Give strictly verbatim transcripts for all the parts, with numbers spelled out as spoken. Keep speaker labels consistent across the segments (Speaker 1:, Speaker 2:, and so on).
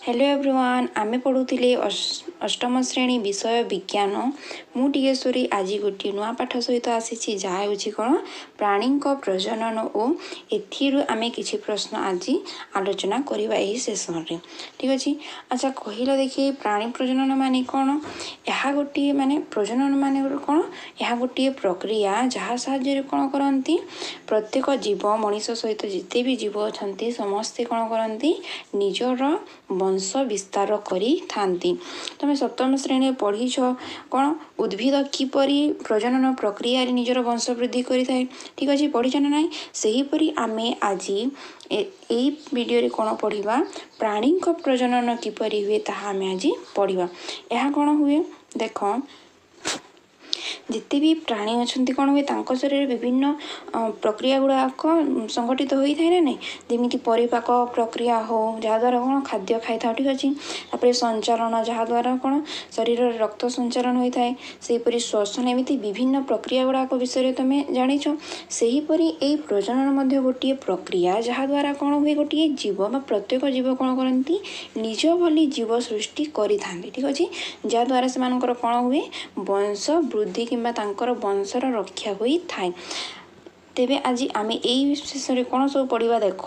Speaker 1: Hello everyone, ଆମେ ପଢ଼ୁଥିଲେ ଅଷ୍ଟମ ଶ୍ରେଣୀ ବିଷୟ ବିଜ୍ଞାନ। ମୁଁ ଟିକେଶ୍ୱରୀ ଆଜି ଗୋଟିଏ ନୂଆ ପାଠ ସହିତ ଆସିଛି, ଯାହା ହେଉଛି କ'ଣ? ପ୍ରାଣୀଙ୍କ ପ୍ରଜନନ। ଓ ଏଥିରୁ ଆମେ କିଛି ପ୍ରଶ୍ନ ଆଜି ଆଲୋଚନା କରିବା ଏହି ସେସନ୍ରେ। ଠିକ୍ ଅଛି? ଆଚ୍ଛା, କହିଲ ଦେଖି, ପ୍ରାଣୀ ପ୍ରଜନନ ମାନେ କ'ଣ? ଏହା ଗୋଟିଏ ମାନେ ପ୍ରଜନନ ମାନେ କ'ଣ? ଏହା ଗୋଟିଏ ପ୍ରକ୍ରିୟା ଯାହା ସାହାଯ୍ୟରେ କ'ଣ କରନ୍ତି? ପ୍ରତ୍ୟେକ ଜୀବ, ମଣିଷ ସହିତ ଯେତେ ବି ଜୀବ ଅଛନ୍ତି, ସମସ୍ତେ କ'ଣ କରନ୍ତି? ନିଜର ବଂଶ ବିସ୍ତାର କରିଥାନ୍ତି। ତୁମେ ସପ୍ତମ ଶ୍ରେଣୀରେ ପଢ଼ିଛ କ'ଣ? ଉଦ୍ଭିଦ କିପରି ପ୍ରଜନନ ପ୍ରକ୍ରିୟାରେ ନିଜର ବଂଶ ବୃଦ୍ଧି କରିଥାଏ। ଠିକ୍ ଅଛି? ପଢ଼ିଛ ନା ନାହିଁ? ସେହିପରି ଆମେ ଆଜି ଏଇ ଭିଡ଼ିଓରେ କ'ଣ ପଢ଼ିବା? ପ୍ରାଣୀଙ୍କ ପ୍ରଜନନ କିପରି ହୁଏ ତାହା ଆମେ ଆଜି ପଢ଼ିବା। ଏହା କ'ଣ ହୁଏ ଦେଖ, ଯେତେ ବି ପ୍ରାଣୀ ଅଛନ୍ତି, କ'ଣ ହୁଏ? ତାଙ୍କ ଶରୀରରେ ବିଭିନ୍ନ ପ୍ରକ୍ରିୟା ଗୁଡ଼ାକ ସଂଗଠିତ ହୋଇଥାଏ ନା ନାହିଁ? ଯେମିତି ପରିପାକ ପ୍ରକ୍ରିୟା ହଉ, ଯାହାଦ୍ୱାରା କ'ଣ ଖାଦ୍ୟ ଖାଇଥାଉ। ଠିକ୍ ଅଛି? ତାପରେ ସଞ୍ଚାଳନ, ଯାହାଦ୍ୱାରା କ'ଣ ଶରୀରରେ ରକ୍ତ ସଞ୍ଚାଳନ ହୋଇଥାଏ। ସେହିପରି ଶ୍ୱସନ, ଏମିତି ବିଭିନ୍ନ ପ୍ରକ୍ରିୟା ଗୁଡ଼ାକ ବିଷୟରେ ତୁମେ ଜାଣିଛ। ସେହିପରି ଏଇ ପ୍ରଜନନ ମଧ୍ୟ ଗୋଟିଏ ପ୍ରକ୍ରିୟା, ଯାହାଦ୍ୱାରା କ'ଣ ହୁଏ? ଗୋଟିଏ ଜୀବ ବା ପ୍ରତ୍ୟେକ ଜୀବ କ'ଣ କରନ୍ତି? ନିଜ ଭଳି ଜୀବ ସୃଷ୍ଟି କରିଥାନ୍ତି। ଠିକ୍ ଅଛି? ଯାହାଦ୍ୱାରା ସେମାନଙ୍କର କ'ଣ ହୁଏ? ବଂଶ ବୃଦ୍ଧି କିମ୍ବା ତାଙ୍କର ବଂଶର ରକ୍ଷା ହୋଇଥାଏ। ତେବେ ଆଜି ଆମେ ଏଇ ବିଷୟରେ କ'ଣ ସବୁ ପଢ଼ିବା ଦେଖ।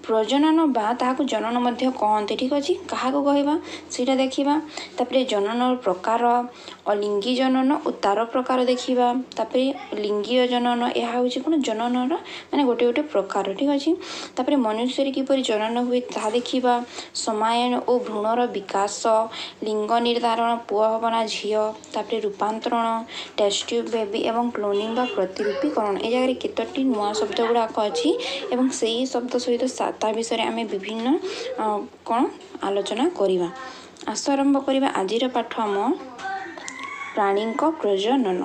Speaker 1: ପ୍ରଜନନ ବା ତାହାକୁ ଜନନ ମଧ୍ୟ କହନ୍ତି। ଠିକ୍ ଅଛି? କାହାକୁ କହିବା ସେଇଟା ଦେଖିବା। ତାପରେ ଜନନର ପ୍ରକାର, ଅଲିଙ୍ଗୀ ଜନନ ଓ ତାର ପ୍ରକାର ଦେଖିବା। ତାପରେ ଲିଙ୍ଗୀୟ ଜନନ, ଏହା ହେଉଛି କ'ଣ? ଜନନର ମାନେ ଗୋଟେ ଗୋଟେ ପ୍ରକାର। ଠିକ୍ ଅଛି? ତାପରେ ମନୁଷ୍ୟରେ କିପରି ଜନନ ହୁଏ ତାହା ଦେଖିବା। ସମାୟନ ଓ ଭ୍ରୂଣର ବିକାଶ, ଲିଙ୍ଗ ନିର୍ଦ୍ଧାରଣ, ପୁଅ ହେବ ନା ଝିଅ, ତାପରେ ରୂପାନ୍ତରଣ, ଟେଷ୍ଟ ଟ୍ୟୁବ୍ ବେବି ଏବଂ କ୍ଲୋନିଂ ବା ପ୍ରତିରୂପୀକରଣ। ଏ ଜାଗାରେ କେତୋଟି ନୂଆ ଶବ୍ଦ ଗୁଡ଼ାକ ଅଛି ଏବଂ ସେଇ ଶବ୍ଦ ସହିତ ତା ବିଷୟରେ ଆମେ ବିଭିନ୍ନ କ'ଣ ଆଲୋଚନା କରିବା। ଆସ ଆରମ୍ଭ କରିବା ଆଜିର ପାଠ ଆମ ପ୍ରାଣୀଙ୍କ ପ୍ରଜନନ।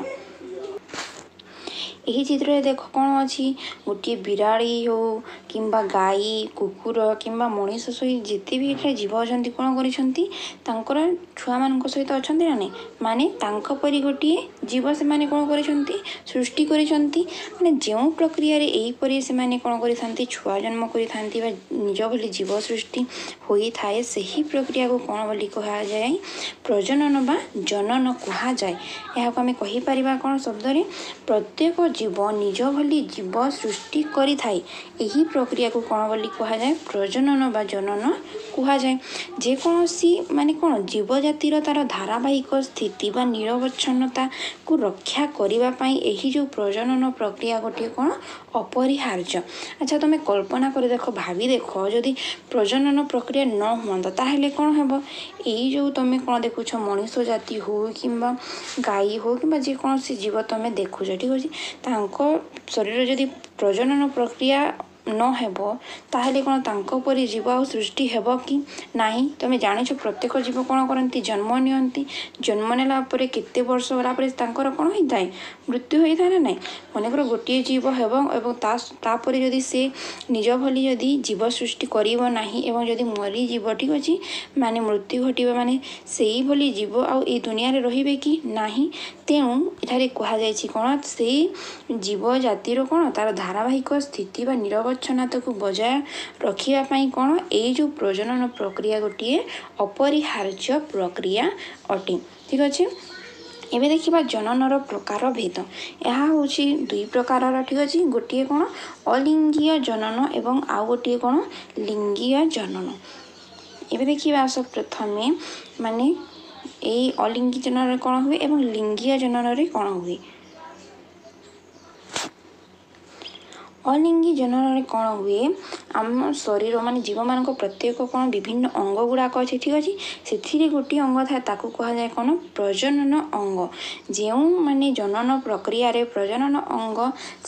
Speaker 1: ଏହି ଚିତ୍ରରେ ଦେଖ କ'ଣ ଅଛି? ଗୋଟିଏ ବିରାଡ଼ି ହଉ କିମ୍ବା ଗାଈ, କୁକୁର କିମ୍ବା ମଣିଷ ସହିତ ଯେତେ ବି ଏଠାରେ ଜୀବ ଅଛନ୍ତି, କ'ଣ କରିଛନ୍ତି? ତାଙ୍କର ଛୁଆମାନଙ୍କ ସହିତ ଅଛନ୍ତି ନା ନାହିଁ? ମାନେ ତାଙ୍କ ପରି ଗୋଟିଏ ଜୀବ ସେମାନେ କ'ଣ କରିଛନ୍ତି? ସୃଷ୍ଟି କରିଛନ୍ତି। ମାନେ ଯେଉଁ ପ୍ରକ୍ରିୟାରେ ଏହିପରି ସେମାନେ କ'ଣ କରିଥାନ୍ତି? ଛୁଆ ଜନ୍ମ କରିଥାନ୍ତି ବା ନିଜ ଭଳି ଜୀବ ସୃଷ୍ଟି ହୋଇଥାଏ, ସେହି ପ୍ରକ୍ରିୟାକୁ କ'ଣ ବୋଲି କୁହାଯାଏ? ପ୍ରଜନନ ବା ଜନନ କୁହାଯାଏ। ଏହାକୁ ଆମେ କହିପାରିବା କ'ଣ ଶବ୍ଦରେ? ପ୍ରତ୍ୟେକ ଜୀବ ନିଜ ଭଳି ଜୀବ ସୃଷ୍ଟି କରିଥାଏ, ଏହି ପ୍ରକ୍ରିୟାକୁ କ'ଣ ବୋଲି କୁହାଯାଏ? ପ୍ରଜନନ ବା ଜନନ କୁହାଯାଏ। ଯେକୌଣସି ମାନେ କ'ଣ ଜୀବଜାତିର ତା'ର ଧାରାବାହିକ ସ୍ଥିତି ବା ନିରବଚ୍ଛନ୍ନତାକୁ ରକ୍ଷା କରିବା ପାଇଁ ଏହି ଯେଉଁ ପ୍ରଜନନ ପ୍ରକ୍ରିୟା ଗୋଟିଏ କ'ଣ ଅପରିହାର୍ଯ୍ୟ। ଆଚ୍ଛା, ତୁମେ କଳ୍ପନା କରି ଦେଖ, ଭାବି ଦେଖ, ଯଦି ପ୍ରଜନନ ପ୍ରକ୍ରିୟା ନ ହୁଅନ୍ତା ତାହେଲେ କ'ଣ ହେବ? ଏଇ ଯେଉଁ ତୁମେ କ'ଣ ଦେଖୁଛ, ମଣିଷ ଜାତି ହଉ କିମ୍ବା ଗାଈ ହଉ କିମ୍ବା ଯେକୌଣସି ଜୀବ ତୁମେ ଦେଖୁଛ, ଠିକ୍ ଅଛି, ତାଙ୍କ ଶରୀର ଯଦି ପ୍ରଜନନ ପ୍ରକ୍ରିୟା ନ ହେବ ତାହେଲେ କ'ଣ ତାଙ୍କ ପରି ଜୀବ ଆଉ ସୃଷ୍ଟି ହେବ କି ନାହିଁ? ତୁମେ ଜାଣିଛ, ପ୍ରତ୍ୟେକ ଜୀବ କ'ଣ କରନ୍ତି? ଜନ୍ମ ନିଅନ୍ତି। ଜନ୍ମ ନେଲା ପରେ କେତେ ବର୍ଷ ଗଲା ପରେ ତାଙ୍କର କ'ଣ ହୋଇଥାଏ? ମୃତ୍ୟୁ ହୋଇଥାଏ ନା ନାହିଁ? ମନେକର ଗୋଟିଏ ଜୀବ ହେବ ଏବଂ ତା ତାପରେ ଯଦି ସେ ନିଜ ଭଳି ଯଦି ଜୀବ ସୃଷ୍ଟି କରିବ ନାହିଁ ଏବଂ ଯଦି ମରିଯିବ, ଠିକ୍ ଅଛି, ମାନେ ମୃତ୍ୟୁ ଘଟିବ, ମାନେ ସେଇଭଳି ଜୀବ ଆଉ ଏଇ ଦୁନିଆରେ ରହିବେ କି ନାହିଁ? ତେଣୁ ଏଠାରେ କୁହାଯାଇଛି କ'ଣ? ସେଇ ଜୀବ ଜାତିର କ'ଣ ତା'ର ଧାରାବାହିକ ସ୍ଥିତି ବା ନିରବଚ୍ଛନ୍ନତାକୁ ବଜାୟ ରଖିବା ପାଇଁ କ'ଣ ଏଇ ଯେଉଁ ପ୍ରଜନନ ପ୍ରକ୍ରିୟା ଗୋଟିଏ ଅପରିହାର୍ଯ୍ୟ ପ୍ରକ୍ରିୟା ଅଟେ। ଠିକ୍ ଅଛି? ଏବେ ଦେଖିବା ଜନନର ପ୍ରକାର ଭେଦ। ଏହା ହେଉଛି ଦୁଇ ପ୍ରକାରର। ଠିକ୍ ଅଛି? ଗୋଟିଏ କ'ଣ? ଅଲିଙ୍ଗୀୟ ଜନନ ଏବଂ ଆଉ ଗୋଟିଏ କ'ଣ? ଲିଙ୍ଗୀୟ ଜନନ। ଏବେ ଦେଖିବା ଆସ ପ୍ରଥମେ, ମାନେ ଏଇ ଅଲିଙ୍ଗୀ ଜନନରେ କ'ଣ ହୁଏ ଏବଂ ଲିଙ୍ଗୀୟ ଜନନରେ କ'ଣ ହୁଏ। ଅଲିଙ୍ଗୀ ଜନନରେ କ'ଣ ହୁଏ? ଆମ ଶରୀର ମାନେ ଜୀବମାନଙ୍କ ପ୍ରତ୍ୟେକ କ'ଣ ବିଭିନ୍ନ ଅଙ୍ଗ ଗୁଡ଼ାକ ଅଛି। ଠିକ୍ ଅଛି? ସେଥିରେ ଗୋଟିଏ ଅଙ୍ଗ ଥାଏ, ତାକୁ କୁହାଯାଏ କ'ଣ? ପ୍ରଜନନ ଅଙ୍ଗ। ଯେଉଁ ମାନେ ଜନନ ପ୍ରକ୍ରିୟାରେ ପ୍ରଜନନ ଅଙ୍ଗ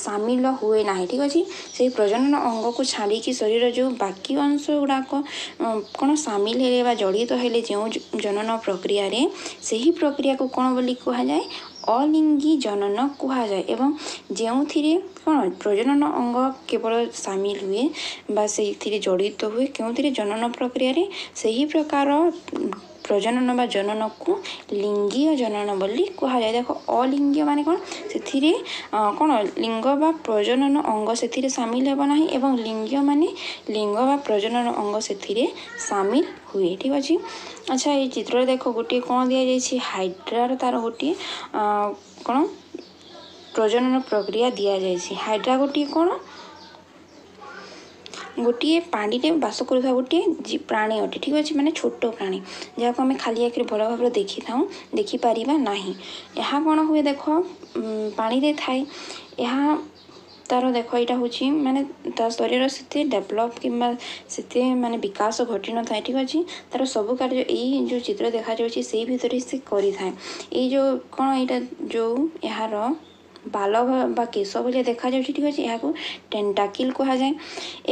Speaker 1: ସାମିଲ ହୁଏ ନାହିଁ, ଠିକ୍ ଅଛି, ସେଇ ପ୍ରଜନନ ଅଙ୍ଗକୁ ଛାଡ଼ିକି ଶରୀର ଯେଉଁ ବାକି ଅଂଶ ଗୁଡ଼ାକ କ'ଣ ସାମିଲ ହେଲେ ବା ଜଡ଼ିତ ହେଲେ ଯେଉଁ ଜନନ ପ୍ରକ୍ରିୟାରେ, ସେହି ପ୍ରକ୍ରିୟାକୁ କ'ଣ ବୋଲି କୁହାଯାଏ? ଅଲିଙ୍ଗୀ ଜନନ କୁହାଯାଏ। ଏବଂ ଯେଉଁଥିରେ କ'ଣ ପ୍ରଜନନ ଅଙ୍ଗ କେବଳ ସାମିଲ ହୁଏ ବା ସେଇଥିରେ ଜଡ଼ିତ ହୁଏ, କେଉଁଥିରେ? ଜନନ ପ୍ରକ୍ରିୟାରେ, ସେହି ପ୍ରକାର ପ୍ରଜନନ ବା ଜନନକୁ ଲିଙ୍ଗୀୟ ଜନନ ବୋଲି କୁହାଯାଏ। ଦେଖ, ଅଲିଙ୍ଗୀୟ ମାନେ କ'ଣ? ସେଥିରେ କ'ଣ ଲିଙ୍ଗ ବା ପ୍ରଜନନ ଅଙ୍ଗ ସେଥିରେ ସାମିଲ ହେବ ନାହିଁ, ଏବଂ ଲିଙ୍ଗୀୟ ମାନେ ଲିଙ୍ଗ ବା ପ୍ରଜନନ ଅଙ୍ଗ ସେଥିରେ ସାମିଲ ହୁଏ। ଠିକ୍ ଅଛି। ଆଚ୍ଛା, ଏଇ ଚିତ୍ରରେ ଦେଖ, ଗୋଟିଏ କ'ଣ ଦିଆଯାଇଛି? ହାଇଡ୍ରାର ତାର ଗୋଟିଏ କ'ଣ ପ୍ରଜନନ ପ୍ରକ୍ରିୟା ଦିଆଯାଇଛି। ହାଇଡ୍ରା ଗୋଟିଏ କ'ଣ? ଗୋଟିଏ ପାଣିରେ ବାସ କରୁଥିବା ଗୋଟିଏ ପ୍ରାଣୀ ଅଟେ। ଠିକ୍ ଅଛି। ମାନେ ଛୋଟ ପ୍ରାଣୀ, ଯାହାକୁ ଆମେ ଖାଲି ଆଖିରେ ଭଲ ଭାବରେ ଦେଖିଥାଉ, ଦେଖିପାରିବା ନାହିଁ। ଏହା କ'ଣ ହୁଏ ଦେଖ, ପାଣିରେ ଥାଏ। ଏହା ତାର ଦେଖ, ଏଇଟା ହେଉଛି ମାନେ ତା ଶରୀର ସେତେ ଡେଭଲପ୍ କିମ୍ବା ସେତେ ମାନେ ବିକାଶ ଘଟିନଥାଏ। ଠିକ୍ ଅଛି। ତାର ସବୁ କାର୍ଯ୍ୟ ଏଇ ଯେଉଁ ଚିତ୍ର ଦେଖାଯାଉଛି ସେଇ ଭିତରେ ସେ କରିଥାଏ। ଏଇ ଯେଉଁ କ'ଣ ଏଇଟା ଯେଉଁ ଏହାର ବାଲ ବା କେଶ ଭଳିଆ ଦେଖାଯାଉଛି, ଠିକ୍ ଅଛି, ଏହାକୁ ଟେଣ୍ଟାକିଲ୍ କୁହାଯାଏ।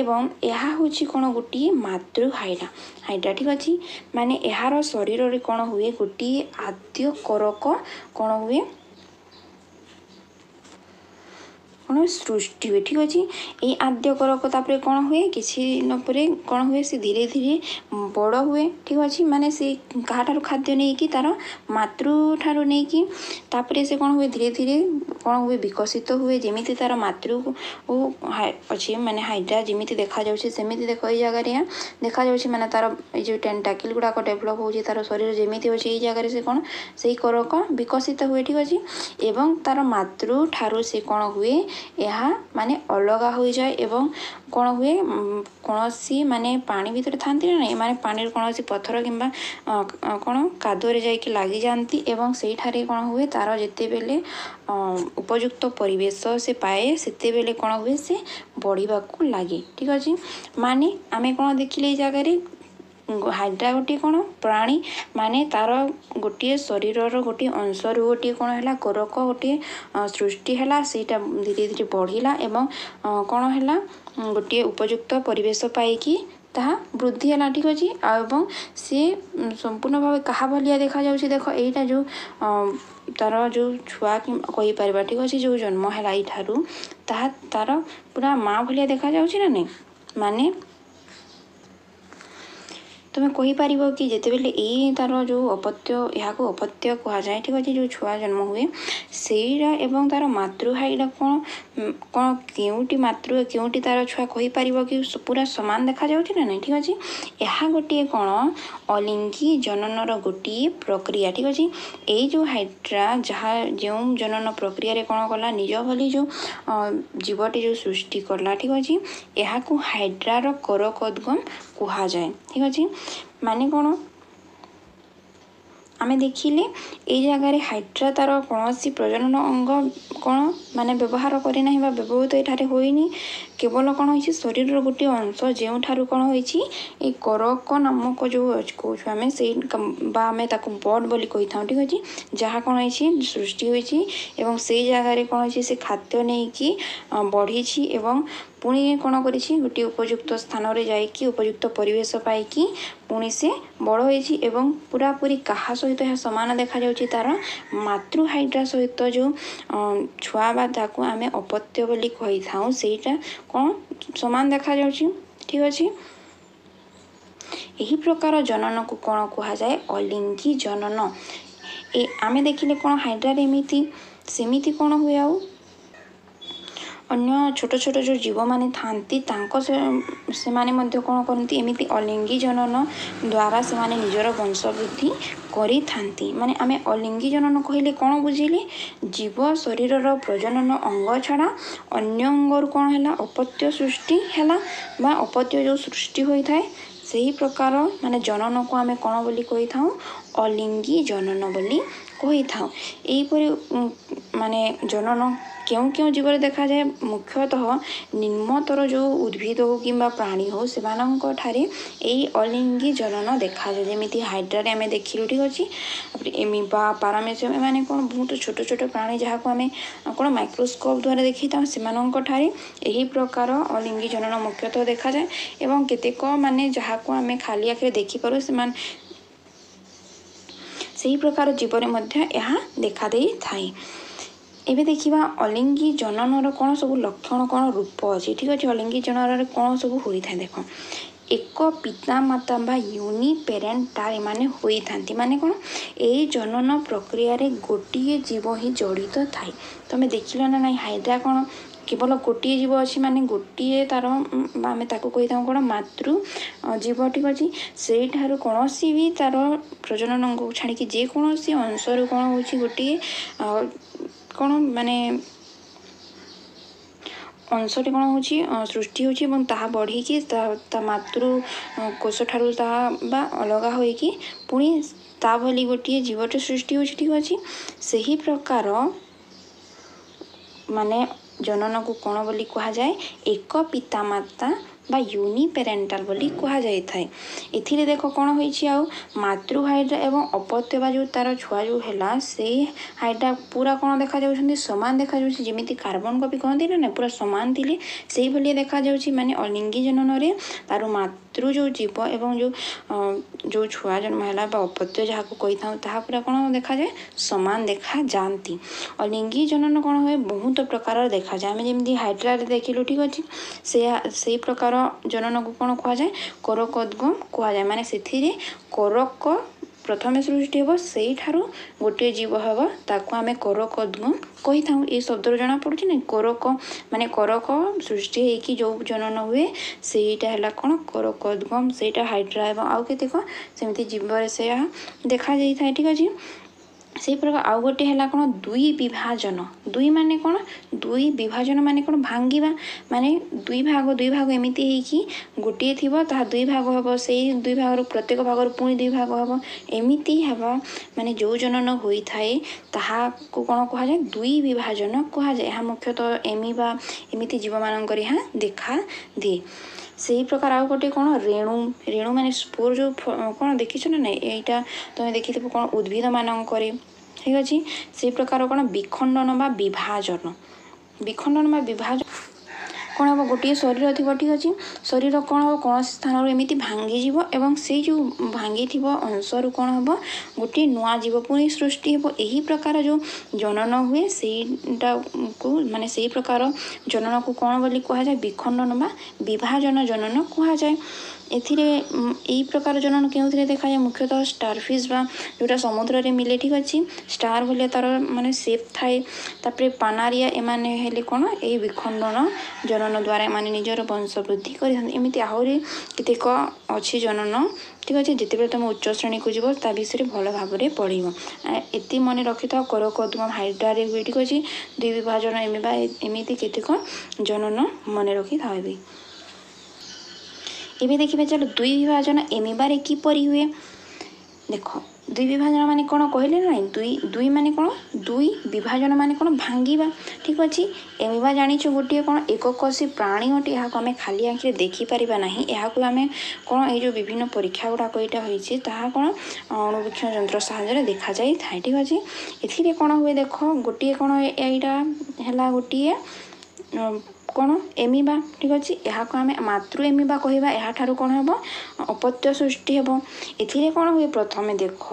Speaker 1: ଏବଂ ଏହା ହେଉଛି କ'ଣ? ଗୋଟିଏ ମାତୃ ହାଇଡ୍ରା ହାଇଡ୍ରା ଠିକ୍ ଅଛି। ମାନେ ଏହାର ଶରୀରରେ କ'ଣ ହୁଏ? ଗୋଟିଏ ଆଦ୍ୟ କରକ କ'ଣ ହୁଏ, କ'ଣ ସୃଷ୍ଟି ହୁଏ। ଠିକ୍ ଅଛି। ଏଇ ଆଦ୍ୟ କରକ ତାପରେ କ'ଣ ହୁଏ? କିଛି ଦିନ ପରେ କ'ଣ ହୁଏ? ସେ ଧୀରେ ଧୀରେ ବଡ଼ ହୁଏ। ଠିକ୍ ଅଛି। ମାନେ ସେ କାହାଠାରୁ ଖାଦ୍ୟ ନେଇକି? ତାର ମାତୃଠାରୁ ନେଇକି। ତାପରେ ସେ କ'ଣ ହୁଏ? ଧୀରେ ଧୀରେ କ'ଣ ହୁଏ? ବିକଶିତ ହୁଏ। ଯେମିତି ତାର ମାତୃ ଅଛି, ମାନେ ହାଇଡ୍ରା ଯେମିତି ଦେଖାଯାଉଛି ସେମିତି ଦେଖ ଏଇ ଜାଗାରେ ଦେଖାଯାଉଛି। ମାନେ ତାର ଏଇ ଯେଉଁ ଟେଣ୍ଟାକିଲ୍ ଗୁଡ଼ାକ ଡେଭଲପ୍ ହେଉଛି, ତାର ଶରୀର ଯେମିତି ଅଛି ଏଇ ଜାଗାରେ, ସେ କ'ଣ ସେଇ କରକ ବିକଶିତ ହୁଏ। ଠିକ୍ ଅଛି। ଏବଂ ତାର ମାତୃଠାରୁ ସେ କ'ଣ ହୁଏ? ଏହା ମାନେ ଅଲଗା ହୋଇଯାଏ। ଏବଂ କ'ଣ ହୁଏ? କୌଣସି ମାନେ ପାଣି ଭିତରେ ଥାନ୍ତି ନା ନାହିଁ, ମାନେ ପାଣିର କୌଣସି ପଥର କିମ୍ବା କ'ଣ କାଦୁଅରେ ଯାଇକି ଲାଗିଯାଆନ୍ତି। ଏବଂ ସେଇଠାରେ କ'ଣ ହୁଏ? ତାର ଯେତେବେଳେ ଉପଯୁକ୍ତ ପରିବେଶ ସେ ପାଏ, ସେତେବେଳେ କ'ଣ ହୁଏ? ସେ ବଢ଼ିବାକୁ ଲାଗେ। ଠିକ୍ ଅଛି। ମାନେ ଆମେ କ'ଣ ଦେଖିଲେ ଏଇ ଜାଗାରେ? ହାଇଡ୍ରା ଗୋଟିଏ କ'ଣ ପ୍ରାଣୀ, ମାନେ ତାର ଗୋଟିଏ ଶରୀରର ଗୋଟିଏ ଅଂଶରୁ ଗୋଟିଏ କ'ଣ ହେଲା? କୋରକ ଗୋଟିଏ ସୃଷ୍ଟି ହେଲା। ସେଇଟା ଧୀରେ ଧୀରେ ବଢ଼ିଲା ଏବଂ କ'ଣ ହେଲା? ଗୋଟିଏ ଉପଯୁକ୍ତ ପରିବେଶ ପାଇକି ତାହା ବୃଦ୍ଧି ହେଲା। ଠିକ୍ ଅଛି। ଆଉ ଏବଂ ସିଏ ସମ୍ପୂର୍ଣ୍ଣ ଭାବେ କାହା ଭଳିଆ ଦେଖାଯାଉଛି ଦେଖ, ଏଇଟା ଯେଉଁ ତାର ଯେଉଁ ଛୁଆ କହିପାରିବା, ଠିକ୍ ଅଛି, ଯେଉଁ ଜନ୍ମ ହେଲା ଏଇଠାରୁ, ତାହା ତାର ପୁରା ମା ଭଳିଆ ଦେଖାଯାଉଛି ନା ନାହିଁ? ମାନେ ତୁମେ କହିପାରିବ କି ଯେତେବେଳେ ଏଇ ତାର ଯେଉଁ ଅପତ୍ୟ, ଏହାକୁ ଅପତ୍ୟ କୁହାଯାଏ, ଠିକ୍ ଅଛି, ଯେଉଁ ଛୁଆ ଜନ୍ମ ହୁଏ ସେଇଟା ଏବଂ ତାର ମାତୃହାଇଟା କ'ଣ କ'ଣ କେଉଁଟି ମାତୃ କେଉଁଟି ତାର ଛୁଆ କହିପାରିବ କି ପୁରା ସମାନ ଦେଖାଯାଉଛି ନା ନାହିଁ? ଠିକ୍ ଅଛି। ଏହା ଗୋଟିଏ କ'ଣ? ଅଲିଙ୍ଗୀ ଜନନର ଗୋଟିଏ ପ୍ରକ୍ରିୟା। ଠିକ୍ ଅଛି। ଏଇ ଯେଉଁ ହାଇଡ୍ରା ଯାହା ଯେଉଁ ଜନନ ପ୍ରକ୍ରିୟାରେ କ'ଣ କଲା? ନିଜ ଭଳି ଯେଉଁ ଜୀବଟି ଯେଉଁ ସୃଷ୍ଟି କଲା, ଠିକ୍ ଅଛି, ଏହାକୁ ହାଇଡ୍ରାର କରକୋଦ୍ଗମ କୁହାଯାଏ। ଠିକ୍ ଅଛି। ମାନେ କ'ଣ ଆମେ ଦେଖିଲେ ଏଇ ଜାଗାରେ? ହାଇଡ୍ରା ତାର କୌଣସି ପ୍ରଜନନ ଅଙ୍ଗ କ'ଣ ମାନେ ବ୍ୟବହାର କରିନାହିଁ ବା ବ୍ୟବହୃତ ଏଠାରେ ହୋଇନି। କେବଳ କ'ଣ ହେଇଛି? ଶରୀରର ଗୋଟିଏ ଅଂଶ, ଯେଉଁଠାରୁ କ'ଣ ହୋଇଛି? ଏଇ କରକ ନାମକ ଯେଉଁ କହୁଛୁ ଆମେ ସେଇ ବା ଆମେ ତାକୁ ବଡ୍ ବୋଲି କହିଥାଉ, ଠିକ୍ ଅଛି, ଯାହା କ'ଣ ହେଇଛି? ସୃଷ୍ଟି ହୋଇଛି। ଏବଂ ସେଇ ଜାଗାରେ କ'ଣ ହେଇଛି? ସେ ଖାଦ୍ୟ ନେଇକି ବଢ଼ିଛି ଏବଂ ପୁଣି କ'ଣ କରିଛି? ଗୋଟିଏ ଉପଯୁକ୍ତ ସ୍ଥାନରେ ଯାଇକି ଉପଯୁକ୍ତ ପରିବେଶ ପାଇକି ପୁଣି ସେ ବଡ଼ ହୋଇଛି। ଏବଂ ପୁରାପୁରି କାହା ସହିତ ଏହା ସମାନ ଦେଖାଯାଉଛି? ତାର ମାତୃ ହାଇଡ୍ରା ସହିତ। ଯେଉଁ ଛୁଆ ବା ତାକୁ ଆମେ ଅପତ୍ୟ ବୋଲି କହିଥାଉ, ସେଇଟା କ'ଣ ସମାନ ଦେଖାଯାଉଛି। ଠିକ୍ ଅଛି। ଏହି ପ୍ରକାର ଜନନକୁ କ'ଣ କୁହାଯାଏ? ଅଲିଙ୍ଗୀ ଜନନ। ଏ ଆମେ ଦେଖିଲେ କ'ଣ ହାଇଡ୍ରାରେ ଏମିତି, ସେମିତି କ'ଣ ହୁଏ? ଆଉ ଅନ୍ୟ ଛୋଟ ଛୋଟ ଯେଉଁ ଜୀବମାନେ ଥାଆନ୍ତି, ତାଙ୍କ ସେମାନେ ମଧ୍ୟ କ'ଣ କରନ୍ତି? ଏମିତି ଅଲିଙ୍ଗୀ ଜନନ ଦ୍ୱାରା ସେମାନେ ନିଜର ବଂଶ ବୃଦ୍ଧି କରିଥାନ୍ତି। ମାନେ ଆମେ ଅଲିଙ୍ଗୀ ଜନନ କହିଲେ କ'ଣ ବୁଝିଲେ? ଜୀବ ଶରୀରର ପ୍ରଜନନ ଅଙ୍ଗ ଛଡ଼ା ଅନ୍ୟ ଅଙ୍ଗରୁ କ'ଣ ହେଲା? ଅପତ୍ୟ ସୃଷ୍ଟି ହେଲା ବା ଅପତ୍ୟ ଯେଉଁ ସୃଷ୍ଟି ହୋଇଥାଏ, ସେହି ପ୍ରକାର ମାନେ ଜନନକୁ ଆମେ କ'ଣ ବୋଲି କହିଥାଉ? ଅଲିଙ୍ଗୀ ଜନନ ବୋଲି କହିଥାଉ। ଏହିପରି ମାନେ ଜନନ କେଉଁ କେଉଁ ଜୀବରେ ଦେଖାଯାଏ? ମୁଖ୍ୟତଃ ନିମ୍ନତର ଯେଉଁ ଉଦ୍ଭିଦ ହଉ କିମ୍ବା ପ୍ରାଣୀ ହଉ, ସେମାନଙ୍କ ଠାରେ ଏଇ ଅଲିଙ୍ଗୀ ଜନନ ଦେଖାଯାଏ, ଯେମିତି ହାଇଡ୍ରାରେ ଆମେ ଦେଖିଲୁ। ଠିକ୍ ଅଛି। ତାପରେ ଏମିବା, ପାରାମେସିୟମ୍, ଏମାନେ କ'ଣ ବହୁତ ଛୋଟ ଛୋଟ ପ୍ରାଣୀ, ଯାହାକୁ ଆମେ କ'ଣ ମାଇକ୍ରୋସ୍କୋପ୍ ଦ୍ୱାରା ଦେଖିଥାଉ, ସେମାନଙ୍କ ଠାରେ ଏହି ପ୍ରକାର ଅଲିଙ୍ଗୀ ଜନନ ମୁଖ୍ୟତଃ ଦେଖାଯାଏ। ଏବଂ କେତେକ ମାନେ ଯାହାକୁ ଆମେ ଖାଲି ଆଖିରେ ଦେଖିପାରୁ, ସେମାନେ ସେହି ପ୍ରକାର ଜୀବରେ ମଧ୍ୟ ଏହା ଦେଖାଦେଇଥାଏ। ଏବେ ଦେଖିବା ଅଲିଙ୍ଗୀ ଜନନର କ'ଣ ସବୁ ଲକ୍ଷଣ, କ'ଣ ରୂପ ଅଛି। ଠିକ୍ ଅଛି। ଅଲିଙ୍ଗୀ ଜନନରେ କ'ଣ ସବୁ ହୋଇଥାଏ ଦେଖ। ଏକ ପିତାମାତା ବା ୟୁନିପେରେଣ୍ଟାଲ ଏମାନେ ହୋଇଥାନ୍ତି। ମାନେ କ'ଣ? ଏଇ ଜନନ ପ୍ରକ୍ରିୟାରେ ଗୋଟିଏ ଜୀବ ହିଁ ଜଡ଼ିତ ଥାଏ। ତମେ ଦେଖିଲ ନା ନାଇଁ, ହାଇଡ୍ରା କ'ଣ କେବଳ ଗୋଟିଏ ଜୀବ ଅଛି, ମାନେ ଗୋଟିଏ ତାର, ଆମେ ତାକୁ କହିଥାଉ କ'ଣ? ମାତୃ ଜୀବ। ଠିକ୍ ଅଛି? ସେଇଠାରୁ କୌଣସି ବି ତାର ପ୍ରଜନନ ଅଙ୍ଗକୁ ଛାଡ଼ିକି ଯେକୌଣସି ଅଂଶରୁ କ'ଣ ହେଉଛି, ଗୋଟିଏ କ'ଣ ମାନେ ଅଂଶଟି କ'ଣ ହେଉଛି, ସୃଷ୍ଟି ହେଉଛି ଏବଂ ତାହା ବଢ଼ିକି ତା ତା ମାତୃ କୋଷ ଠାରୁ ତାହା ବା ଅଲଗା ହୋଇକି ପୁଣି ତା ଭଳି ଗୋଟିଏ ଜୀବଟେ ସୃଷ୍ଟି ହେଉଛି। ଠିକ୍ ଅଛି? ସେହି ପ୍ରକାର ମାନେ ଜନନକୁ କ'ଣ ବୋଲି କୁହାଯାଏ? ଏକ ପିତାମାତା ବା ୟୁନିପେରେଣ୍ଟାଲ ବୋଲି କୁହାଯାଇଥାଏ। ଏଥିରେ ଦେଖ କ'ଣ ହୋଇଛି ଆଉ, ମାତୃ ହାଇଡ୍ରା ଏବଂ ଅପତ୍ୟ ବା ଯେଉଁ ତାର ଛୁଆ ଯେଉଁ ହେଲା, ସେଇ ହାଇଡ୍ରା ପୁରା କ'ଣ ଦେଖାଯାଉଛନ୍ତି? ସମାନ ଦେଖାଯାଉଛି। ଯେମିତି କାର୍ବନ କପି କହନ୍ତି ନା ନା, ପୁରା ସମାନ ଥିଲେ ସେଇଭଳିଆ ଦେଖାଯାଉଛି। ମାନେ ଅଲିଙ୍ଗୀ ଜନନରେ ତାର ମାତୃ ଯେଉଁ ଜୀବ ଏବଂ ଯେଉଁ ଯେଉଁ ଛୁଆ ଜନ୍ମ ହେଲା ବା ଅପତ୍ୟ ଯାହାକୁ କହିଥାଉ, ତାହା ପୁରା କ'ଣ ଦେଖାଯାଏ? ସମାନ ଦେଖାଯାଆନ୍ତି। ଅଲିଙ୍ଗୀ ଜନନ କ'ଣ ହୁଏ? ବହୁତ ପ୍ରକାରର ଦେଖାଯାଏ। ଆମେ ଯେମିତି ହାଇଡ୍ରାରେ ଦେଖିଲୁ, ଠିକ୍ ଅଛି, ସେୟା ସେଇ ପ୍ରକାର ଜନନକୁ କ'ଣ କୁହାଯାଏ? କୋରକୋଦ୍ଗମ କୁହାଯାଏ। ମାନେ ସେଥିରେ କୋରକ ପ୍ରଥମେ ସୃଷ୍ଟି ହେବ, ସେଇଠାରୁ ଗୋଟିଏ ଜୀବ ହେବ, ତାକୁ ଆମେ କୋରକୋଦ୍ଗମ କହିଥାଉ। ଏଇ ଶବ୍ଦରୁ ଜଣାପଡ଼ୁଛି ନା, କୋରକ ମାନେ କୋରକ ସୃଷ୍ଟି ହେଇକି ଯେଉଁ ଜନନ ହୁଏ, ସେଇଟା ହେଲା କ'ଣ? କୋରକୋଦ୍ଗମ। ସେଇଟା ହାଇଡ୍ରା ଏବଂ ଆଉ କେତେକ ସେମିତି ଜୀବରେ ସେୟା ଦେଖାଯାଇଥାଏ। ଠିକ୍ ଅଛି? ସେଇ ପ୍ରକାର ଆଉ ଗୋଟେ ହେଲା କ'ଣ? ଦୁଇ ବିଭାଜନ। ଦୁଇ ମାନେ କ'ଣ? ଦୁଇ ବିଭାଜନ ମାନେ କ'ଣ? ଭାଙ୍ଗିବା। ମାନେ ଦୁଇ ଭାଗ ଦୁଇ ଭାଗ ଏମିତି ହେଇକି ଗୋଟିଏ ଥିବ, ତାହା ଦୁଇ ଭାଗ ହେବ, ସେଇ ଦୁଇ ଭାଗରୁ ପ୍ରତ୍ୟେକ ଭାଗରୁ ପୁଣି ଦୁଇ ଭାଗ ହେବ, ଏମିତି ହେବା ମାନେ ଯେଉଁ ଜନନ ହୋଇଥାଏ ତାହାକୁ କ'ଣ କୁହାଯାଏ? ଦୁଇ ବିଭାଜନ କୁହାଯାଏ। ଏହା ମୁଖ୍ୟତଃ ଏମିବା ଏମିତି ଜୀବମାନଙ୍କରେ ଏହା ଦେଖାଦିଏ। ସେଇ ପ୍ରକାର ଆଉ ଗୋଟେ କ'ଣ? ରେଣୁ। ରେଣୁ ମାନେ ସ୍ପୋର ଯେଉଁ କ'ଣ ଦେଖିଛ ନା ନାଇଁ? ଏଇଟା ତମେ ଦେଖିଥିବ କ'ଣ ଉଦ୍ଭିଦମାନଙ୍କରେ। ଠିକ୍ ଅଛି? ସେଇ ପ୍ରକାର କ'ଣ ବିଖଣ୍ଡନ ବା ବିଭାଜନ। ବିଖଣ୍ଡନ ବା ବିଭାଜନ କ'ଣ ହେବ? ଗୋଟିଏ ଶରୀର ଥିବ, ଠିକ୍ ଅଛି, ଶରୀର କ'ଣ ହେବ? କୌଣସି ସ୍ଥାନରୁ ଏମିତି ଭାଙ୍ଗିଯିବ ଏବଂ ସେଇ ଯେଉଁ ଭାଙ୍ଗିଥିବ ଅଂଶରୁ କ'ଣ ହେବ? ଗୋଟିଏ ନୂଆ ଜୀବ ପୁଣି ସୃଷ୍ଟି ହେବ। ଏହି ପ୍ରକାର ଯେଉଁ ଜନନ ହୁଏ ସେଇଟାକୁ, ମାନେ ସେଇ ପ୍ରକାର ଜନନକୁ କ'ଣ ବୋଲି କୁହାଯାଏ? ବିଖଣ୍ଡନ ବା ବିଭାଜନ ଜନନ କୁହାଯାଏ। ଏଥିରେ ଏଇ ପ୍ରକାର ଜନନ କେଉଁଥିରେ ଦେଖାଯାଏ? ମୁଖ୍ୟତଃ ଷ୍ଟାରଫିସ୍ ବା ଯେଉଁଟା ସମୁଦ୍ରରେ ମିଲେ, ଠିକ୍ ଅଛି, ଷ୍ଟାର ଭଳିଆ ତାର ମାନେ ସେପ୍ ଥାଏ। ତାପରେ ପାନାରିଆ, ଏମାନେ ହେଲେ କ'ଣ ଏଇ ବିଖଣ୍ଡନ ଜନନ ଦ୍ୱାରା ଏମାନେ ନିଜର ବଂଶ ବୃଦ୍ଧି କରିଥାନ୍ତି। ଏମିତି ଆହୁରି କେତେକ ଅଛି ଜନନ। ଠିକ୍ ଅଛି? ଯେତେବେଳେ ତୁମେ ଉଚ୍ଚ ଶ୍ରେଣୀକୁ ଯିବ ତା ବିଷୟରେ ଭଲ ଭାବରେ ପଢ଼ିବ। ଏତିକି ମନେ ରଖିଥାଅ, କୋରକୋଦ୍ଗମ ହାଇଡ୍ରାରେ ହୁଏ। ଠିକ୍ ଅଛି? ଦୁଇ ବିଭାଜନ ଏମିବା, ଏମିତି କେତେକ ଜନନ ମନେ ରଖିଥାଅ। ଏବେ ଏବେ ଦେଖିବେ ଚାଲ, ଦୁଇ ବିଭାଜନ ଏମିବାରେ କିପରି ହୁଏ। ଦେଖ, ଦୁଇ ବିଭାଜନ ମାନେ କ'ଣ କହିଲେ ନା ନାଇଁ? ଦୁଇ ଦୁଇ ମାନେ କ'ଣ? ଦୁଇ ବିଭାଜନ ମାନେ କ'ଣ? ଭାଙ୍ଗିବା। ଠିକ୍ ଅଛି? ଏମିବା ଜାଣିଛୁ ଗୋଟିଏ କ'ଣ ଏକକୋଷୀ ପ୍ରାଣୀ ଅଟେ। ଏହାକୁ ଆମେ ଖାଲି ଆଖିରେ ଦେଖିପାରିବା ନାହିଁ। ଏହାକୁ ଆମେ କ'ଣ ଏଇ ଯେଉଁ ବିଭିନ୍ନ ପରୀକ୍ଷା ଗୁଡ଼ାକ ଏଇଟା ହୋଇଛି, ତାହା କ'ଣ ଅଣୁବୀକ୍ଷଣ ଯନ୍ତ୍ର ସାହାଯ୍ୟରେ ଦେଖାଯାଇଥାଏ। ଠିକ୍ ଅଛି? ଏଥିରେ କ'ଣ ହୁଏ ଦେଖ, ଗୋଟିଏ କ'ଣ ଏଇଟା ହେଲା ଗୋଟିଏ କ'ଣ ଏମିବା। ଠିକ୍ ଅଛି? ଏହାକୁ ଆମେ ମାତୃ ଏମିବା କହିବା। ଏହାଠାରୁ କ'ଣ ହେବ? ଅପତ୍ୟ ସୃଷ୍ଟି ହେବ। ଏଥିରେ କ'ଣ ହୁଏ? ପ୍ରଥମେ ଦେଖ,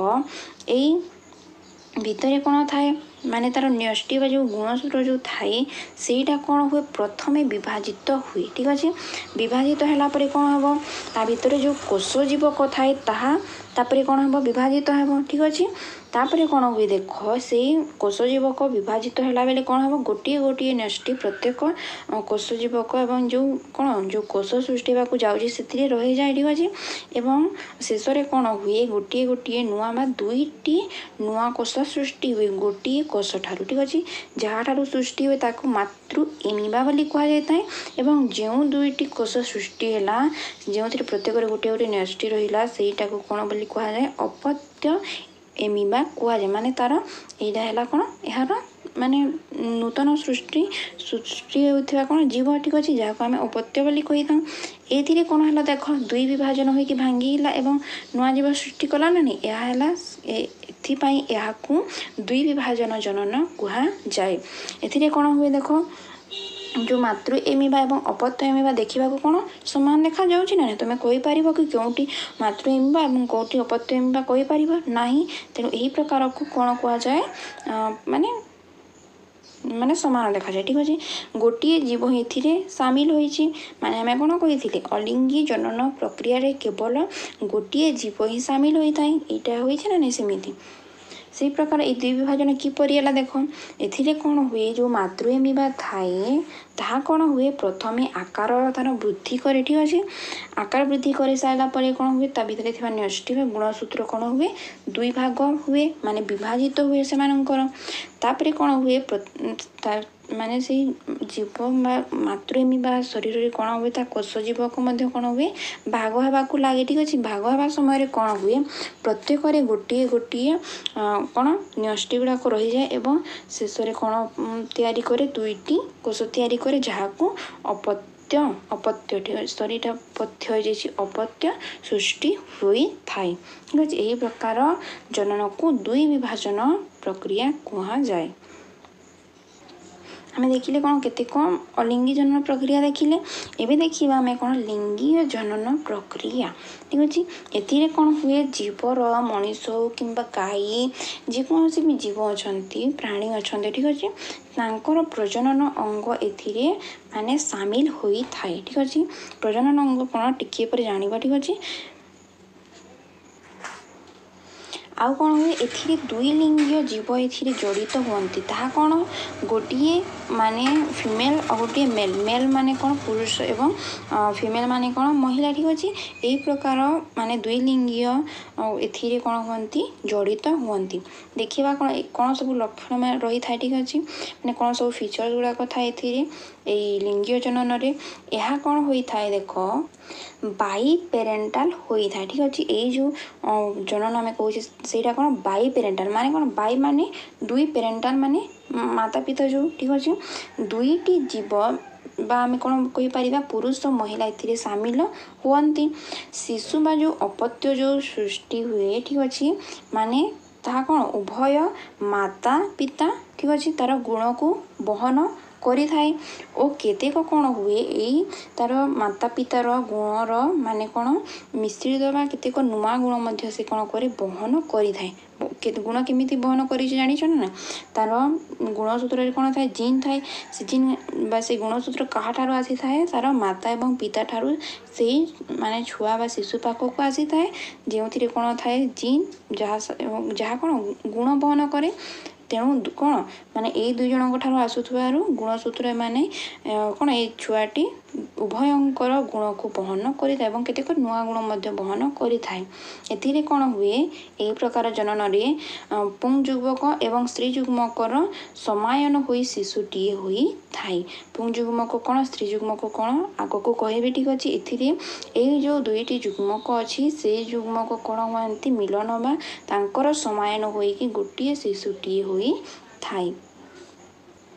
Speaker 1: ଏଇ ଭିତରେ କ'ଣ ଥାଏ, ମାନେ ତାର ନ୍ୟଷ୍ଟି ବା ଯେଉଁ ଗୁଣସୂତ୍ର ଯେଉଁ ଥାଏ, ସେଇଟା କ'ଣ ହୁଏ? ପ୍ରଥମେ ବିଭାଜିତ ହୁଏ। ଠିକ୍ ଅଛି? ବିଭାଜିତ ହେଲା ପରେ କ'ଣ ହେବ? ତା ଭିତରେ ଯେଉଁ କୋଷ ଜୀବକ ଥାଏ ତାହା ତାପରେ କ'ଣ ହେବ? ବିଭାଜିତ ହେବ। ଠିକ୍ ଅଛି? ତାପରେ କ'ଣ ହୁଏ ଦେଖ, ସେଇ କୋଷ ଜୀବକ ବିଭାଜିତ ହେଲା ବେଳେ କ'ଣ ହେବ? ଗୋଟିଏ ଗୋଟିଏ ନ୍ୟଷ୍ଟି ପ୍ରତ୍ୟେକ କୋଷ ଜୀବକ ଏବଂ ଯେଉଁ କ'ଣ ଯେଉଁ କୋଷ ସୃଷ୍ଟି ହେବାକୁ ଯାଉଛି ସେଥିରେ ରହିଯାଏ। ଠିକ୍ ଅଛି? ଏବଂ ଶେଷରେ କ'ଣ ହୁଏ? ଗୋଟିଏ ଗୋଟିଏ ନୂଆ ବା ଦୁଇଟି ନୂଆ କୋଷ ସୃଷ୍ଟି ହୁଏ ଗୋଟିଏ କୋଷ ଠାରୁ। ଠିକ୍ ଅଛି? ଯାହାଠାରୁ ସୃଷ୍ଟି ହୁଏ ତାକୁ ମାତୃ ଏମିବା ବୋଲି କୁହାଯାଇଥାଏ ଏବଂ ଯେଉଁ ଦୁଇଟି କୋଷ ସୃଷ୍ଟି ହେଲା, ଯେଉଁଥିରେ ପ୍ରତ୍ୟେକରେ ଗୋଟିଏ ଗୋଟିଏ ନ୍ୟଷ୍ଟି ରହିଲା, ସେଇଟାକୁ କ'ଣ ବୋଲି କୁହାଯାଏ? ଅପତ୍ୟ ଏମିବା କୁହାଯାଏ। ମାନେ ତାର ଏଇଟା ହେଲା କ'ଣ ଏହାର ମାନେ ନୂତନ ସୃଷ୍ଟି ସୃଷ୍ଟି ହେଉଥିବା କ'ଣ ଜୀବ। ଠିକ୍ ଅଛି? ଯାହାକୁ ଆମେ ଅପତ୍ୟ ବୋଲି କହିଥାଉ। ଏଇଥିରେ କ'ଣ ହେଲା ଦେଖ, ଦୁଇ ବିଭାଜନ ହୋଇକି ଭାଙ୍ଗିଲା ଏବଂ ନୂଆ ଜୀବ ସୃଷ୍ଟି କଲା ନା ନାହିଁ? ଏହା ହେଲା, ଏଥିପାଇଁ ଏହାକୁ ଦୁଇ ବିଭାଜନ ଜନନ କୁହାଯାଏ। ଏଥିରେ କ'ଣ ହୁଏ ଦେଖ, ଯେଉଁ ମାତୃ ଏମିବା ଏବଂ ଅପତ୍ୟ ଏମିବା ଦେଖିବାକୁ କ'ଣ ସମାନ ଦେଖାଯାଉଛି ନା ନାହିଁ? ତୁମେ କହିପାରିବ କି କେଉଁଠି ମାତୃ ଏମିବା ଏବଂ କେଉଁଠି ଅପତ୍ୟ ଏମିବା? କହିପାରିବ ନାହିଁ। ତେଣୁ ଏହି ପ୍ରକାରକୁ କ'ଣ କୁହାଯାଏ? ମାନେ ମାନେ ସମାନ ଦେଖାଯାଏ। ଠିକ୍ ଅଛି, ଗୋଟିଏ ଜୀବ ଏଥିରେ ସାମିଲ ହୋଇଛି। ମାନେ ଆମେ କ'ଣ କହିଥିଲେ? ଅଲିଙ୍ଗୀ ଜନନ ପ୍ରକ୍ରିୟାରେ କେବଳ ଗୋଟିଏ ଜୀବ ହିଁ ସାମିଲ ହୋଇଥାଏ। ଏଇଟା ହୋଇଛି ନା ନାଇଁ? ସେମିତି ସେଇ ପ୍ରକାର ଏଇ ଦୁଇ ବିଭାଜନ କିପରି ହେଲା ଦେଖ। ଏଥିରେ କ'ଣ ହୁଏ? ଯେଉଁ ମାତୃ ଏମିବା ଥାଏ, ତାହା କ'ଣ ହୁଏ? ପ୍ରଥମେ ଆକାର ତାର ବୃଦ୍ଧି କରେ। ଠିକ୍ ଅଛି, ଆକାର ବୃଦ୍ଧି କରିସାରିଲା ପରେ କ'ଣ ହୁଏ? ତା ଭିତରେ ଥିବା ନ୍ୟଷ୍ଟି ବା ଗୁଣସୂତ୍ର କ'ଣ ହୁଏ? ଦୁଇ ଭାଗ ହୁଏ, ମାନେ ବିଭାଜିତ ହୁଏ ସେମାନଙ୍କର। ତାପରେ କ'ଣ ହୁଏ? ମାନେ ସେଇ ଜୀବ ବା ମାତୃ ଏମିବା ଶରୀରରେ କ'ଣ ହୁଏ? ତା କୋଷ ଜୀବକୁ ମଧ୍ୟ କ'ଣ ହୁଏ? ଭାଗ ହେବାକୁ ଲାଗେ। ଠିକ୍ ଅଛି, ଭାଗ ହେବା ସମୟରେ କ'ଣ ହୁଏ? ପ୍ରତ୍ୟେକରେ ଗୋଟିଏ ଗୋଟିଏ କ'ଣ ନ୍ୟଷ୍ଟି ଗୁଡ଼ାକ ରହିଯାଏ ଏବଂ ଶେଷରେ କ'ଣ ତିଆରି କରେ? ଦୁଇଟି କୋଷ ତିଆରି କରେ, ଯାହାକୁ ଅପତ୍ୟ, ଅପତ୍ୟ, ଠିକ୍ ଅଛି, ସରି, ଏଇଟା ପଥ୍ୟ ହୋଇଯାଇଛି, ଅପତ୍ୟ ସୃଷ୍ଟି ହୋଇଥାଏ। ଠିକ୍ ଅଛି, ଏହି ପ୍ରକାର ଜନନକୁ ଦୁଇ ବିଭାଜନ ପ୍ରକ୍ରିୟା କୁହାଯାଏ। ଆମେ ଦେଖିଲେ କ'ଣ କେତେକ ଅଲିଙ୍ଗୀ ଜନନ ପ୍ରକ୍ରିୟା ଦେଖିଲେ। ଏବେ ଦେଖିବା ଆମେ କ'ଣ ଲିଙ୍ଗୀୟ ଜନନ ପ୍ରକ୍ରିୟା। ଠିକ୍ ଅଛି, ଏଥିରେ କ'ଣ ହୁଏ? ଜୀବର, ମଣିଷ ହଉ କିମ୍ବା ଗାଈ, ଯେକୌଣସି ବି ଜୀବ ଅଛନ୍ତି, ପ୍ରାଣୀ ଅଛନ୍ତି, ଠିକ୍ ଅଛି, ତାଙ୍କର ପ୍ରଜନନ ଅଙ୍ଗ ଏଥିରେ ମାନେ ସାମିଲ ହୋଇଥାଏ। ଠିକ୍ ଅଛି, ପ୍ରଜନନ ଅଙ୍ଗ କ'ଣ ଟିକିଏ ପରେ ଜାଣିବା। ଠିକ୍ ଅଛି, ଆଉ କ'ଣ ହୁଏ ଏଥିରେ? ଦୁଇ ଲିଙ୍ଗୀୟ ଜୀବ ଏଥିରେ ଜଡ଼ିତ ହୁଅନ୍ତି। ତାହା କ'ଣ? ଗୋଟିଏ ମାନେ ଫିମେଲ୍ ଆଉ ଗୋଟିଏ ମେଲ୍। ମେଲ୍ ମାନେ କ'ଣ? ପୁରୁଷ, ଏବଂ ଫିମେଲ୍ ମାନେ କ'ଣ? ମହିଳା। ଠିକ୍ ଅଛି, ଏହି ପ୍ରକାର ମାନେ ଦୁଇ ଲିଙ୍ଗୀୟ ଏଥିରେ କ'ଣ ହୁଅନ୍ତି? ଜଡ଼ିତ ହୁଅନ୍ତି। ଦେଖିବା କ'ଣ କ'ଣ ସବୁ ଲକ୍ଷଣ ରହିଥାଏ। ଠିକ୍ ଅଛି, ମାନେ କ'ଣ ସବୁ ଫିଚର୍ସ ଗୁଡ଼ାକ ଥାଏ ଏଥିରେ, ଏଇ ଲିଙ୍ଗୀୟ ଜନନରେ। ଏହା କ'ଣ ହୋଇଥାଏ ଦେଖ, ବାଇ ପେରେଣ୍ଟାଲ ହୋଇଥାଏ। ଠିକ୍ ଅଛି, ଏଇ ଯେଉଁ ଜନନ ଆମେ କହୁଛେ ସେଇଟା କ'ଣ? ବାଇ ପେରେଣ୍ଟାଲ ମାନେ କ'ଣ? ବାଇ ମାନେ ଦୁଇ, ପେରେଣ୍ଟାଲ ମାନେ ମାତା ପିତା ଯେଉଁ। ଠିକ୍ ଅଛି, ଦୁଇଟି ଜୀବ ବା ଆମେ କ'ଣ କହିପାରିବା, ପୁରୁଷ ମହିଳା ଏଥିରେ ସାମିଲ ହୁଅନ୍ତି। ଶିଶୁ ବା ଯେଉଁ ଅପତ୍ୟ ଯେଉଁ ସୃଷ୍ଟି ହୁଏ, ଠିକ୍ ଅଛି, ମାନେ ତାହା କ'ଣ ଉଭୟ ମାତା ପିତା, ଠିକ୍ ଅଛି, ତାର ଗୁଣକୁ ବହନ କରିଥାଏ। ଓ କେତେକ କ'ଣ ହୁଏ, ଏଇ ତାର ମାତା ପିତାର ଗୁଣର ମାନେ କ'ଣ ମିଶ୍ରିତ ବା କେତେକ ନୂଆ ଗୁଣ ମଧ୍ୟ ସେ କ'ଣ କରେ? ବହନ କରିଥାଏ। ଗୁଣ କେମିତି ବହନ କରିଛି ଜାଣିଛ ନା? ତାର ଗୁଣସୂତ୍ରରେ କ'ଣ ଥାଏ? ଜିନ୍ ଥାଏ। ସେ ଜିନ୍ ବା ସେ ଗୁଣସୂତ୍ର କାହାଠାରୁ ଆସିଥାଏ? ତାର ମାତା ଏବଂ ପିତା ଠାରୁ ସେଇ ମାନେ ଛୁଆ ବା ଶିଶୁ ପାଖକୁ ଆସିଥାଏ, ଯେଉଁଥିରେ କ'ଣ ଥାଏ? ଜିନ୍, ଯାହା ଯାହା କ'ଣ ଗୁଣ ବହନ କରେ। ତେଣୁ କ'ଣ ମାନେ ଏଇ ଦୁଇ ଜଣଙ୍କ ଠାରୁ ଆସୁଥିବାରୁ ଗୁଣସୂତ୍ର ମାନେ କ'ଣ ଏଇ ଛୁଆଟି ଉଭୟଙ୍କର ଗୁଣକୁ ବହନ କରିଥାଏ ଏବଂ କେତେକ ନୂଆ ଗୁଣ ମଧ୍ୟ ବହନ କରିଥାଏ। ଏଥିରେ କ'ଣ ହୁଏ? ଏହି ପ୍ରକାର ଜନନରେ ପୁଂ ଯୁଗ୍ମକ ଏବଂ ସ୍ତ୍ରୀ ଯୁଗ୍ମକର ସମାୟନ ହୋଇ ଶିଶୁଟିଏ ହୋଇଥାଏ। ପୁଂ ଯୁଗ୍ମକ କ'ଣ, ସ୍ତ୍ରୀ ଯୁଗ୍ମକ କ'ଣ ଆଗକୁ କହିବି। ଠିକ୍ ଅଛି, ଏଥିରେ ଏଇ ଯେଉଁ ଦୁଇଟି ଯୁଗ୍ମକ ଅଛି, ସେଇ ଯୁଗ୍ମକ କ'ଣ ହୁଅନ୍ତି? ମିଲନ ବା ତାଙ୍କର ସମାୟନ ହୋଇକି ଗୋଟିଏ ଶିଶୁଟିଏ ହୋଇଥାଏ।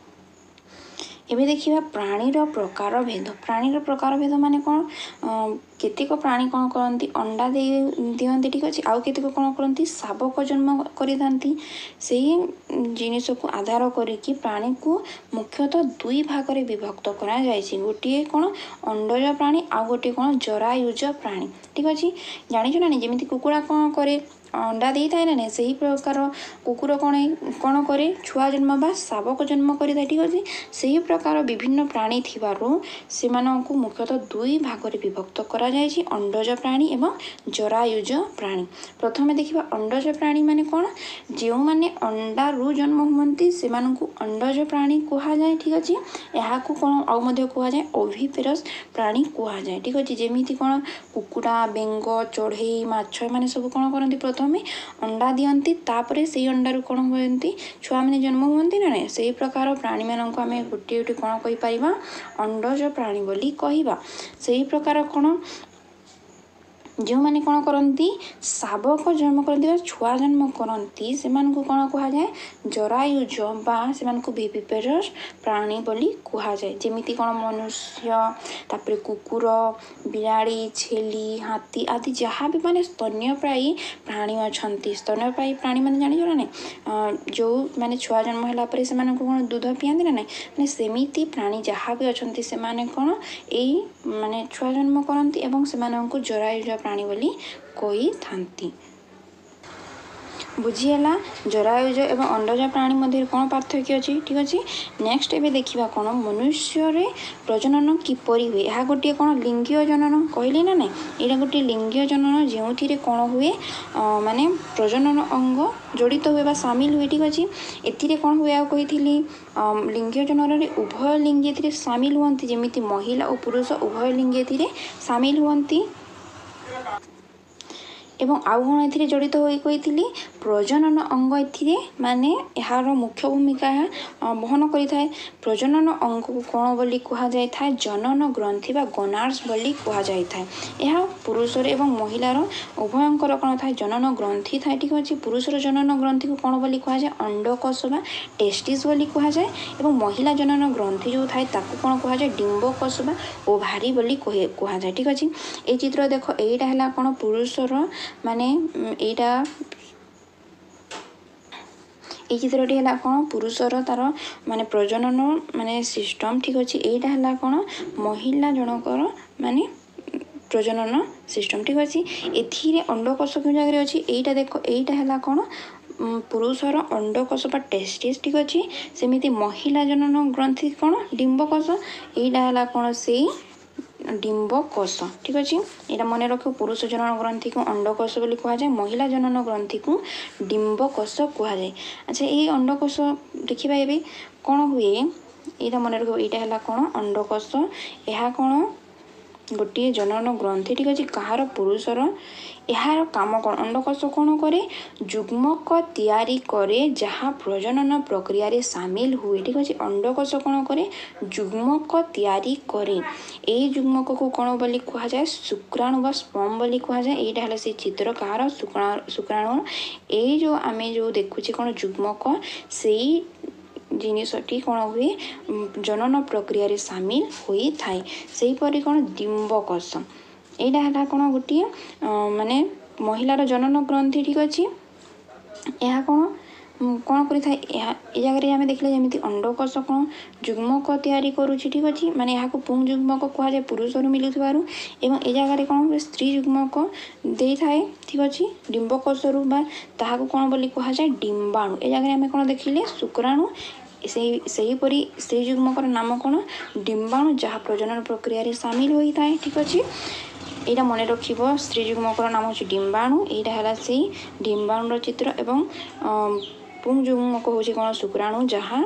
Speaker 1: ଏବେ ଦେଖିବା ପ୍ରାଣୀର ପ୍ରକାର ଭେଦ। ପ୍ରାଣୀର ପ୍ରକାର ଭେଦ ମାନେ କ'ଣ? କେତେକ ପ୍ରାଣୀ କ'ଣ କରନ୍ତି? ଅଣ୍ଡା ଦେଇ ଦିଅନ୍ତି। ଠିକ୍ ଅଛି, ଆଉ କେତେକ କ'ଣ କରନ୍ତି? ଶାବକ ଜନ୍ମ କରିଥାନ୍ତି। ସେଇ ଜିନିଷକୁ ଆଧାର କରିକି ପ୍ରାଣୀକୁ ମୁଖ୍ୟତଃ ଦୁଇ ଭାଗରେ ବିଭକ୍ତ କରାଯାଇଛି। ଗୋଟିଏ କ'ଣ ଅଣ୍ଡଜ ପ୍ରାଣୀ, ଆଉ ଗୋଟିଏ କ'ଣ ଜରାୟୁଜ ପ୍ରାଣୀ। ଠିକ୍ ଅଛି, ଜାଣିଛ ନା ନାଇଁ? ଯେମିତି କୁକୁଡ଼ା କ'ଣ କରେ? ଅଣ୍ଡା ଦେଇଥାଏ ନା ନାଇଁ? ସେହି ପ୍ରକାର କୁକୁର କ'ଣ କ'ଣ କରେ? ଛୁଆ ଜନ୍ମ ବା ଶାବକ ଜନ୍ମ କରିଥାଏ। ଠିକ୍ ଅଛି, ସେହି ପ୍ରକାର ବିଭିନ୍ନ ପ୍ରାଣୀ ଥିବାରୁ ସେମାନଙ୍କୁ ମୁଖ୍ୟତଃ ଦୁଇ ଭାଗରେ ବିଭକ୍ତ କରାଯାଇଛି, ଅଣ୍ଡଜ ପ୍ରାଣୀ ଏବଂ ଜରାୟୁଜ ପ୍ରାଣୀ। ପ୍ରଥମେ ଦେଖିବା ଅଣ୍ଡଜ ପ୍ରାଣୀ ମାନେ କ'ଣ? ଯେଉଁମାନେ ଅଣ୍ଡାରୁ ଜନ୍ମ ହୁଅନ୍ତି ସେମାନଙ୍କୁ ଅଣ୍ଡଜ ପ୍ରାଣୀ କୁହାଯାଏ। ଠିକ୍ ଅଛି, ଏହାକୁ କ'ଣ ଆଉ ମଧ୍ୟ କୁହାଯାଏ? ଓଭିପେରସ୍ ପ୍ରାଣୀ କୁହାଯାଏ। ଠିକ୍ ଅଛି, ଯେମିତି କ'ଣ କୁକୁଡ଼ା, ବେଙ୍ଗ, ଚଢ଼େଇ, ମାଛ, ଏମାନେ ସବୁ କ'ଣ କରନ୍ତି? ପ୍ରଥମେ ଅଣ୍ଡା ଦିଅନ୍ତି, ତାପରେ ସେଇ ଅଣ୍ଡାରୁ କ'ଣ ହୁଅନ୍ତି? ଛୁଆମାନେ ଜନ୍ମ ହୁଅନ୍ତି ନା ନାହିଁ? ସେଇ ପ୍ରକାର ପ୍ରାଣୀମାନଙ୍କୁ ଆମେ ଗୋଟିଏ ଗୋଟିଏ କ'ଣ କହିପାରିବା? ଅଣ୍ଡଜ ପ୍ରାଣୀ ବୋଲି କହିବା। ସେଇ ପ୍ରକାର କ'ଣ ଯେଉଁମାନେ କ'ଣ କରନ୍ତି? ଶାବକ ଜନ୍ମ କରନ୍ତି ବା ଛୁଆ ଜନ୍ମ କରନ୍ତି, ସେମାନଙ୍କୁ କ'ଣ କୁହାଯାଏ? ଜରାୟୁଜ ବା ସେମାନଙ୍କୁ ଭିଭିପେରସ୍ ପ୍ରାଣୀ ବୋଲି କୁହାଯାଏ। ଯେମିତି କ'ଣ ମନୁଷ୍ୟ, ତାପରେ କୁକୁର, ବିରାଡ଼ି, ଛେଳି, ହାତୀ ଆଦି ଯାହା ବି ମାନେ ସ୍ତନ୍ୟପାୟୀ ପ୍ରାଣୀ ଅଛନ୍ତି। ସ୍ତନ୍ୟପାୟୀ ପ୍ରାଣୀ ମାନେ ଜାଣିଛ ନା ନାହିଁ? ଯେଉଁ ମାନେ ଛୁଆ ଜନ୍ମ ହେଲା ପରେ ସେମାନଙ୍କୁ କ'ଣ ଦୁଧ ପିଆନ୍ତି ନା ନାହିଁ? ମାନେ ସେମିତି ପ୍ରାଣୀ ଯାହା ବି ଅଛନ୍ତି, ସେମାନେ କ'ଣ ଏଇ ମାନେ ଛୁଆ ଜନ୍ମ କରନ୍ତି ଏବଂ ସେମାନଙ୍କୁ ଜରାୟୁଜ ପ୍ରାଣୀ ବୋଲି କହିଥାନ୍ତି। ବୁଝିହେଲା ଜରାୟୁଜ ଏବଂ ଅଣ୍ଡଜ ପ୍ରାଣୀ ମଧ୍ୟରେ କ'ଣ ପାର୍ଥକ୍ୟ ଅଛି? ଠିକ୍ ଅଛି। ନେକ୍ସଟ ଏବେ ଦେଖିବା କ'ଣ, ମନୁଷ୍ୟରେ ପ୍ରଜନନ କିପରି ହୁଏ। ଏହା ଗୋଟିଏ କ'ଣ ଲିଙ୍ଗୀୟ ଜନନ କହିଲି ନା ନାଇଁ? ଏଇଟା ଗୋଟିଏ ଲିଙ୍ଗୀୟ ଜନନ, ଯେଉଁଥିରେ କ'ଣ ହୁଏ, ମାନେ ପ୍ରଜନନ ଅଙ୍ଗ ଜଡ଼ିତ ହୁଏ ବା ସାମିଲ ହୁଏ। ଠିକ୍ ଅଛି। ଏଥିରେ କ'ଣ ହୁଏ ଆଉ କହିଥିଲି, ଲିଙ୍ଗୀୟ ଜନନରେ ଉଭୟ ଲିଙ୍ଗି ଏଥିରେ ସାମିଲ ହୁଅନ୍ତି, ଯେମିତି ମହିଳା ଓ ପୁରୁଷ ଉଭୟ ଲିଙ୍ଗି ଏଥିରେ ସାମିଲ ହୁଅନ୍ତି। ଏବଂ ଆଉ କ'ଣ ଏଥିରେ ଜଡ଼ିତ ହୋଇ କହିଥିଲି, ପ୍ରଜନନ ଅଙ୍ଗ ଏଥିରେ ମାନେ ଏହାର ମୁଖ୍ୟ ଭୂମିକା ଏହା ବହନ କରିଥାଏ। ପ୍ରଜନନ ଅଙ୍ଗକୁ କ'ଣ ବୋଲି କୁହାଯାଇଥାଏ? ଜନନ ଗ୍ରନ୍ଥି ବା ଗୋନାଡ୍ସ ବୋଲି କୁହାଯାଇଥାଏ। ଏହା ପୁରୁଷର ଏବଂ ମହିଳାର ଉଭୟଙ୍କର କ'ଣ ଥାଏ? ଜନନ ଗ୍ରନ୍ଥି ଥାଏ। ଠିକ୍ ଅଛି। ପୁରୁଷର ଜନନ ଗ୍ରନ୍ଥିକୁ କ'ଣ ବୋଲି କୁହାଯାଏ? ଅଣ୍ଡକୋଷ ବା ଟେଷ୍ଟିସ୍ ବୋଲି କୁହାଯାଏ। ଏବଂ ମହିଳା ଜନନ ଗ୍ରନ୍ଥି ଯେଉଁ ଥାଏ, ତାକୁ କ'ଣ କୁହାଯାଏ? ଡିମ୍ବକୋଷ ବା ଓଭାରି ବୋଲି କୁହାଯାଏ। ଠିକ୍ ଅଛି। ଏଇ ଚିତ୍ର ଦେଖ, ଏଇଟା ହେଲା କ'ଣ ପୁରୁଷର ମାନେ ଏଇଟା, ଏଇ ଚିତ୍ରଟି ହେଲା କ'ଣ ପୁରୁଷର ତାର ମାନେ ପ୍ରଜନନ ମାନେ ସିଷ୍ଟମ୍। ଠିକ୍ ଅଛି। ଏଇଟା ହେଲା କ'ଣ ମହିଳା ଜଣଙ୍କର ମାନେ ପ୍ରଜନନ ସିଷ୍ଟମ୍। ଠିକ୍ ଅଛି। ଏଥିରେ ଅଣ୍ଡକୋଷ କେଉଁ ଜାଗାରେ ଅଛି? ଏଇଟା ଦେଖ, ଏଇଟା ହେଲା କ'ଣ ପୁରୁଷର ଅଣ୍ଡକୋଷ ବା ଟେଷ୍ଟିସ୍। ଠିକ୍ ଅଛି। ସେମିତି ମହିଳା ଜନନ ଗ୍ରନ୍ଥି କ'ଣ? ଡିମ୍ବକୋଷ। ଏଇଟା ହେଲା କ'ଣ ସେଇ ଡିମ୍ବକୋଷ। ଠିକ୍ ଅଛି। ଏଇଟା ମନେ ରଖିବ, ପୁରୁଷ ଜନନ ଗ୍ରନ୍ଥିକୁ ଅଣ୍ଡକୋଷ ବୋଲି କୁହାଯାଏ, ମହିଳା ଜନନ ଗ୍ରନ୍ଥିକୁ ଡିମ୍ବକୋଷ କୁହାଯାଏ। ଆଚ୍ଛା, ଏଇ ଅଣ୍ଡକୋଷ ଦେଖିବା ଏବେ କ'ଣ ହୁଏ। ଏଇଟା ମନେ ରଖିବ, ଏଇଟା ହେଲା କ'ଣ ଅଣ୍ଡକୋଷ, ଏହା କ'ଣ ଗୋଟିଏ ଜନନ ଗ୍ରନ୍ଥି। ଠିକ୍ ଅଛି। କାହାର? ପୁରୁଷର। ଏହାର କାମ କ'ଣ? ଅଣ୍ଡକୋଷ କ'ଣ କରେ? ଯୁଗ୍ମକ ତିଆରି କରେ, ଯାହା ପ୍ରଜନନ ପ୍ରକ୍ରିୟାରେ ସାମିଲ ହୁଏ। ଠିକ୍ ଅଛି। ଅଣ୍ଡକୋଷ କ'ଣ କରେ? ଯୁଗ୍ମକ ତିଆରି କରେ। ଏଇ ଯୁଗ୍ମକକୁ କ'ଣ ବୋଲି କୁହାଯାଏ? ଶୁକ୍ରାଣୁ ବା ସ୍ପମ୍ ବୋଲି କୁହାଯାଏ। ଏଇଟା ହେଲା ସେଇ ଚିତ୍ର, କାହାର? ଶୁକ୍ରାଣୁ। ଏଇ ଯେଉଁ ଆମେ ଯେଉଁ ଦେଖୁଛେ କ'ଣ ଯୁଗ୍ମକ, ସେଇ ଜିନିଷଟି କ'ଣ ହୁଏ, ଜନନ ପ୍ରକ୍ରିୟାରେ ସାମିଲ ହୋଇଥାଏ। ସେହିପରି କ'ଣ ଡିମ୍ବକୋଷ, ଏଇଟା ହେଲା କ'ଣ ଗୋଟିଏ ମାନେ ମହିଳାର ଜନନ ଗ୍ରନ୍ଥି। ଠିକ୍ ଅଛି। ଏହା କ'ଣ କ'ଣ କରିଥାଏ? ଏହା ଏ ଜାଗାରେ ଆମେ ଦେଖିଲେ ଯେମିତି ଅଣ୍ଡକୋଷ କ'ଣ ଯୁଗ୍ମକ ତିଆରି କରୁଛି। ଠିକ୍ ଅଛି। ମାନେ ଏହାକୁ ପୁଂ ଯୁଗ୍ମକ କୁହାଯାଏ ପୁରୁଷରୁ ମିଳୁଥିବାରୁ। ଏବଂ ଏ ଜାଗାରେ କ'ଣ ସ୍ତ୍ରୀ ଯୁଗ୍ମକ ଦେଇଥାଏ। ଠିକ୍ ଅଛି, ଡିମ୍ବକୋଷରୁ ବା ତାହାକୁ କ'ଣ ବୋଲି କୁହାଯାଏ? ଡିମ୍ବାଣୁ। ଏ ଜାଗାରେ ଆମେ କ'ଣ ଦେଖିଲେ? ଶୁକ୍ରାଣୁ। ସେଇ ସେହିପରି ସ୍ତ୍ରୀ ଯୁଗ୍ମକର ନାମ କ'ଣ? ଡିମ୍ବାଣୁ, ଯାହା ପ୍ରଜନନ ପ୍ରକ୍ରିୟାରେ ସାମିଲ ହୋଇଥାଏ। ଠିକ୍ ଅଛି। ଏଇଟା ମନେ ରଖିବ, ସ୍ତ୍ରୀ ଯୁଗ୍ମକର ନାମ ହେଉଛି ଡିମ୍ବାଣୁ। ଏଇଟା ହେଲା ସେଇ ଡିମ୍ବାଣୁର ଚିତ୍ର। ଏବଂ ପୁଂ ଯୁଗ୍ମକ ହେଉଛି କ'ଣ ଶୁକ୍ରାଣୁ, ଯାହା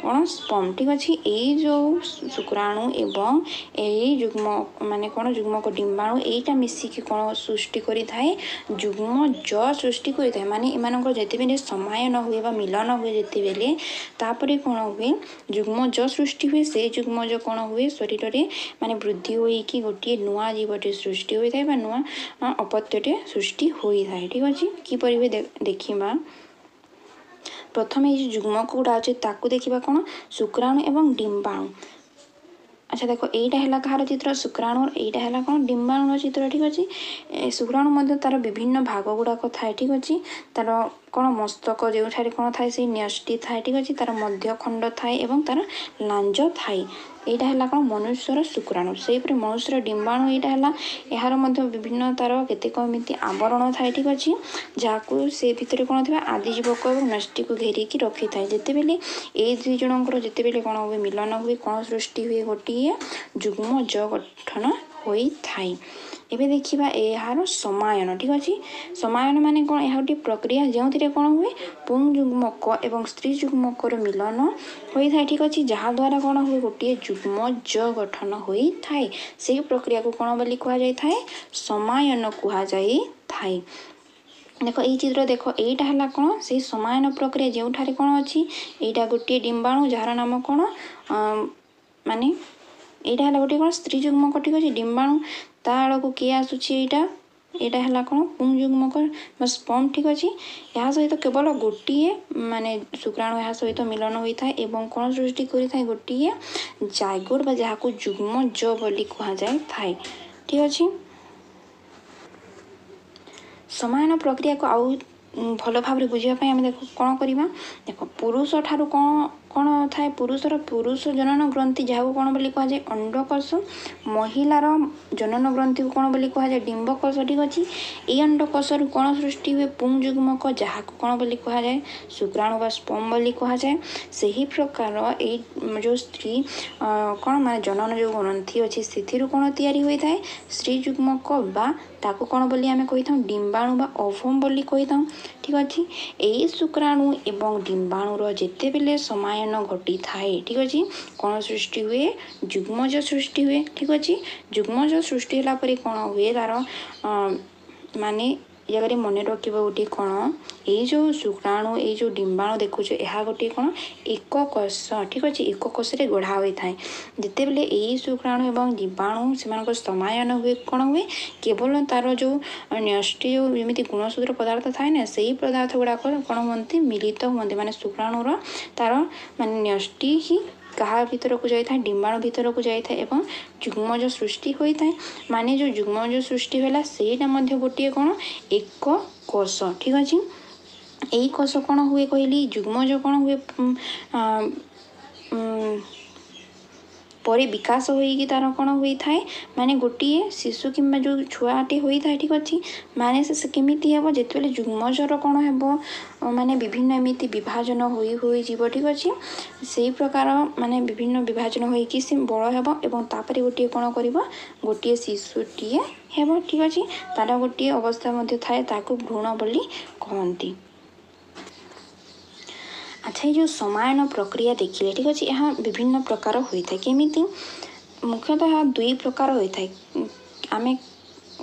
Speaker 1: କ'ଣ ସ୍ପମ୍। ଠିକ୍ ଅଛି। ଏଇ ଯେଉଁ ଶୁକ୍ରାଣୁ ଏବଂ ଏଇ ଯୁଗ୍ମ ମାନେ କ'ଣ ଯୁଗ୍ମକ ଡିମ୍ବାଣୁ, ଏଇଟା ମିଶିକି କ'ଣ ସୃଷ୍ଟି କରିଥାଏ? ଯୁଗ୍ମ ଜ ସୃଷ୍ଟି କରିଥାଏ। ମାନେ ଏମାନଙ୍କର ଯେତେବେଳେ ସମାୟନ ହୁଏ ବା ମିଲନ ହୁଏ ଯେତେବେଳେ, ତାପରେ କ'ଣ ହୁଏ? ଯୁଗ୍ମ ଜ ସୃଷ୍ଟି ହୁଏ। ସେ ଯୁଗ୍ମଜ କ'ଣ ହୁଏ, ଶରୀରରେ ମାନେ ବୃଦ୍ଧି ହୋଇକି ଗୋଟିଏ ନୂଆ ଜୀବଟେ ସୃଷ୍ଟି ହୋଇଥାଏ ବା ନୂଆ ଅପତ୍ୟଟେ ସୃଷ୍ଟି ହୋଇଥାଏ। ଠିକ୍ ଅଛି। କିପରି ହୁଏ ଦେଖିବା। ପ୍ରଥମେ ଏଇ ଯେଉଁ ଯୁଗ୍ମକ ଗୁଡ଼ା ଅଛି ତାକୁ ଦେଖିବା, କ'ଣ ଶୁକ୍ରାଣୁ ଏବଂ ଡିମ୍ବାଣୁ। ଆଚ୍ଛା ଦେଖ, ଏଇଟା ହେଲା କାହାର ଚିତ୍ର? ଶୁକ୍ରାଣୁର। ଏଇଟା ହେଲା କ'ଣ ଡିମ୍ବାଣୁର ଚିତ୍ର। ଠିକ୍ ଅଛି। ଶୁକ୍ରାଣୁ ମଧ୍ୟ ତାର ବିଭିନ୍ନ ଭାଗ ଗୁଡ଼ାକ ଥାଏ। ଠିକ୍ ଅଛି। ତାର କ'ଣ ମସ୍ତକ ଯେଉଁଠାରେ କ'ଣ ଥାଏ, ସେଇ ନ୍ୟଷ୍ଟି ଥାଏ। ଠିକ୍ ଅଛି। ତାର ମଧ୍ୟଖଣ୍ଡ ଥାଏ ଏବଂ ତାର ଲାଞ୍ଜ ଥାଏ। ଏଇଟା ହେଲା କ'ଣ ମନୁଷ୍ୟର ଶୁକ୍ରାଣୁ। ସେହିପରି ମନୁଷ୍ୟର ଡିମ୍ବାଣୁ ଏଇଟା ହେଲା, ଏହାର ମଧ୍ୟ ବିଭିନ୍ନ ତାର କେତେକ ଏମିତି ଆବରଣ ଥାଏ। ଠିକ୍ ଅଛି। ଯାହାକୁ ସେ ଭିତରେ କ'ଣ ଥିବା ଆଦିଜୀବକ ଏବଂ ନ୍ୟଷ୍ଟିକୁ ଘେରିକି ରଖିଥାଏ। ଯେତେବେଳେ ଏଇ ଦୁଇ ଜଣଙ୍କର ଯେତେବେଳେ କ'ଣ ହୁଏ, ମିଲନ ହୁଏ, କ'ଣ ସୃଷ୍ଟି ହୁଏ? ଗୋଟିଏ ଯୁଗ୍ମ ଜ ଗଠନ ହୋଇଥାଏ। ଏବେ ଦେଖିବା ଏହାର ସମାୟନ। ଠିକ୍ ଅଛି। ସମାୟନ ମାନେ କ'ଣ? ଏହା ଗୋଟିଏ ପ୍ରକ୍ରିୟା ଯେଉଁଥିରେ କ'ଣ ହୁଏ, ପୁଂ ଯୁଗ୍ମକ ଏବଂ ସ୍ତ୍ରୀ ଯୁଗ୍ମକର ମିଲନ ହୋଇଥାଏ। ଠିକ୍ ଅଛି। ଯାହାଦ୍ୱାରା କ'ଣ ହୁଏ, ଗୋଟିଏ ଯୁଗ୍ମ ଜ ଗଠନ ହୋଇଥାଏ। ସେହି ପ୍ରକ୍ରିୟାକୁ କ'ଣ ବୋଲି କୁହାଯାଇଥାଏ? ସମାୟନ କୁହାଯାଇଥାଏ। ଦେଖ, ଏଇ ଚିତ୍ର ଦେଖ, ଏଇଟା ହେଲା କ'ଣ ସେଇ ସମାୟନ ପ୍ରକ୍ରିୟା, ଯେଉଁଠାରେ କ'ଣ ଅଛି, ଏଇଟା ଗୋଟିଏ ଡିମ୍ବାଣୁ ଯାହାର ନାମ କ'ଣ, ମାନେ ଏଇଟା ହେଲା ଗୋଟିଏ କ'ଣ ସ୍ତ୍ରୀ ଯୁଗ୍ମକ। ଠିକ୍ ଅଛି। ଡିମ୍ବାଣୁ, ତା ଆଡ଼କୁ କିଏ ଆସୁଛି? ଏଇଟା ଏଇଟା ହେଲା କ'ଣ ପୁଂ ଯୁଗ୍ମକ ବା ସ୍ପମ୍। ଠିକ୍ ଅଛି। ଏହା ସହିତ କେବଳ ଗୋଟିଏ ମାନେ ଶୁକ୍ରାଣୁ ଏହା ସହିତ ମିଳନ ହୋଇଥାଏ ଏବଂ କ'ଣ ସୃଷ୍ଟି କରିଥାଏ? ଗୋଟିଏ ଜାଇଗୋଟ ବା ଯାହାକୁ ଯୁଗ୍ମ ଜ ବୋଲି କୁହାଯାଇଥାଏ। ଠିକ୍ ଅଛି। ସମାୟନ ପ୍ରକ୍ରିୟାକୁ ଆଉ ଭଲ ଭାବରେ ବୁଝିବା ପାଇଁ ଆମେ ଦେଖ କ'ଣ କରିବା। ଦେଖ, ପୁରୁଷ ଠାରୁ କ'ଣ କ'ଣ ଥାଏ? ପୁରୁଷର ପୁରୁଷ ଜନନ ଗ୍ରନ୍ଥି, ଯାହାକୁ କ'ଣ ବୋଲି କୁହାଯାଏ? ଅଣ୍ଡକୋଷ। ମହିଳାର ଜନନ ଗ୍ରନ୍ଥିକୁ କ'ଣ ବୋଲି କୁହାଯାଏ? ଡିମ୍ବକୋଷ। ଠିକ୍ ଅଛି। ଏଇ ଅଣ୍ଡକୋଷରୁ କ'ଣ ସୃଷ୍ଟି ହୁଏ? ପୁଂଯୁଗ୍ମକ, ଯାହାକୁ କ'ଣ ବୋଲି କୁହାଯାଏ? ଶୁକ୍ରାଣୁ ବା ସ୍ପମ୍ ବୋଲି କୁହାଯାଏ। ସେହି ପ୍ରକାର ଏଇ ଯେଉଁ ସ୍ତ୍ରୀ କ'ଣ ମାନେ ଜନନ ଯେଉଁ ଗ୍ରନ୍ଥି ଅଛି, ସେଥିରୁ କ'ଣ ତିଆରି ହୋଇଥାଏ? ସ୍ତ୍ରୀ ଯୁଗ୍ମକ, ବା ତାକୁ କ'ଣ ବୋଲି ଆମେ କହିଥାଉ? ଡିମ୍ବାଣୁ ବା ଓଭମ୍ ବୋଲି କହିଥାଉ। ଠିକ୍ ଅଛି। ଏଇ ଶୁକ୍ରାଣୁ ଏବଂ ଡିମ୍ବାଣୁର ଯେତେବେଳେ ସମାୟନ ଘଟିଥାଏ, ଠିକ୍ ଅଛି, କ'ଣ ସୃଷ୍ଟି ହୁଏ? ଯୁଗ୍ମଜ ସୃଷ୍ଟି ହୁଏ। ଠିକ୍ ଅଛି। ଯୁଗ୍ମଜ ସୃଷ୍ଟି ହେଲା ପରେ କ'ଣ ହୁଏ ତାର? ମାନେ ଏ ଜାଗାରେ ମନେ ରଖିବ ଗୋଟିଏ କ'ଣ, ଏଇ ଯେଉଁ ଶୁକ୍ରାଣୁ, ଏଇ ଯେଉଁ ଡିମ୍ବାଣୁ ଦେଖୁଛ, ଏହା ଗୋଟିଏ କ'ଣ? ଏକ କୋଷ। ଠିକ୍ ଅଛି। ଏକ କୋଷରେ ଗଢ଼ା ହୋଇଥାଏ। ଯେତେବେଳେ ଏଇ ଶୁକ୍ରାଣୁ ଏବଂ ଡିମ୍ବାଣୁ ସେମାନଙ୍କ ସମାୟନ ହୁଏ, କ'ଣ ହୁଏ? କେବଳ ତାର ଯେଉଁ ନ୍ୟଷ୍ଟି, ଯେଉଁ ଯେମିତି ଗୁଣସୂତ୍ର ପଦାର୍ଥ ଥାଏ ନା, ସେଇ ପଦାର୍ଥ ଗୁଡ଼ାକ କ'ଣ ହୁଅନ୍ତି? ମିଳିତ ହୁଅନ୍ତି। ମାନେ ଶୁକ୍ରାଣୁର ତାର ମାନେ ନ୍ୟଷ୍ଟି ହିଁ କାହା ଭିତରକୁ ଯାଇଥାଏ? ଡିମ୍ବାଣୁ ଭିତରକୁ ଯାଇଥାଏ ଏବଂ ଯୁଗ୍ମଜ ସୃଷ୍ଟି ହୋଇଥାଏ। ମାନେ ଯେଉଁ ଯୁଗ୍ମଜ ସୃଷ୍ଟି ହେଲା, ସେଇଟା ମଧ୍ୟ ଗୋଟିଏ କ'ଣ? ଏକ କୋଷ। ଠିକ୍ ଅଛି। ଏଇ କୋଷ କ'ଣ ହୁଏ କହିଲି? ଯୁଗ୍ମଜ କ'ଣ ହୁଏ? ପରେ ବିକାଶ ହୋଇକି ତାର କ'ଣ ହୋଇଥାଏ? ମାନେ ଗୋଟିଏ ଶିଶୁ କିମ୍ବା ଯେଉଁ ଛୁଆଟି ହୋଇଥାଏ। ଠିକ୍ ଅଛି। ମାନେ ସେ କେମିତି ହେବ? ଯେତେବେଳେ ଯୁଗ୍ମଜର କ'ଣ ହେବ, ମାନେ ବିଭିନ୍ନ ଏମିତି ବିଭାଜନ ହୋଇ ହୋଇଯିବ। ଠିକ୍ ଅଛି। ସେଇ ପ୍ରକାର ମାନେ ବିଭିନ୍ନ ବିଭାଜନ ହୋଇକି ସେ ବଡ଼ ହେବ ଏବଂ ତାପରେ ଗୋଟିଏ କ'ଣ କରିବ? ଗୋଟିଏ ଶିଶୁଟିଏ ହେବ। ଠିକ୍ ଅଛି। ତାର ଗୋଟିଏ ଅବସ୍ଥା ମଧ୍ୟ ଥାଏ, ତାକୁ ଭ୍ରୂଣ ବୋଲି କହନ୍ତି। ଆଚ୍ଛା, ଏଇ ଯେଉଁ ସମାୟନ ପ୍ରକ୍ରିୟା ଦେଖିଲେ, ଠିକ୍ ଅଛି, ଏହା ବିଭିନ୍ନ ପ୍ରକାର ହୋଇଥାଏ। କେମିତି? ମୁଖ୍ୟତଃ ଏହା ଦୁଇ ପ୍ରକାର ହୋଇଥାଏ। ଆମେ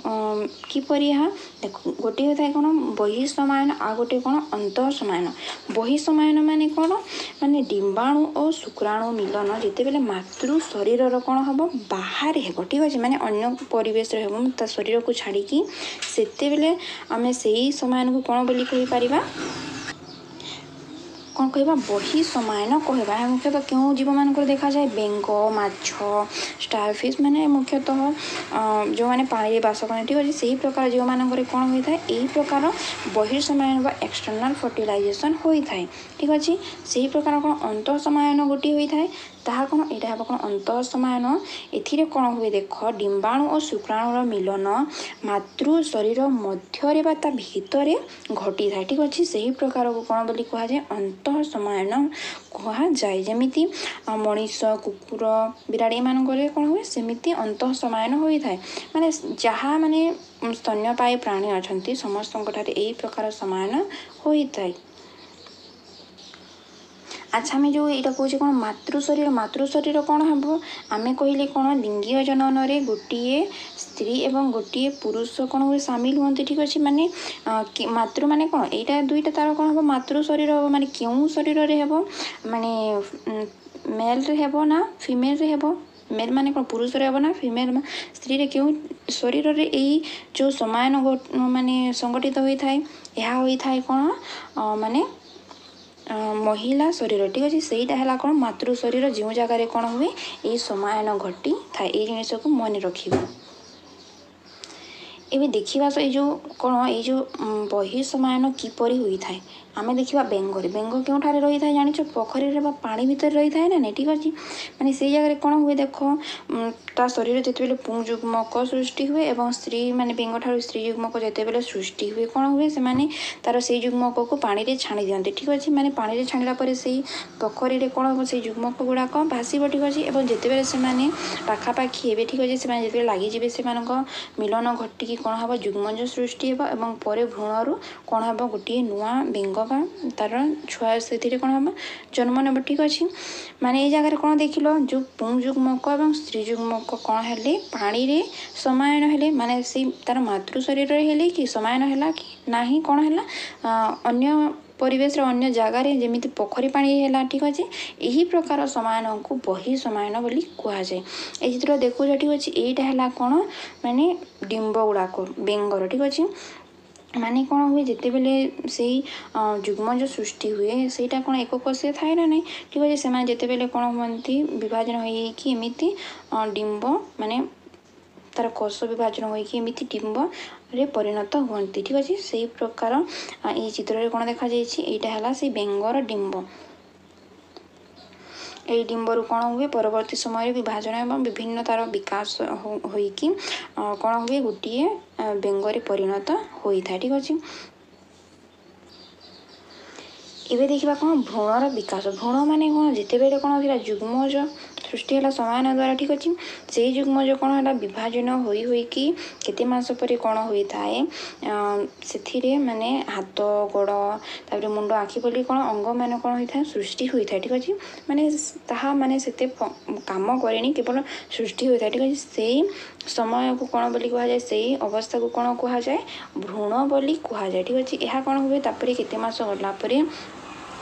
Speaker 1: କିପରି ଏହା ଦେଖ, ଗୋଟିଏ ହୋଇଥାଏ କ'ଣ? ବହିଃସମାୟନ, ଆଉ ଗୋଟିଏ କ'ଣ? ଅନ୍ତଃସମାୟନ। ବହିଃସମାୟନ ମାନେ କ'ଣ? ମାନେ ଡିମ୍ବାଣୁ ଓ ଶୁକ୍ରାଣୁ ମିଲନ ଯେତେବେଳେ ମାତୃ ଶରୀରର କ'ଣ ହେବ? ବାହାରେ ହେବ। ଠିକ୍ ଅଛି। ମାନେ ଅନ୍ୟ ପରିବେଶରେ ହେବ, ତା ଶରୀରକୁ ଛାଡ଼ିକି, ସେତେବେଳେ ଆମେ ସେଇ ସମାୟନକୁ କ'ଣ ବୋଲି କହିପାରିବା? କ'ଣ କହିବା? ବହିଃସମାୟନ କହିବା। ଏହା ମୁଖ୍ୟତଃ କେଉଁ ଜୀବମାନଙ୍କର ଦେଖାଯାଏ? ବେଙ୍ଗ, ମାଛ, ଷ୍ଟାରଫିସ୍, ମାନେ ମୁଖ୍ୟତଃ ଯେଉଁମାନେ ପାଣିରେ ବାସ କରନ୍ତି। ଠିକ୍ ଅଛି। ସେହି ପ୍ରକାର ଜୀବମାନଙ୍କରେ କ'ଣ ହୋଇଥାଏ? ଏହି ପ୍ରକାର ବହିଃସମାୟନ ବା ଏକ୍ସଟର୍ନାଲ୍ ଫର୍ଟିଲାଇଜେସନ୍ ହୋଇଥାଏ। ଠିକ୍ ଅଛି। ସେହି ପ୍ରକାର କ'ଣ ଅନ୍ତଃସମାୟନ ଗୋଟିଏ ହୋଇଥାଏ। ତାହା କ'ଣ? ଏଇଟା ହେବ କ'ଣ? ଅନ୍ତଃସମାୟନ। ଏଥିରେ କ'ଣ ହୁଏ ଦେଖ, ଡିମ୍ବାଣୁ ଓ ଶୁକ୍ରାଣୁର ମିଲନ ମାତୃ ଶରୀର ମଧ୍ୟରେ ବା ତା ଭିତରେ ଘଟିଥାଏ। ଠିକ୍ ଅଛି। ସେହି ପ୍ରକାରକୁ କ'ଣ ବୋଲି କୁହାଯାଏ? ଅନ୍ତଃସମାୟନ କୁହାଯାଏ। ଯେମିତି ମଣିଷ, କୁକୁର, ବିରାଡ଼ି ଏମାନଙ୍କରେ କ'ଣ ହୁଏ, ସେମିତି ଅନ୍ତଃସମାୟନ ହୋଇଥାଏ। ମାନେ ଯାହା ମାନେ ସ୍ତନ୍ୟପାୟୀ ପ୍ରାଣୀ ଅଛନ୍ତି, ସମସ୍ତଙ୍କଠାରେ ଏହି ପ୍ରକାର ସମାୟନ ହୋଇଥାଏ। ଆଚ୍ଛା, ଆମେ ଯେଉଁ ଏଇଟା କହୁଛେ କ'ଣ ମାତୃ ଶରୀର, ମାତୃ ଶରୀର କ'ଣ ହେବ? ଆମେ କହିଲେ କ'ଣ, ଲିଙ୍ଗୀୟ ଜନନରେ ଗୋଟିଏ ସ୍ତ୍ରୀ ଏବଂ ଗୋଟିଏ ପୁରୁଷ କ'ଣ ହୁଏ? ସାମିଲ ହୁଅନ୍ତି। ଠିକ୍ ଅଛି। ମାନେ ମାତୃ ମାନେ କ'ଣ? ଏଇଟା ଦୁଇଟା ତାର କ'ଣ ହେବ? ମାତୃ ଶରୀର ହେବ। ମାନେ କେଉଁ ଶରୀରରେ ହେବ? ମାନେ ମେଲ୍ରେ ହେବ ନା ଫିମେଲ୍ରେ ହେବ? ମେଲ୍ ମାନେ କ'ଣ ପୁରୁଷରେ ହେବ ନା ଫିମେଲ୍ ସ୍ତ୍ରୀରେ? କେଉଁ ଶରୀରରେ ଏଇ ଯେଉଁ ସମାୟନ ମାନେ ସଂଗଠିତ ହୋଇଥାଏ? ଏହା ହୋଇଥାଏ କ'ଣ ମାନେ ମହିଳା ଶରୀର। ଠିକ୍ ଅଛି। ସେଇଟା ହେଲା କ'ଣ? ମାତୃ ଶରୀର, ଯେଉଁ ଜାଗାରେ କ'ଣ ହୁଏ? ଏଇ ସମାୟନ ଘଟିଥାଏ। ଏଇ ଜିନିଷକୁ ମନେ ରଖିବ। ଏବେ ଦେଖିବା ଏଇ ଯେଉଁ କ'ଣ, ଏଇ ଯେଉଁ ବହିଃସମାୟନ କିପରି ହୋଇଥାଏ। ଆମେ ଦେଖିବା ବେଙ୍ଗରେ। ବେଙ୍ଗ କେଉଁଠାରେ ରହିଥାଏ ଜାଣିଛ? ପୋଖରୀରେ ବା ପାଣି ଭିତରେ ରହିଥାଏ ନା ନାଇଁ? ଠିକ୍ ଅଛି। ମାନେ ସେଇ ଜାଗାରେ କ'ଣ ହୁଏ ଦେଖ, ତା ଶରୀର ଯେତେବେଳେ ପୁଂଯୁଗ୍ମକ ସୃଷ୍ଟି ହୁଏ ଏବଂ ସ୍ତ୍ରୀ ମାନେ ବେଙ୍ଗଠାରୁ ସ୍ତ୍ରୀ ଯୁଗ୍ମକ ଯେତେବେଳେ ସୃଷ୍ଟି ହୁଏ, କ'ଣ ହୁଏ? ସେମାନେ ତାର ସେଇ ଯୁଗ୍ମକକୁ ପାଣିରେ ଛାଣି ଦିଅନ୍ତି। ଠିକ୍ ଅଛି। ମାନେ ପାଣିରେ ଛାଣିଲା ପରେ ସେଇ ପୋଖରୀରେ କ'ଣ ହେବ? ସେଇ ଯୁଗ୍ମକ ଗୁଡ଼ାକ ଭାସିବ। ଠିକ୍ ଅଛି। ଏବଂ ଯେତେବେଳେ ସେମାନେ ପାଖାପାଖି ହେବେ, ଠିକ୍ ଅଛି, ସେମାନେ ଯେତେବେଳେ ଲାଗିଯିବେ, ସେମାନଙ୍କ ମିଲନ ଘଟିକି କ'ଣ ହେବ? ଯୁଗ୍ମଜ ସୃଷ୍ଟି ହେବ ଏବଂ ପରେ ଭ୍ରୂଣରୁ କ'ଣ ହେବ? ଗୋଟିଏ ନୂଆ ବେଙ୍ଗ ବା ତାର ଛୁଆ ସେଥିରେ କ'ଣ ହେବ? ଜନ୍ମ ନେବ। ଠିକ୍ ଅଛି। ମାନେ ଏଇ ଜାଗାରେ କ'ଣ ଦେଖିଲ? ଯେଉଁ ପୁଂଯୁଗ୍ମକ ଏବଂ ସ୍ତ୍ରୀ ଯୁଗ୍ମକ କ'ଣ ହେଲେ? ପାଣିରେ ସମାୟନ ହେଲେ। ମାନେ ସେଇ ତାର ମାତୃ ଶରୀରରେ ହେଲେ କି ସମାୟନ ହେଲା କି ନାହିଁ, କ'ଣ ହେଲା? ଅନ୍ୟ ପରିବେଶର ଅନ୍ୟ ଜାଗାରେ, ଯେମିତି ପୋଖରୀ ପାଣି ହେଲା। ଠିକ୍ ଅଛି। ଏହି ପ୍ରକାର ସମାୟନକୁ ବହିଃସମାୟନ ବୋଲି କୁହାଯାଏ। ଏଇ ଚିତ୍ର ଦେଖୁଛ? ଠିକ୍ ଅଛି। ଏଇଟା ହେଲା କ'ଣ ମାନେ ଡିମ୍ବ ଗୁଡ଼ାକ ବେଙ୍ଗର। ଠିକ୍ ଅଛି। ମାନେ କ'ଣ ହୁଏ, ଯେତେବେଳେ ସେଇ ଯୁଗ୍ମଜ ସୃଷ୍ଟି ହୁଏ, ସେଇଟା କ'ଣ ଏକକୋଷୀୟ ଥାଏ ନା ନାହିଁ? ଠିକ୍ ଅଛି। ସେମାନେ ଯେତେବେଳେ କ'ଣ ହୁଅନ୍ତି, ବିଭାଜନ ହୋଇକି ଏମିତି ଡିମ୍ବ, ମାନେ ତାର କୋଷ ବିଭାଜନ ହୋଇକି ଏମିତି ଡିମ୍ବରେ ପରିଣତ ହୁଅନ୍ତି। ଠିକ୍ ଅଛି। ସେଇ ପ୍ରକାର ଏଇ ଚିତ୍ରରେ କ'ଣ ଦେଖାଯାଇଛି? ଏଇଟା ହେଲା ସେଇ ବେଙ୍ଗର ଡିମ୍ବ। ଏଇ ଡିମ୍ବରୁ କ'ଣ ହୁଏ? ପରବର୍ତ୍ତୀ ସମୟରେ ବିଭାଜନ ଏବଂ ବିଭିନ୍ନ ତା'ର ବିକାଶ ହୋଇକି କ'ଣ ହୁଏ? ଗୋଟିଏ ବେଙ୍ଗରେ ପରିଣତ ହୋଇଥାଏ, ଠିକ୍ ଅଛି। ଏବେ ଦେଖିବା କ'ଣ? ଭ୍ରୂଣର ବିକାଶ। ଭ୍ରୂଣ ମାନେ କ'ଣ? ଯେତେବେଳେ କ'ଣ ଥିଲା, ଯୁଗ୍ମଜ ସୃଷ୍ଟି ହେଲା ସମାୟନ ଦ୍ୱାରା, ଠିକ୍ ଅଛି। ସେଇ ଯୁଗ୍ମଜ କ'ଣ ହେଲା? ବିଭାଜନ ହୋଇ ହୋଇକି କେତେ ମାସ ପରେ କ'ଣ ହୋଇଥାଏ? ସେଥିରେ ମାନେ ହାତ, ଗୋଡ଼, ତାପରେ ମୁଣ୍ଡ, ଆଖି ବୋଲି କ'ଣ ଅଙ୍ଗମାନ କ'ଣ ହୋଇଥାଏ? ସୃଷ୍ଟି ହୋଇଥାଏ, ଠିକ୍ ଅଛି। ମାନେ ତାହା ମାନେ ସେତେ କାମ କରେନି, କେବଳ ସୃଷ୍ଟି ହୋଇଥାଏ, ଠିକ୍ ଅଛି। ସେଇ ସମୟକୁ କ'ଣ ବୋଲି କୁହାଯାଏ? ସେଇ ଅବସ୍ଥାକୁ କ'ଣ କୁହାଯାଏ? ଭ୍ରୂଣ ବୋଲି କୁହାଯାଏ, ଠିକ୍ ଅଛି। ଏହା କ'ଣ ହୁଏ? ତାପରେ କେତେ ମାସ ଗଲା ପରେ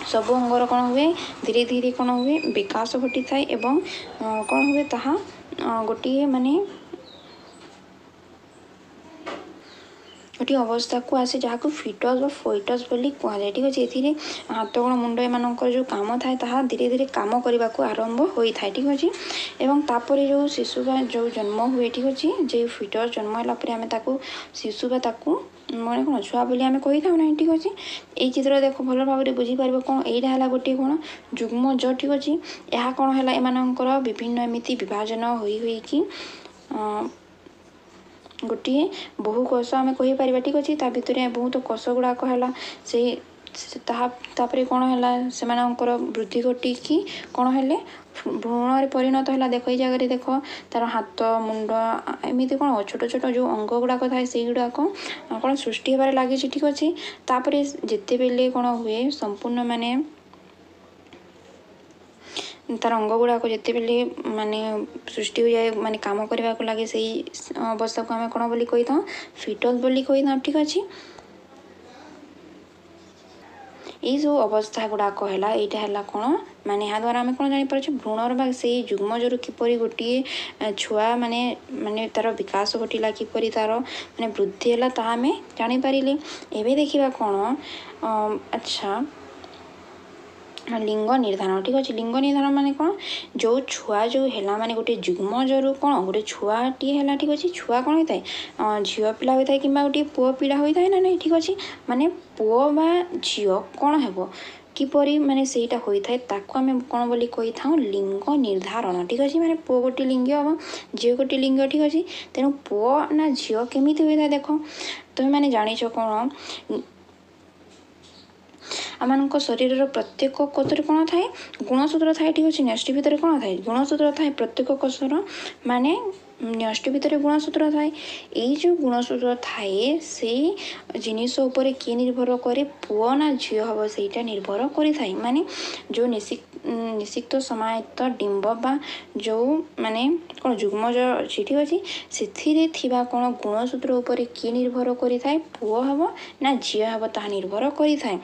Speaker 1: ସବୁ ଅଙ୍ଗର କ'ଣ ହୁଏ? ଧୀରେ ଧୀରେ କ'ଣ ହୁଏ? ବିକାଶ ଘଟିଥାଏ ଏବଂ କ'ଣ ହୁଏ? ତାହା ଗୋଟିଏ ମାନେ ଗୋଟିଏ ଅବସ୍ଥାକୁ ଆସେ, ଯାହାକୁ ଫିଟସ୍ ବା ଫୋଇଟସ୍ ବୋଲି କୁହାଯାଏ, ଠିକ୍ ଅଛି। ଏଥିରେ ହାତ, ଗୋଡ଼, ମୁଣ୍ଡ ଏମାନଙ୍କର ଯେଉଁ କାମ ଥାଏ, ତାହା ଧୀରେ ଧୀରେ କାମ କରିବାକୁ ଆରମ୍ଭ ହୋଇଥାଏ, ଠିକ୍ ଅଛି। ଏବଂ ତାପରେ ଯେଉଁ ଶିଶୁ ବା ଯେଉଁ ଜନ୍ମ ହୁଏ, ଠିକ୍ ଅଛି, ଯେଉଁ ଫିଟସ୍ ଜନ୍ମ ହେଲା ପରେ ଆମେ ତାକୁ ଶିଶୁ ବା ତାକୁ ମାନେ କ'ଣ ଛୁଆ ବୋଲି ଆମେ କହିଥାଉ ନାହିଁ, ଠିକ୍ ଅଛି। ଏଇ ଚିତ୍ର ଦେଖ, ଭଲ ଭାବରେ ବୁଝିପାରିବ କ'ଣ? ଏଇଟା ହେଲା ଗୋଟିଏ କ'ଣ ଯୁଗ୍ମଜ, ଠିକ୍ ଅଛି। ଏହା କ'ଣ ହେଲା? ଏମାନଙ୍କର ବିଭିନ୍ନ ଏମିତି ବିଭାଜନ ହୋଇ ହୋଇକି ଗୋଟିଏ ବହୁ କୋଷ ଆମେ କହିପାରିବା, ଠିକ୍ ଅଛି। ତା ଭିତରେ ବହୁତ କୋଷ ଗୁଡ଼ାକ ହେଲା। ସେଇ ତାହା ତାପରେ କ'ଣ ହେଲା? ସେମାନଙ୍କର ବୃଦ୍ଧି ଘଟିକି କ'ଣ ହେଲେ? ଭ୍ରୂଣରେ ପରିଣତ ହେଲା। ଦେଖ, ଏଇ ଜାଗାରେ ଦେଖ, ତାର ହାତ, ମୁଣ୍ଡ, ଏମିତି କ'ଣ ଛୋଟ ଛୋଟ ଯେଉଁ ଅଙ୍ଗ ଗୁଡ଼ାକ ଥାଏ, ସେଇଗୁଡ଼ାକ କ'ଣ ସୃଷ୍ଟି ହେବାରେ ଲାଗିଛି, ଠିକ୍ ଅଛି। ତାପରେ ଯେତେବେଳେ କ'ଣ ହୁଏ, ସମ୍ପୂର୍ଣ୍ଣ ମାନେ ତାର ଅଙ୍ଗ ଗୁଡ଼ାକ ଯେତେବେଳେ ମାନେ ସୃଷ୍ଟି ହୋଇଯାଏ, ମାନେ କାମ କରିବାକୁ ଲାଗେ, ସେଇ ଅବସ୍ଥାକୁ ଆମେ କ'ଣ ବୋଲି କହିଥାଉ? ଫିଟସ୍ ବୋଲି କହିଥାଉ, ଠିକ୍ ଅଛି। ଏଇ ସବୁ ଅବସ୍ଥା ଗୁଡ଼ାକ ହେଲା, ଏଇଟା ହେଲା କ'ଣ ମାନେ ଏହାଦ୍ୱାରା ଆମେ କ'ଣ ଜାଣିପାରୁଛେ? ଭ୍ରୂଣର ବା ସେଇ ଯୁଗ୍ମଜରୁ କିପରି ଗୋଟିଏ ଛୁଆ ମାନେ ମାନେ ତା'ର ବିକାଶ ଘଟିଲା, କିପରି ତା'ର ମାନେ ବୃଦ୍ଧି ହେଲା, ତାହା ଆମେ ଜାଣିପାରିଲେ। ଏବେ ଦେଖିବା କ'ଣ? ଆଚ୍ଛା, ଲିଙ୍ଗ ନିର୍ଦ୍ଧାରଣ, ଠିକ୍ ଅଛି। ଲିଙ୍ଗ ନିର୍ଦ୍ଧାରଣ ମାନେ କ'ଣ? ଯେଉଁ ଛୁଆ ଯେଉଁ ହେଲା, ମାନେ ଗୋଟିଏ ଯୁଗ୍ମଜରୁ କ'ଣ ଗୋଟେ ଛୁଆଟିଏ ହେଲା, ଠିକ୍ ଅଛି। ଛୁଆ କ'ଣ ହୋଇଥାଏ? ଝିଅ ପିଲା ହୋଇଥାଏ କିମ୍ବା ଗୋଟିଏ ପୁଅ ପିଲା ହୋଇଥାଏ ନା ନାହିଁ, ଠିକ୍ ଅଛି। ମାନେ ପୁଅ ବା ଝିଅ କ'ଣ ହେବ, କିପରି ମାନେ ସେଇଟା ହୋଇଥାଏ, ତାକୁ ଆମେ କ'ଣ ବୋଲି କହିଥାଉ? ଲିଙ୍ଗ ନିର୍ଦ୍ଧାରଣ, ଠିକ୍ ଅଛି। ମାନେ ପୁଅ ଗୋଟିଏ ଲିଙ୍ଗ ହେବ, ଝିଅ ଗୋଟିଏ ଲିଙ୍ଗ, ଠିକ୍ ଅଛି। ତେଣୁ ପୁଅ ନା ଝିଅ କେମିତି ହୋଇଥାଏ? ଦେଖ, ତୁମେମାନେ ଜାଣିଛ କ'ଣ? ଆମମାନଙ୍କ ଶରୀରର ପ୍ରତ୍ୟେକ କୋଷରେ କ'ଣ ଥାଏ? ଗୁଣସୂତ୍ର ଥାଏ, ଠିକ୍ ଅଛି। ନ୍ୟଷ୍ଟି ଭିତରେ କ'ଣ ଥାଏ? ଗୁଣସୂତ୍ର ଥାଏ। ପ୍ରତ୍ୟେକ କୋଷର ମାନେ ନ୍ୟଷ୍ଟି ଭିତରେ ଗୁଣସୂତ୍ର ଥାଏ। ଏଇ ଯେଉଁ ଗୁଣସୂତ୍ର ଥାଏ, ସେଇ ଜିନିଷ ଉପରେ କିଏ ନିର୍ଭର କରେ? ପୁଅ ନା ଝିଅ ହେବ ସେଇଟା ନିର୍ଭର କରିଥାଏ। ମାନେ ଯେଉଁ ନିଷିକ୍ତ ସମାୟତ୍ତ ଡିମ୍ବ ବା ଯେଉଁ ମାନେ କ'ଣ ଯୁଗ୍ମଜ ଅଛି, ଠିକ୍ ଅଛି, ସେଥିରେ ଥିବା କ'ଣ ଗୁଣସୂତ୍ର ଉପରେ କିଏ ନିର୍ଭର କରିଥାଏ? ପୁଅ ହେବ ନା ଝିଅ ହେବ ତାହା ନିର୍ଭର କରିଥାଏ।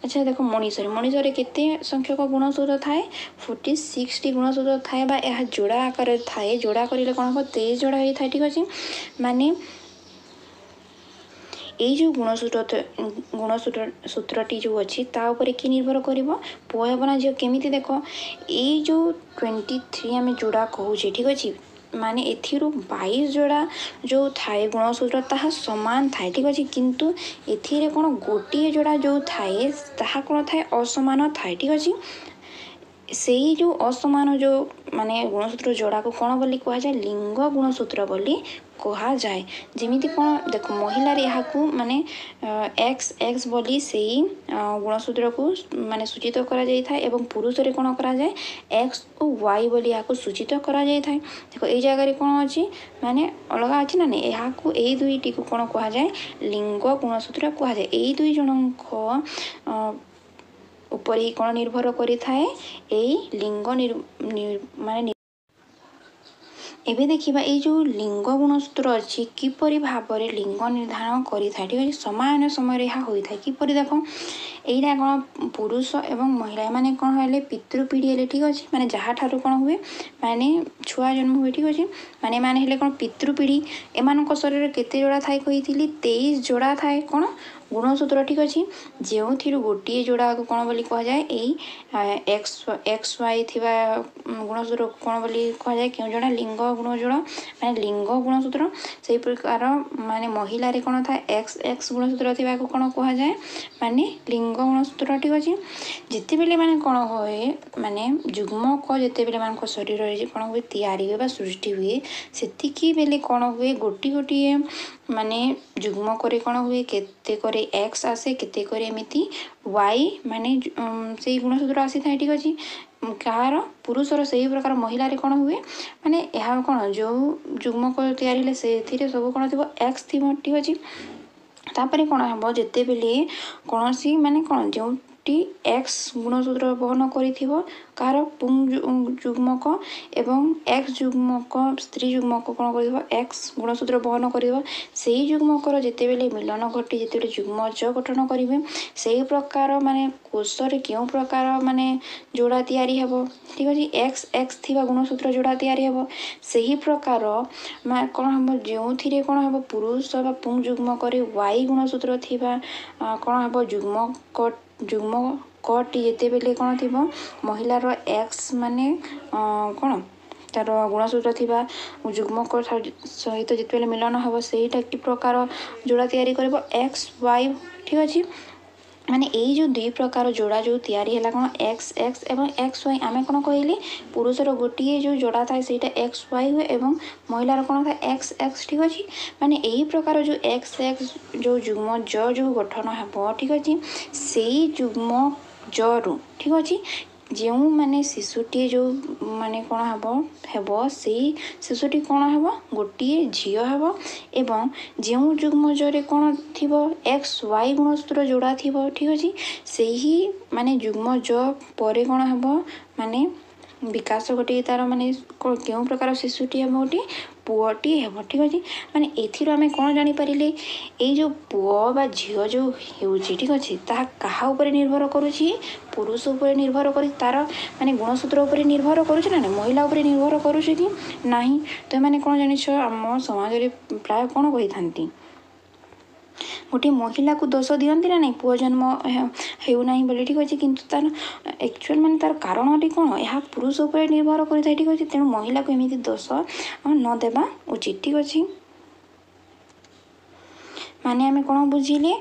Speaker 1: ଆଚ୍ଛା, ଦେଖ, ମଣିଷରେ ମଣିଷରେ କେତେ ସଂଖ୍ୟକ ଗୁଣସୂତ୍ର ଥାଏ? ଫୋର୍ଟି ସିକ୍ସଟି ଗୁଣସୂତ୍ର ଥାଏ ବା ଏହା ଯୋଡ଼ା ଆକାରରେ ଥାଏ। ଯୋଡ଼ା କରିଲେ କ'ଣ ହେବ? ତେଇଶ ଯୋଡ଼ା ହେଇଥାଏ, ଠିକ୍ ଅଛି। ମାନେ ଏଇ ଯେଉଁ ଗୁଣସୂତ୍ର ଗୁଣସୂତ୍ର ସୂତ୍ରଟି ଯେଉଁ ଅଛି, ତା ଉପରେ କିଏ ନିର୍ଭର କରିବ? ପୁଅ ହେବ ନା ଝିଅ କେମିତି? ଦେଖ, ଏଇ ଯେଉଁ ଟ୍ୱେଣ୍ଟି ଥ୍ରୀ ଆମେ ଯୋଡ଼ା କହୁଛେ, ଠିକ୍ ଅଛି, ମାନେ ଏଥିରୁ ବାଇଶ ଯୋଡ଼ା ଯେଉଁ ଥାଏ ଗୁଣସୂତ୍ର, ତାହା ସମାନ ଥାଏ, ଠିକ୍ ଅଛି। କିନ୍ତୁ ଏଥିରେ କ'ଣ ଗୋଟିଏ ଯୋଡ଼ା ଯେଉଁ ଥାଏ, ତାହା କ'ଣ ଥାଏ? ଅସମାନ ଥାଏ, ଠିକ୍ ଅଛି। ସେଇ ଯେଉଁ ଅସମାନ ଯେଉଁ ମାନେ ଗୁଣସୂତ୍ର ଯୋଡ଼ାକୁ କ'ଣ ବୋଲି କୁହାଯାଏ? ଲିଙ୍ଗ ଗୁଣସୂତ୍ର ବୋଲି କୁହାଯାଏ। ଯେମିତି କ'ଣ ଦେଖ, ମହିଳାରେ ଏହାକୁ ମାନେ ଏକ୍ସ ଏକ୍ସ ବୋଲି ସେଇ ଗୁଣସୂତ୍ରକୁ ମାନେ ସୂଚିତ କରାଯାଇଥାଏ ଏବଂ ପୁରୁଷରେ କ'ଣ କରାଯାଏ? ଏକ୍ସ ଓ ୱାଇ ବୋଲି ଏହାକୁ ସୂଚିତ କରାଯାଇଥାଏ। ଦେଖ, ଏଇ ଜାଗାରେ କ'ଣ ଅଛି? ମାନେ ଅଲଗା ଅଛି ନା ନାଇଁ? ଏହାକୁ ଏଇ ଦୁଇଟିକୁ କ'ଣ କୁହାଯାଏ? ଲିଙ୍ଗ ଗୁଣସୂତ୍ର କୁହାଯାଏ। ଏଇ ଦୁଇ ଜଣଙ୍କ ଉପରେ ହିଁ କ'ଣ ନିର୍ଭର କରିଥାଏ ଏଇ ଲିଙ୍ଗ ମାନେ। ଏବେ ଦେଖିବା ଏଇ ଯେଉଁ ଲିଙ୍ଗ ଗୁଣସୂତ୍ର ଅଛି, କିପରି ଭାବରେ ଲିଙ୍ଗ ନିର୍ଦ୍ଧାରଣ କରିଥାଏ, ଠିକ୍ ଅଛି। ସମାନ ସମୟରେ ଏହା ହୋଇଥାଏ କିପରି? ଦେଖ, ଏଇଟା କ'ଣ ପୁରୁଷ ଏବଂ ମହିଳା, ଏମାନେ କ'ଣ ହେଲେ? ପିତୃପିଢ଼ି ହେଲେ, ଠିକ୍ ଅଛି। ମାନେ ଯାହାଠାରୁ କ'ଣ ହୁଏ? ମାନେ ଛୁଆ ଜନ୍ମ ହୁଏ, ଠିକ୍ ଅଛି। ମାନେ ଏମାନେ ହେଲେ କ'ଣ ପିତୃପିଢ଼ି। ଏମାନଙ୍କ ଶରୀରରେ କେତେ ଯୋଡ଼ା ଥାଏ କହିଥିଲି? ତେଇଶ ଯୋଡ଼ା ଥାଏ କ'ଣ ଗୁଣସୂତ୍ର, ଠିକ୍ ଅଛି, ଯେଉଁଥିରୁ ଗୋଟିଏ ଯୋଡ଼ାକୁ କ'ଣ ବୋଲି କୁହାଯାଏ? ଏଇ ଏକ୍ସ ଏକ୍ସ ୱାଇ ଥିବା ଗୁଣସୂତ୍ରକୁ କ'ଣ ବୋଲି କୁହାଯାଏ? କେଉଁ ଯୋଡ଼ା? ଲିଙ୍ଗ ଗୁଣ ଯୋଡ଼ା, ମାନେ ଲିଙ୍ଗ ଗୁଣସୂତ୍ର। ସେଇ ପ୍ରକାର ମାନେ ମହିଳାରେ କ'ଣ ଥାଏ? ଏକ୍ସ ଏକ୍ସ ଗୁଣସୂତ୍ର ଥିବାକୁ କ'ଣ କୁହାଯାଏ? ମାନେ ଲିଙ୍ଗ ଗୁଣସୂତ୍ର, ଠିକ୍ ଅଛି। ଯେତେବେଳେ ମାନେ କ'ଣ ହୁଏ, ମାନେ ଯୁଗ୍ମକ ଯେତେବେଳେ ମାନଙ୍କ ଶରୀରରେ କ'ଣ ହୁଏ, ତିଆରି ହୁଏ ବା ସୃଷ୍ଟି ହୁଏ, ସେତିକି ବେଳେ କ'ଣ ହୁଏ? ଗୋଟିଏ ଗୋଟିଏ ମାନେ ଯୁଗ୍ମକରେ କ'ଣ ହୁଏ, କେତେକରେ ଏକ୍ସ ଆସେ, କେତେକରେ ଏମିତି ୱାଇ, ମାନେ ସେଇ ଗୁଣସୂତ୍ର ଆସିଥାଏ, ଠିକ୍ ଅଛି। କାହାର? ପୁରୁଷର। ସେହି ପ୍ରକାର ମହିଳାରେ କ'ଣ ହୁଏ? ମାନେ ଏହା କ'ଣ ଯେଉଁ ଯୁଗ୍ମକ ତିଆରି ହେଲେ ସେଥିରେ ସବୁ କ'ଣ ଥିବ? ଏକ୍ସ ଥିବ, ଠିକ୍ ଅଛି। ତାପରେ କ'ଣ ହେବ? ଯେତେବେଳେ କୌଣସି ମାନେ କ'ଣ ଯେଉଁଟି ଏକ୍ସ ଗୁଣସୂତ୍ର ବହନ କରିଥିବ କାହାର ପୁଂ ଯୁଗ୍ମକ ଏବଂ ଏକ୍ସ ଯୁଗ୍ମକ, ସ୍ତ୍ରୀ ଯୁଗ୍ମକ କ'ଣ କରିଥିବ? ଏକ୍ସ ଗୁଣସୂତ୍ର ବହନ କରିଥିବ, ସେଇ ଯୁଗ୍ମକର ଯେତେବେଳେ ମିଳନ ଘଟି ଯେତେବେଳେ ଯୁଗ୍ମଜ ଗଠନ କରିବେ, ସେଇ ପ୍ରକାର ମାନେ କୋଷରେ କେଉଁ ପ୍ରକାର ମାନେ ଯୋଡ଼ା ତିଆରି ହେବ? ଠିକ୍ ଅଛି, ଏକ୍ସ ଏକ୍ସ ଥିବା ଗୁଣସୂତ୍ର ଯୋଡ଼ା ତିଆରି ହେବ। ସେହି ପ୍ରକାର କ'ଣ ହେବ? ଯେଉଁଥିରେ କ'ଣ ହେବ, ପୁରୁଷ ବା ପୁଂ ଯୁଗ୍ମକରେ ୱାଇ ଗୁଣସୂତ୍ର ଥିବା କ'ଣ ହେବ, ଯୁଗ୍ମକ ଯୁଗ୍ମକଟି ଯେତେବେଳେ କ'ଣ ଥିବ, ମହିଳାର ଏକ୍ସ ମାନେ କ'ଣ ତାର ଗୁଣସୂତ୍ର ଥିବା ଯୁଗ୍ମକ ସହିତ ଯେତେବେଳେ ମିଳନ ହେବ, ସେଇଟା କି ପ୍ରକାର ଯୋଡ଼ା ତିଆରି କରିବ? ଏକ୍ସ ୱାଇ, ଠିକ୍ ଅଛି। ମାନେ ଏଇ ଯେଉଁ ଦୁଇ ପ୍ରକାର ଯୋଡ଼ା ଯେଉଁ ତିଆରି ହେଲା କ'ଣ ଏକ୍ସ ଏକ୍ସ ଏବଂ ଏକ୍ସ ୱାଇ, ଆମେ କ'ଣ କହିଲେ? ପୁରୁଷର ଗୋଟିଏ ଯେଉଁ ଯୋଡ଼ା ଥାଏ ସେଇଟା ଏକ୍ସ ୱାଇ ହୁଏ ଏବଂ ମହିଳାର କ'ଣ ଥାଏ? ଏକ୍ସ ଏକ୍ସ, ଠିକ୍ ଅଛି। ମାନେ ଏଇ ପ୍ରକାର ଯେଉଁ ଏକ୍ସ ଏକ୍ସ ଯେଉଁ ଯୁଗ୍ମ ଜ ଯେଉଁ ଗଠନ ହେବ, ଠିକ୍ ଅଛି, ସେଇ ଯୁଗ୍ମ ଜରୁ, ଠିକ୍ ଅଛି, ଯେଉଁମାନେ ଶିଶୁଟିଏ ଯେଉଁ ମାନେ କ'ଣ ହେବ ହେବ ସେଇ ଶିଶୁଟି କ'ଣ ହେବ? ଗୋଟିଏ ଝିଅ ହେବ। ଏବଂ ଯେଉଁ ଯୁଗ୍ମଜରେ କ'ଣ ଥିବ, ଏକ୍ସ ୱାଇ ଗୁଣସୂତ୍ର ଯୋଡ଼ା ଥିବ, ଠିକ୍ ଅଛି, ସେହି ମାନେ ଯୁଗ୍ମଜ ପରେ କ'ଣ ହେବ? ମାନେ ବିକାଶ ଘଟିକି ତା'ର ମାନେ କେଉଁ ପ୍ରକାର ଶିଶୁଟି ହେବ? ଗୋଟିଏ ପୁଅଟି ହେବ, ଠିକ୍ ଅଛି। ମାନେ ଏଥିରୁ ଆମେ କ'ଣ ଜାଣିପାରିଲେ? ଏଇ ଯେଉଁ ପୁଅ ବା ଝିଅ ଯେଉଁ ହେଉଛି, ଠିକ୍ ଅଛି, ତାହା କାହା ଉପରେ ନିର୍ଭର କରୁଛି? ପୁରୁଷ ଉପରେ ନିର୍ଭର କରି ତା'ର ମାନେ ଗୁଣସୂତ୍ର ଉପରେ ନିର୍ଭର କରୁଛି ନା ନାହିଁ? ମହିଳା ଉପରେ ନିର୍ଭର କରୁଛି କି ନାହିଁ? ତ ଏମାନେ କ'ଣ ଜାଣିଛ, ଆମ ସମାଜରେ ପ୍ରାୟ କ'ଣ କହିଥାନ୍ତି? ଗୋଟିଏ ମହିଳାକୁ ଦୋଷ ଦିଅନ୍ତି ନା ନାହିଁ, ପୁଅ ଜନ୍ମ ହେଉନାହିଁ ବୋଲି, ଠିକ୍ ଅଛି। କିନ୍ତୁ ତା'ର ଆକ୍ଚୁଆଲ୍ ମାନେ ତା'ର କାରଣଟି କ'ଣ? ଏହା ପୁରୁଷ ଉପରେ ନିର୍ଭର କରିଥାଏ, ଠିକ୍ ଅଛି। ତେଣୁ ମହିଳାକୁ ଏମିତି ଦୋଷ ନ ଦେବା ଉଚିତ, ଠିକ୍ ଅଛି। ମାନେ ଆମେ କ'ଣ ବୁଝିଲେ?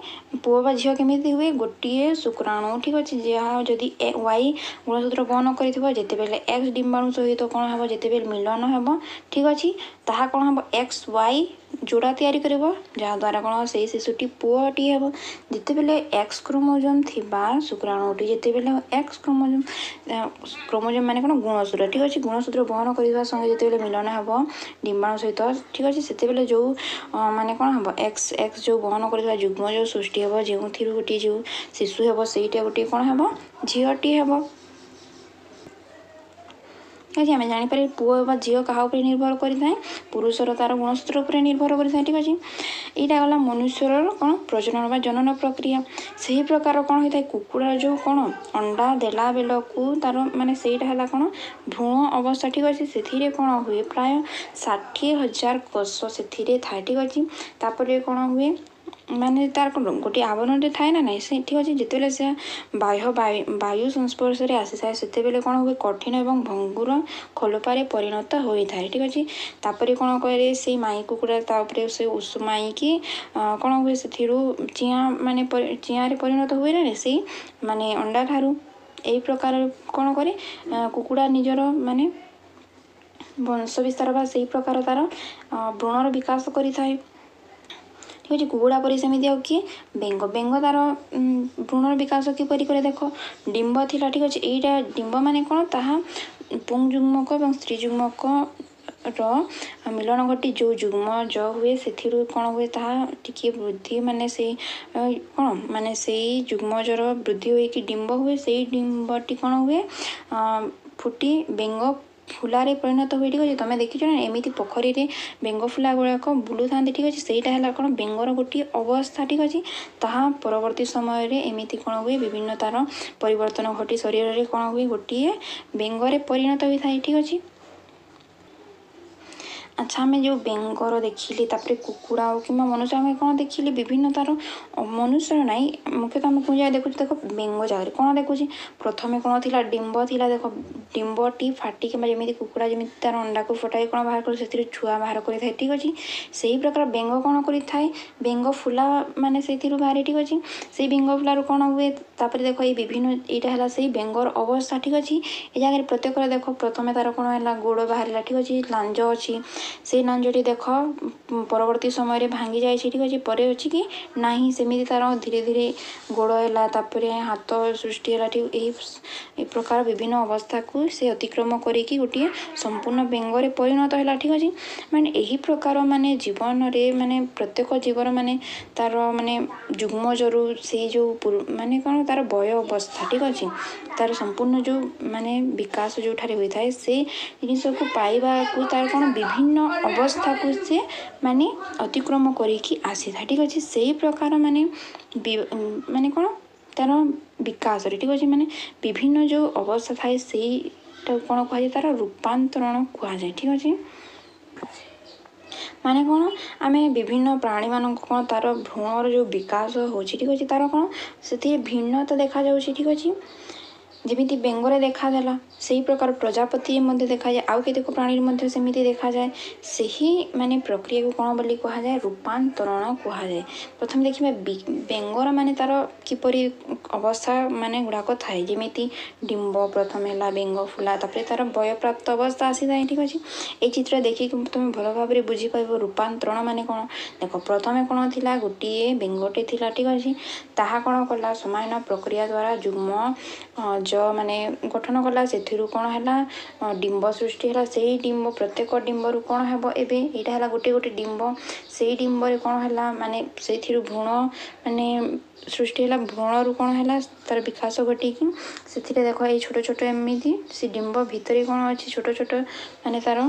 Speaker 1: ପୁଅ ବା ଝିଅ କେମିତି ହୁଏ? ଗୋଟିଏ ଶୁକ୍ରାଣୁ, ଠିକ୍ ଅଛି, ଯାହା ଯଦି ୱାଇ ଗୁଣସୂତ୍ର ବହନ କରିଥିବ, ଯେତେବେଳେ ଏକ୍ସ ଡିମ୍ବାଣୁ ସହିତ କ'ଣ ହେବ, ଯେତେବେଳେ ମିଳନ ହେବ, ଠିକ୍ ଅଛି, ତାହା କ'ଣ ହେବ? ଏକ୍ସ ୱାଇ ଯୋଡ଼ା ତିଆରି କରିବ, ଯାହାଦ୍ୱାରା କ'ଣ ସେଇ ଶିଶୁଟି ପୁଅଟି ହେବ। ଯେତେବେଳେ ଏକ୍ସ କ୍ରୋମୋଜୋମ୍ ଥିବା ଶୁକ୍ରାଣୁଟି ଯେତେବେଳେ ଏକ୍ସ କ୍ରୋମୋଜୋମ୍, କ୍ରୋମୋଜୋମ୍ ମାନେ କ'ଣ? ଗୁଣସୂତ୍ର, ଠିକ୍ ଅଛି, ଗୁଣସୂତ୍ର ବହନ କରିବା ସଙ୍ଗେ ଯେତେବେଳେ ମିଳନ ହେବ ଡିମ୍ବାଣୁ ସହିତ, ଠିକ୍ ଅଛି, ସେତେବେଳେ ଯେଉଁ ମାନେ କ'ଣ ହେବ, ଏକ୍ସ ଏକ୍ସ ଯେଉଁ ବହନ କରିଥିବା ଯୁଗ୍ମ ଯେଉଁ ସୃଷ୍ଟି ହେବ, ଯେଉଁଥିରୁ ଗୋଟିଏ ଯେଉଁ ଶିଶୁ ହେବ, ସେଇଟା ଗୋଟିଏ କ'ଣ ହେବ? ଝିଅଟି ହେବ। ଠିକ୍ ଅଛି, ଆମେ ଜାଣିପାରିବା ପୁଅ ବା ଝିଅ କାହା ଉପରେ ନିର୍ଭର କରିଥାଏ? ପୁରୁଷର ତା'ର ଗୁଣସୂତ୍ର ଉପରେ ନିର୍ଭର କରିଥାଏ, ଠିକ୍ ଅଛି। ଏଇଟା ଗଲା ମନୁଷ୍ୟର କ'ଣ ପ୍ରଜନନ ବା ଜନନ ପ୍ରକ୍ରିୟା। ସେହି ପ୍ରକାର କ'ଣ ହୋଇଥାଏ? କୁକୁଡ଼ାର ଯେଉଁ କ'ଣ ଅଣ୍ଡା ଦେଲା ବେଳକୁ ତା'ର ମାନେ ସେଇଟା ହେଲା କ'ଣ ଭ୍ରୂଣ ଅବସ୍ଥା, ଠିକ୍ ଅଛି। ସେଥିରେ କ'ଣ ହୁଏ? ପ୍ରାୟ ଷାଠିଏ ହଜାର କୋଷ ସେଥିରେ ଥାଏ, ଠିକ୍ ଅଛି। ତାପରେ କ'ଣ ହୁଏ? ମାନେ ତାର କ'ଣ ଗୋଟିଏ ଆବରଣଟେ ଥାଏ ନା ନାହିଁ ସେ, ଠିକ୍ ଅଛି। ଯେତେବେଳେ ସେ ବାହ୍ୟ ବାୟୁ ସଂସ୍ପର୍ଶରେ ଆସିଥାଏ, ସେତେବେଳେ କ'ଣ ହୁଏ? କଠିନ ଏବଂ ଭଙ୍ଗୁର ଖୋଳପାରେ ପରିଣତ ହୋଇଥାଏ, ଠିକ୍ ଅଛି। ତାପରେ କ'ଣ କରେ? ସେଇ ମାଇ କୁକୁଡ଼ା ତା ଉପରେ ସେ ଉଷୁମାଇକି କ'ଣ ହୁଏ? ସେଥିରୁ ଚିଆଁ ମାନେ ଚିଆଁରେ ପରିଣତ ହୁଏ ନା ସେଇ ମାନେ ଅଣ୍ଡା ଠାରୁ। ଏଇ ପ୍ରକାର କ'ଣ କରେ କୁକୁଡ଼ା? ନିଜର ମାନେ ବଂଶ ବିସ୍ତାର ବା ସେଇ ପ୍ରକାର ତା'ର ଭ୍ରୂଣର ବିକାଶ କରିଥାଏ, ଠିକ୍ ଅଛି। କୁକୁଡ଼ା ପରି ସେମିତି ଆଉ କିଏ? ବେଙ୍ଗ। ବେଙ୍ଗ ତା'ର ଭ୍ରୂଣର ବିକାଶ କିପରି କରେ? ଦେଖ, ଡିମ୍ବ ଥିଲା, ଠିକ୍ ଅଛି। ଏଇଟା ଡିମ୍ବ ମାନେ କ'ଣ? ତାହା ପୁଂ ଯୁଗ୍ମକ ଏବଂ ସ୍ତ୍ରୀ ଯୁଗ୍ମକର ମିଳନ ଘଟି ଯେଉଁ ଯୁଗ୍ମ ଜ ହୁଏ, ସେଥିରୁ କ'ଣ ହୁଏ? ତାହା ଟିକିଏ ବୃଦ୍ଧି ମାନେ ସେଇ କ'ଣ ମାନେ ସେଇ ଯୁଗ୍ମଜର ବୃଦ୍ଧି ହୋଇକି ଡିମ୍ବ ହୁଏ। ସେଇ ଡିମ୍ବଟି କ'ଣ ହୁଏ? ଫୁଟି ବେଙ୍ଗ ଫୁଲାରେ ପରିଣତ ହୁଏ, ଠିକ୍ ଅଛି। ତମେ ଦେଖିଛ ନା ଏମିତି ପୋଖରୀରେ ବେଙ୍ଗ ଫୁଲା ଗୁଡ଼ାକ ବୁଲୁଥାନ୍ତି, ଠିକ୍ ଅଛି। ସେଇଟା ହେଲା କ'ଣ ବେଙ୍ଗର ଗୋଟିଏ ଅବସ୍ଥା, ଠିକ୍ ଅଛି। ତାହା ପରବର୍ତ୍ତୀ ସମୟରେ ଏମିତି କ'ଣ ହୁଏ? ବିଭିନ୍ନ ତା'ର ପରିବର୍ତ୍ତନ ଘଟି ଶରୀରରେ କ'ଣ ହୁଏ? ଗୋଟିଏ ବେଙ୍ଗରେ ପରିଣତ ହୋଇଥାଏ, ଠିକ୍ ଅଛି। ଆଚ୍ଛା, ଆମେ ଯେଉଁ ବେଙ୍ଗର ଦେଖିଲେ, ତାପରେ କୁକୁଡ଼ା ହଉ କିମ୍ବା ମନୁଷ୍ୟ, ଆମେ କ'ଣ ଦେଖିଲେ ବିଭିନ୍ନ ତା'ର, ମନୁଷ୍ୟର ନାହିଁ, ମୁଖ୍ୟତଃ ଆମେ କେଉଁ ଜାଗାରେ ଦେଖୁଛୁ? ଦେଖ, ବେଙ୍ଗ ଜାଗାରେ କ'ଣ ଦେଖୁଛି? ପ୍ରଥମେ କ'ଣ ଥିଲା? ଡିମ୍ବ ଥିଲା। ଦେଖ, ଡିମ୍ବଟି ଫାଟି କିମ୍ବା ଯେମିତି କୁକୁଡ଼ା ଯେମିତି ତା'ର ଅଣ୍ଡାକୁ ଫଟାଇ କ'ଣ ବାହାର କରେ, ସେଥିରୁ ଛୁଆ ବାହାର କରିଥାଏ। ଠିକ୍ ଅଛି? ସେଇ ପ୍ରକାର ବେଙ୍ଗ କ'ଣ କରିଥାଏ? ବେଙ୍ଗ ଫୁଲା ମାନେ ସେଇଥିରୁ ବାହାରେ। ଠିକ୍ ଅଛି? ସେଇ ବେଙ୍ଗ ଫୁଲାରୁ କ'ଣ ହୁଏ? ତାପରେ ଦେଖ, ଏଇ ବିଭିନ୍ନ ଏଇଟା ହେଲା ସେଇ ବେଙ୍ଗର ଅବସ୍ଥା। ଠିକ୍ ଅଛି? ଏ ଜାଗାରେ ପ୍ରତ୍ୟେକର ଦେଖ, ପ୍ରଥମେ ତା'ର କ'ଣ ହେଲା? ଗୋଡ଼ ବାହାରିଲା। ଠିକ୍ ଅଛି? ଲାଞ୍ଜ ଅଛି। ସେଇ ଲାଞ୍ଜଟି ଦେଖ, ପରବର୍ତ୍ତୀ ସମୟରେ ଭାଙ୍ଗି ଯାଇଛି। ଠିକ୍ ଅଛି? ପରେ ଅଛି କି ନାହିଁ। ସେମିତି ତା'ର ଧୀରେ ଧୀରେ ଗୋଡ଼ ହେଲା, ତାପରେ ହାତ ସୃଷ୍ଟି ହେଲା। ଠିକ୍ ଏହି ପ୍ରକାର ବିଭିନ୍ନ ଅବସ୍ଥାକୁ ସେ ଅତିକ୍ରମ କରିକି ଗୋଟିଏ ସମ୍ପୂର୍ଣ୍ଣ ବେଙ୍ଗରେ ପରିଣତ ହେଲା। ଠିକ୍ ଅଛି? ମାନେ ଏହି ପ୍ରକାର ମାନେ ଜୀବନରେ ମାନେ ପ୍ରତ୍ୟେକ ଜୀବର ମାନେ ତା'ର ମାନେ ଯୁଗ୍ମଜରୁ ସେଇ ଯେଉଁ ମାନେ କ'ଣ ତା'ର ବୟ ଅବସ୍ଥା, ଠିକ୍ ଅଛି, ତା'ର ସମ୍ପୂର୍ଣ୍ଣ ଯେଉଁ ମାନେ ବିକାଶ ଯେଉଁଠାରେ ହୋଇଥାଏ, ସେ ଜିନିଷକୁ ପାଇବାକୁ ତା'ର କ'ଣ ବିଭିନ୍ନ ଅବସ୍ଥାକୁ ସେ ମାନେ ଅତିକ୍ରମ କରିକି ଆସିଥାଏ। ଠିକ୍ ଅଛି? ସେଇ ପ୍ରକାର ମାନେ ମାନେ କ'ଣ ତା'ର ବିକାଶରେ, ଠିକ୍ ଅଛି, ମାନେ ବିଭିନ୍ନ ଯେଉଁ ଅବସ୍ଥା ଥାଏ, ସେଇଟାକୁ କ'ଣ କୁହାଯାଏ? ତା'ର ରୂପାନ୍ତରଣ କୁହାଯାଏ। ଠିକ୍ ଅଛି? ମାନେ କ'ଣ ଆମେ ବିଭିନ୍ନ ପ୍ରାଣୀମାନଙ୍କୁ କ'ଣ ତା'ର ଭ୍ରୂଣର ଯେଉଁ ବିକାଶ ହେଉଛି, ଠିକ୍ ଅଛି, ତା'ର କ'ଣ ସେଥିରେ ଭିନ୍ନତା ଦେଖାଯାଉଛି। ଠିକ୍ ଅଛି? ଯେମିତି ବେଙ୍ଗରେ ଦେଖାଦେଲା, ସେଇ ପ୍ରକାର ପ୍ରଜାପତି ମଧ୍ୟ ଦେଖାଯାଏ, ଆଉ କେତେକ ପ୍ରାଣୀରେ ମଧ୍ୟ ସେମିତି ଦେଖାଯାଏ। ସେହି ମାନେ ପ୍ରକ୍ରିୟାକୁ କ'ଣ ବୋଲି କୁହାଯାଏ? ରୂପାନ୍ତରଣ କୁହାଯାଏ। ପ୍ରଥମେ ଦେଖିବା ବେଙ୍ଗର ମାନେ ତା'ର କିପରି ଅବସ୍ଥା ମାନେ ଗୁଡ଼ାକ ଥାଏ। ଯେମିତି ଡିମ୍ବ ପ୍ରଥମେ ହେଲା, ବେଙ୍ଗ ଫୁଲା, ତାପରେ ତା'ର ବୟପ୍ରାପ୍ତ ଅବସ୍ଥା ଆସିଥାଏ। ଠିକ୍ ଅଛି? ଏଇ ଚିତ୍ର ଦେଖିକି ତୁମେ ଭଲ ଭାବରେ ବୁଝିପାରିବ ରୂପାନ୍ତରଣ ମାନେ କ'ଣ। ଦେଖ, ପ୍ରଥମେ କ'ଣ ଥିଲା? ଗୋଟିଏ ବେଙ୍ଗଟେ ଥିଲା। ଠିକ୍ ଅଛି? ତାହା କ'ଣ କଲା? ସମାନ ପ୍ରକ୍ରିୟା ଦ୍ୱାରା ଯୁଗ୍ମ ଜ ମାନେ ଗଠନ କଲା। ସେଥିରୁ କ'ଣ ହେଲା? ଡିମ୍ବ ସୃଷ୍ଟି ହେଲା। ସେଇ ଡିମ୍ବ, ପ୍ରତ୍ୟେକ ଡିମ୍ବରୁ କ'ଣ ହେବ? ଏବେ ଏଇଟା ହେଲା ଗୋଟେ ଗୋଟେ ଡିମ୍ବ। ସେଇ ଡିମ୍ବରେ କ'ଣ ହେଲା? ମାନେ ସେଇଥିରୁ ଭ୍ରୂଣ ମାନେ ସୃଷ୍ଟି ହେଲା। ଭ୍ରୂଣରୁ କ'ଣ ହେଲା? ତା'ର ବିକାଶ ଘଟିକି ସେଥିରେ ଦେଖ, ଏଇ ଛୋଟ ଛୋଟ ଏମିତି ସେ ଡିମ୍ବ ଭିତରେ କ'ଣ ଅଛି, ଛୋଟ ଛୋଟ ମାନେ ତା'ର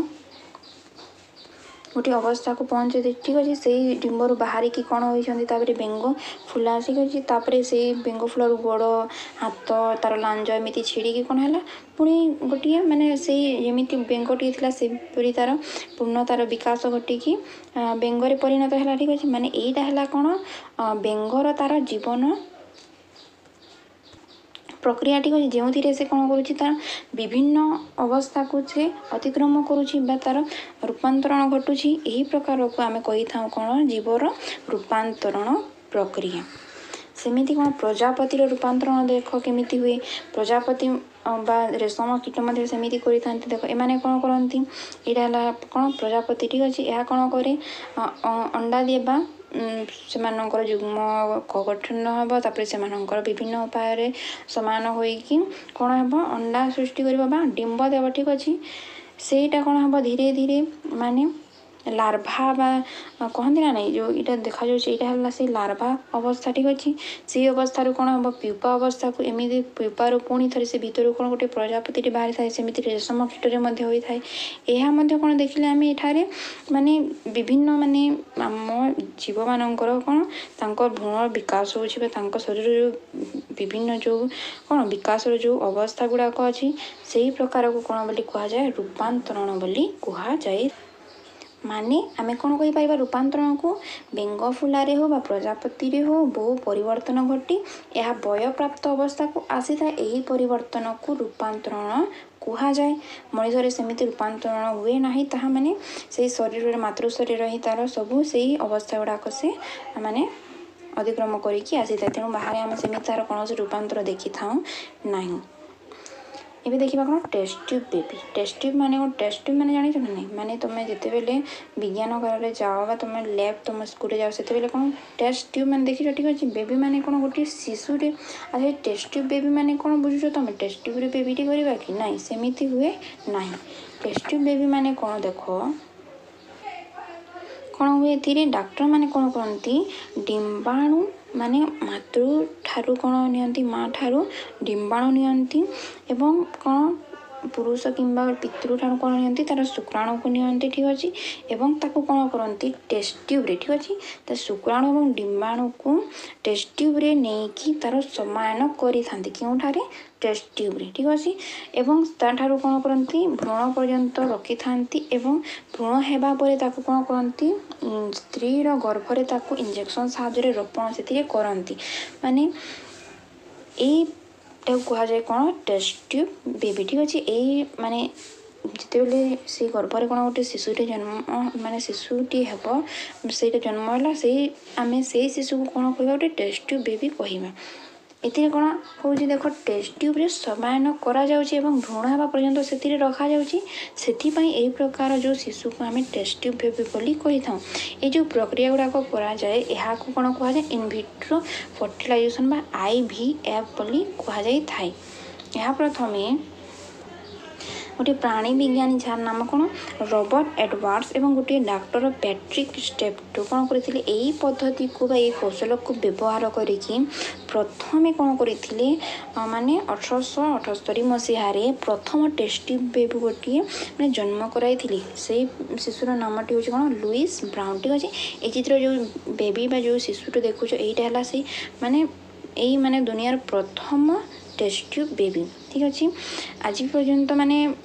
Speaker 1: ଗୋଟିଏ ଅବସ୍ଥାକୁ ପହଞ୍ଚେ। ଠିକ୍ ଅଛି? ସେଇ ଡିମ୍ବରୁ ବାହାରିକି କ'ଣ ହୋଇଛନ୍ତି? ତାପରେ ବେଙ୍ଗ ଫୁଲା। ଠିକ୍ ଅଛି? ତାପରେ ସେଇ ବେଙ୍ଗ ଫୁଲାରୁ ଗୋଡ଼, ହାତ, ତା'ର ଲାଞ୍ଜ ଏମିତି ଛିଡ଼ିକି କ'ଣ ହେଲା? ପୁଣି ଗୋଟିଏ ମାନେ ସେଇ ଯେମିତି ବେଙ୍ଗଟିଏ ଥିଲା, ସେପରି ତା'ର ପୂର୍ଣ୍ଣ ତା'ର ବିକାଶ ଘଟିକି ବେଙ୍ଗରେ ପରିଣତ ହେଲା। ଠିକ୍ ଅଛି? ମାନେ ଏଇଟା ହେଲା କ'ଣ ବେଙ୍ଗର ତା'ର ଜୀବନ ପ୍ରକ୍ରିୟା। ଠିକ୍ ଅଛି? ଯେଉଁଥିରେ ସେ କ'ଣ କରୁଛି? ତା'ର ବିଭିନ୍ନ ଅବସ୍ଥାକୁ ସେ ଅତିକ୍ରମ କରୁଛି ବା ତା'ର ରୂପାନ୍ତରଣ ଘଟୁଛି। ଏହି ପ୍ରକାରକୁ ଆମେ କହିଥାଉ କ'ଣ? ଜୀବର ରୂପାନ୍ତରଣ ପ୍ରକ୍ରିୟା। ସେମିତି କ'ଣ ପ୍ରଜାପତିର ରୂପାନ୍ତରଣ ଦେଖ କେମିତି ହୁଏ। ପ୍ରଜାପତି ବା ରେଶମ କୀଟ ମଧ୍ୟ ସେମିତି କରିଥାନ୍ତି। ଦେଖ, ଏମାନେ କ'ଣ କରନ୍ତି? ଏଇଟା ହେଲା କ'ଣ? ପ୍ରଜାପତି। ଠିକ୍ ଅଛି? ଏହା କ'ଣ କରେ? ଅଣ୍ଡା ଦିଏ ବା ସେମାନଙ୍କର ଯୁଗ୍ମ ଗଠନ ହେବ। ତାପରେ ସେମାନଙ୍କର ବିଭିନ୍ନ ଉପାୟରେ ସମାନ ହୋଇକି କ'ଣ ହେବ? ଅଣ୍ଡା ସୃଷ୍ଟି କରିବ ବା ଡିମ୍ବ ଦେବ। ଠିକ୍ ଅଛି? ସେଇଟା କ'ଣ ହେବ? ଧୀରେ ଧୀରେ ମାନେ ଲାର୍ଭା ବା କହନ୍ତି ନା ନାଇଁ, ଯେଉଁ ଏଇଟା ଦେଖାଯାଉଛି, ଏଇଟା ହେଲା ସେଇ ଲାର୍ଭା ଅବସ୍ଥା। ଠିକ୍ ଅଛି? ସେଇ ଅବସ୍ଥାରୁ କ'ଣ ହେବ? ପ୍ୟୁପା ଅବସ୍ଥାକୁ। ଏମିତି ପ୍ୟୁପାରୁ ପୁଣି ଥରେ ସେ ଭିତରୁ କ'ଣ ଗୋଟେ ପ୍ରଜାପତିଟି ବାହାରିଥାଏ। ସେମିତି ରେଶମ କୀଟରେ ମଧ୍ୟ ହୋଇଥାଏ। ଏହା ମଧ୍ୟ କ'ଣ ଦେଖିଲେ ଆମେ ଏଠାରେ ମାନେ ବିଭିନ୍ନ ମାନେ ଆମ ଜୀବମାନଙ୍କର କ'ଣ ତାଙ୍କ ଭ୍ରୂଣର ବିକାଶ ହେଉଛି ବା ତାଙ୍କ ଶରୀରର ଯେଉଁ ବିଭିନ୍ନ ଯେଉଁ କ'ଣ ବିକାଶର ଯେଉଁ ଅବସ୍ଥା ଗୁଡ଼ାକ ଅଛି, ସେଇ ପ୍ରକାରକୁ କ'ଣ ବୋଲି କୁହାଯାଏ? ରୂପାନ୍ତରଣ ବୋଲି କୁହାଯାଏ। ମାନେ ଆମେ କ'ଣ କହିପାରିବା ରୂପାନ୍ତରଣକୁ? ବେଙ୍ଗ ଫୁଲାରେ ହଉ ବା ପ୍ରଜାପତିରେ ହଉ, ବହୁ ପରିବର୍ତ୍ତନ ଘଟି ଏହା ବୟପ୍ରାପ୍ତ ଅବସ୍ଥାକୁ ଆସିଥାଏ। ଏହି ପରିବର୍ତ୍ତନକୁ ରୂପାନ୍ତରଣ କୁହାଯାଏ। ମଣିଷରେ ସେମିତି ରୂପାନ୍ତରଣ ହୁଏ ନାହିଁ। ତାହା ମାନେ ସେଇ ଶରୀରରେ, ମାତୃ ଶରୀର ହିଁ ତା'ର ସବୁ ସେଇ ଅବସ୍ଥା ଗୁଡ଼ାକ ସେ ମାନେ ଅତିକ୍ରମ କରିକି ଆସିଥାଏ। ତେଣୁ ବାହାରେ ଆମେ ସେମିତି ତା'ର କୌଣସି ରୂପାନ୍ତର ଦେଖିଥାଉ ନାହିଁ। ଏବେ ଦେଖିବା କ'ଣ? Test tube baby. Test tube ମାନେ କ'ଣ? ଟେଷ୍ଟ ଟ୍ୟୁବ୍ ମାନେ ଜାଣିଛ ନା ନାହିଁ? ମାନେ ତୁମେ ଯେତେବେଳେ ବିଜ୍ଞାନ ଘରରେ ଯାଅ ବା ତୁମେ ଲ୍ୟାବ୍ ତୁମ ସ୍କୁଲରେ ଯାଅ, ସେତେବେଳେ କ'ଣ ଟେଷ୍ଟ ଟ୍ୟୁବ୍ ମାନେ ଦେଖିଛ? ଠିକ୍ ଅଛି? ବେବି ମାନେ କ'ଣ? ଗୋଟିଏ ଶିଶୁଟେ। ଆଚ୍ଛା, ଟେଷ୍ଟ ଟ୍ୟୁବ୍ ବେବି ମାନେ କ'ଣ ବୁଝୁଛ ତୁମେ? ଟେଷ୍ଟ ଟ୍ୟୁବ୍ରେ ବେବିଟି କରିବା କି ନାଇଁ? ସେମିତି ହୁଏ ନାହିଁ। ଟେଷ୍ଟ ଟ୍ୟୁବ୍ ବେବି ମାନେ କ'ଣ? ଦେଖ, କ'ଣ ହୁଏ ଏଥିରେ? ଡାକ୍ତରମାନେ କ'ଣ କରନ୍ତି? ଡିମ୍ବାଣୁ ମାନେ ମାତୃ ଠାରୁ କ'ଣ ନିଅନ୍ତି? ମା ଠାରୁ ଡିମ୍ବାଣୁ ନିଅନ୍ତି ଏବଂ କ'ଣ ପୁରୁଷ କିମ୍ବା ପିତୃଠାରୁ କ'ଣ ନିଅନ୍ତି? ତା'ର ଶୁକ୍ରାଣୁକୁ ନିଅନ୍ତି, ଠିକ୍ ଅଛି, ଏବଂ ତାକୁ କ'ଣ କରନ୍ତି? ଟେଷ୍ଟ ଟ୍ୟୁବ୍ରେ, ଠିକ୍ ଅଛି, ତା ଶୁକ୍ରାଣୁ ଏବଂ ଡିମ୍ବାଣୁକୁ ଟେଷ୍ଟ ଟ୍ୟୁବ୍ରେ ନେଇକି ତା'ର ସମାୟନ କରିଥାନ୍ତି। କେଉଁଠାରେ? ଟେଷ୍ଟ ଟ୍ୟୁବ୍ରେ, ଠିକ୍ ଅଛି। ଏବଂ ତା'ଠାରୁ କ'ଣ କରନ୍ତି? ଭ୍ରୂଣ ପର୍ଯ୍ୟନ୍ତ ରଖିଥାନ୍ତି ଏବଂ ଭ୍ରୂଣ ହେବା ପରେ ତାକୁ କ'ଣ କରନ୍ତି? ସ୍ତ୍ରୀର ଗର୍ଭରେ ତାକୁ ଇଞ୍ଜେକ୍ସନ୍ ସାହାଯ୍ୟରେ ରୋପଣ ସେଥିରେ କରନ୍ତି। ମାନେ ଏଇଟାକୁ କୁହାଯାଏ କ'ଣ? ଟେଷ୍ଟ ଟ୍ୟୁବ୍ ବେବି, ଠିକ୍ ଅଛି। ଏଇ ମାନେ ଯେତେବେଳେ ସେଇ ଗର୍ଭରେ କ'ଣ ଗୋଟେ ଶିଶୁଟି ଜନ୍ମ, ମାନେ ଶିଶୁଟି ହେବ, ସେଇଟା ଜନ୍ମ ହେଲା, ସେଇ ଆମେ ସେଇ ଶିଶୁକୁ କ'ଣ କହିବା? ଗୋଟେ ଟେଷ୍ଟ ଟ୍ୟୁବ୍ ବେବି କହିବା। ଏଥିରେ କ'ଣ ହେଉଛି ଦେଖ, ଟେଷ୍ଟ ଟ୍ୟୁବ୍ରେ ସମାୟନ କରାଯାଉଛି ଏବଂ ଭ୍ରୂଣ ହେବା ପର୍ଯ୍ୟନ୍ତ ସେଥିରେ ରଖାଯାଉଛି। ସେଥିପାଇଁ ଏହି ପ୍ରକାର ଯେଉଁ ଶିଶୁକୁ ଆମେ ଟେଷ୍ଟ ଟ୍ୟୁବ୍ ବେବି ବୋଲି କହିଥାଉ। ଏଇ ଯେଉଁ ପ୍ରକ୍ରିୟା ଗୁଡ଼ାକ କରାଯାଏ, ଏହାକୁ କ'ଣ କୁହାଯାଏ? ଇନଭିଟ୍ରୋ ଫର୍ଟିଲାଇଜେସନ୍ ବା I V F ବୋଲି କୁହାଯାଇଥାଏ। ଏହା ପ୍ରଥମେ ଗୋଟିଏ ପ୍ରାଣୀ ବିଜ୍ଞାନୀ, ଯାହାର ନାମ କ'ଣ? ରବର୍ଟ ଏଡୱାର୍ଡସ୍, ଏବଂ ଗୋଟିଏ ଡାକ୍ତର ପ୍ୟାଟ୍ରିକ୍ ଷ୍ଟେପ୍ଟୋ କ'ଣ କରିଥିଲେ? ଏଇ ପଦ୍ଧତିକୁ ବା ଏଇ କୌଶଳକୁ ବ୍ୟବହାର କରିକି ପ୍ରଥମେ କ'ଣ କରିଥିଲେ? ମାନେ ଅଠରଶହ ଅଠସ୍ତରୀ ମସିହାରେ ପ୍ରଥମ ଟେଷ୍ଟ ଟ୍ୟୁବ୍ ବେବି ଗୋଟିଏ ମାନେ ଜନ୍ମ କରାଇଥିଲେ। ସେଇ ଶିଶୁର ନାମଟି ହେଉଛି କ'ଣ? ଲୁଇସ୍ ବ୍ରାଉନ୍, ଠିକ୍ ଅଛି। ଏଇ ଚିତ୍ର ଯେଉଁ ବେବି ବା ଯେଉଁ ଶିଶୁଟି ଦେଖୁଛ, ଏଇଟା ହେଲା ସେଇ ମାନେ ଏଇ ମାନେ ଦୁନିଆର ପ୍ରଥମ ଟେଷ୍ଟ ଟ୍ୟୁବ୍ ବେବି, ଠିକ୍ ଅଛି। ଆଜି ପର୍ଯ୍ୟନ୍ତ ମାନେ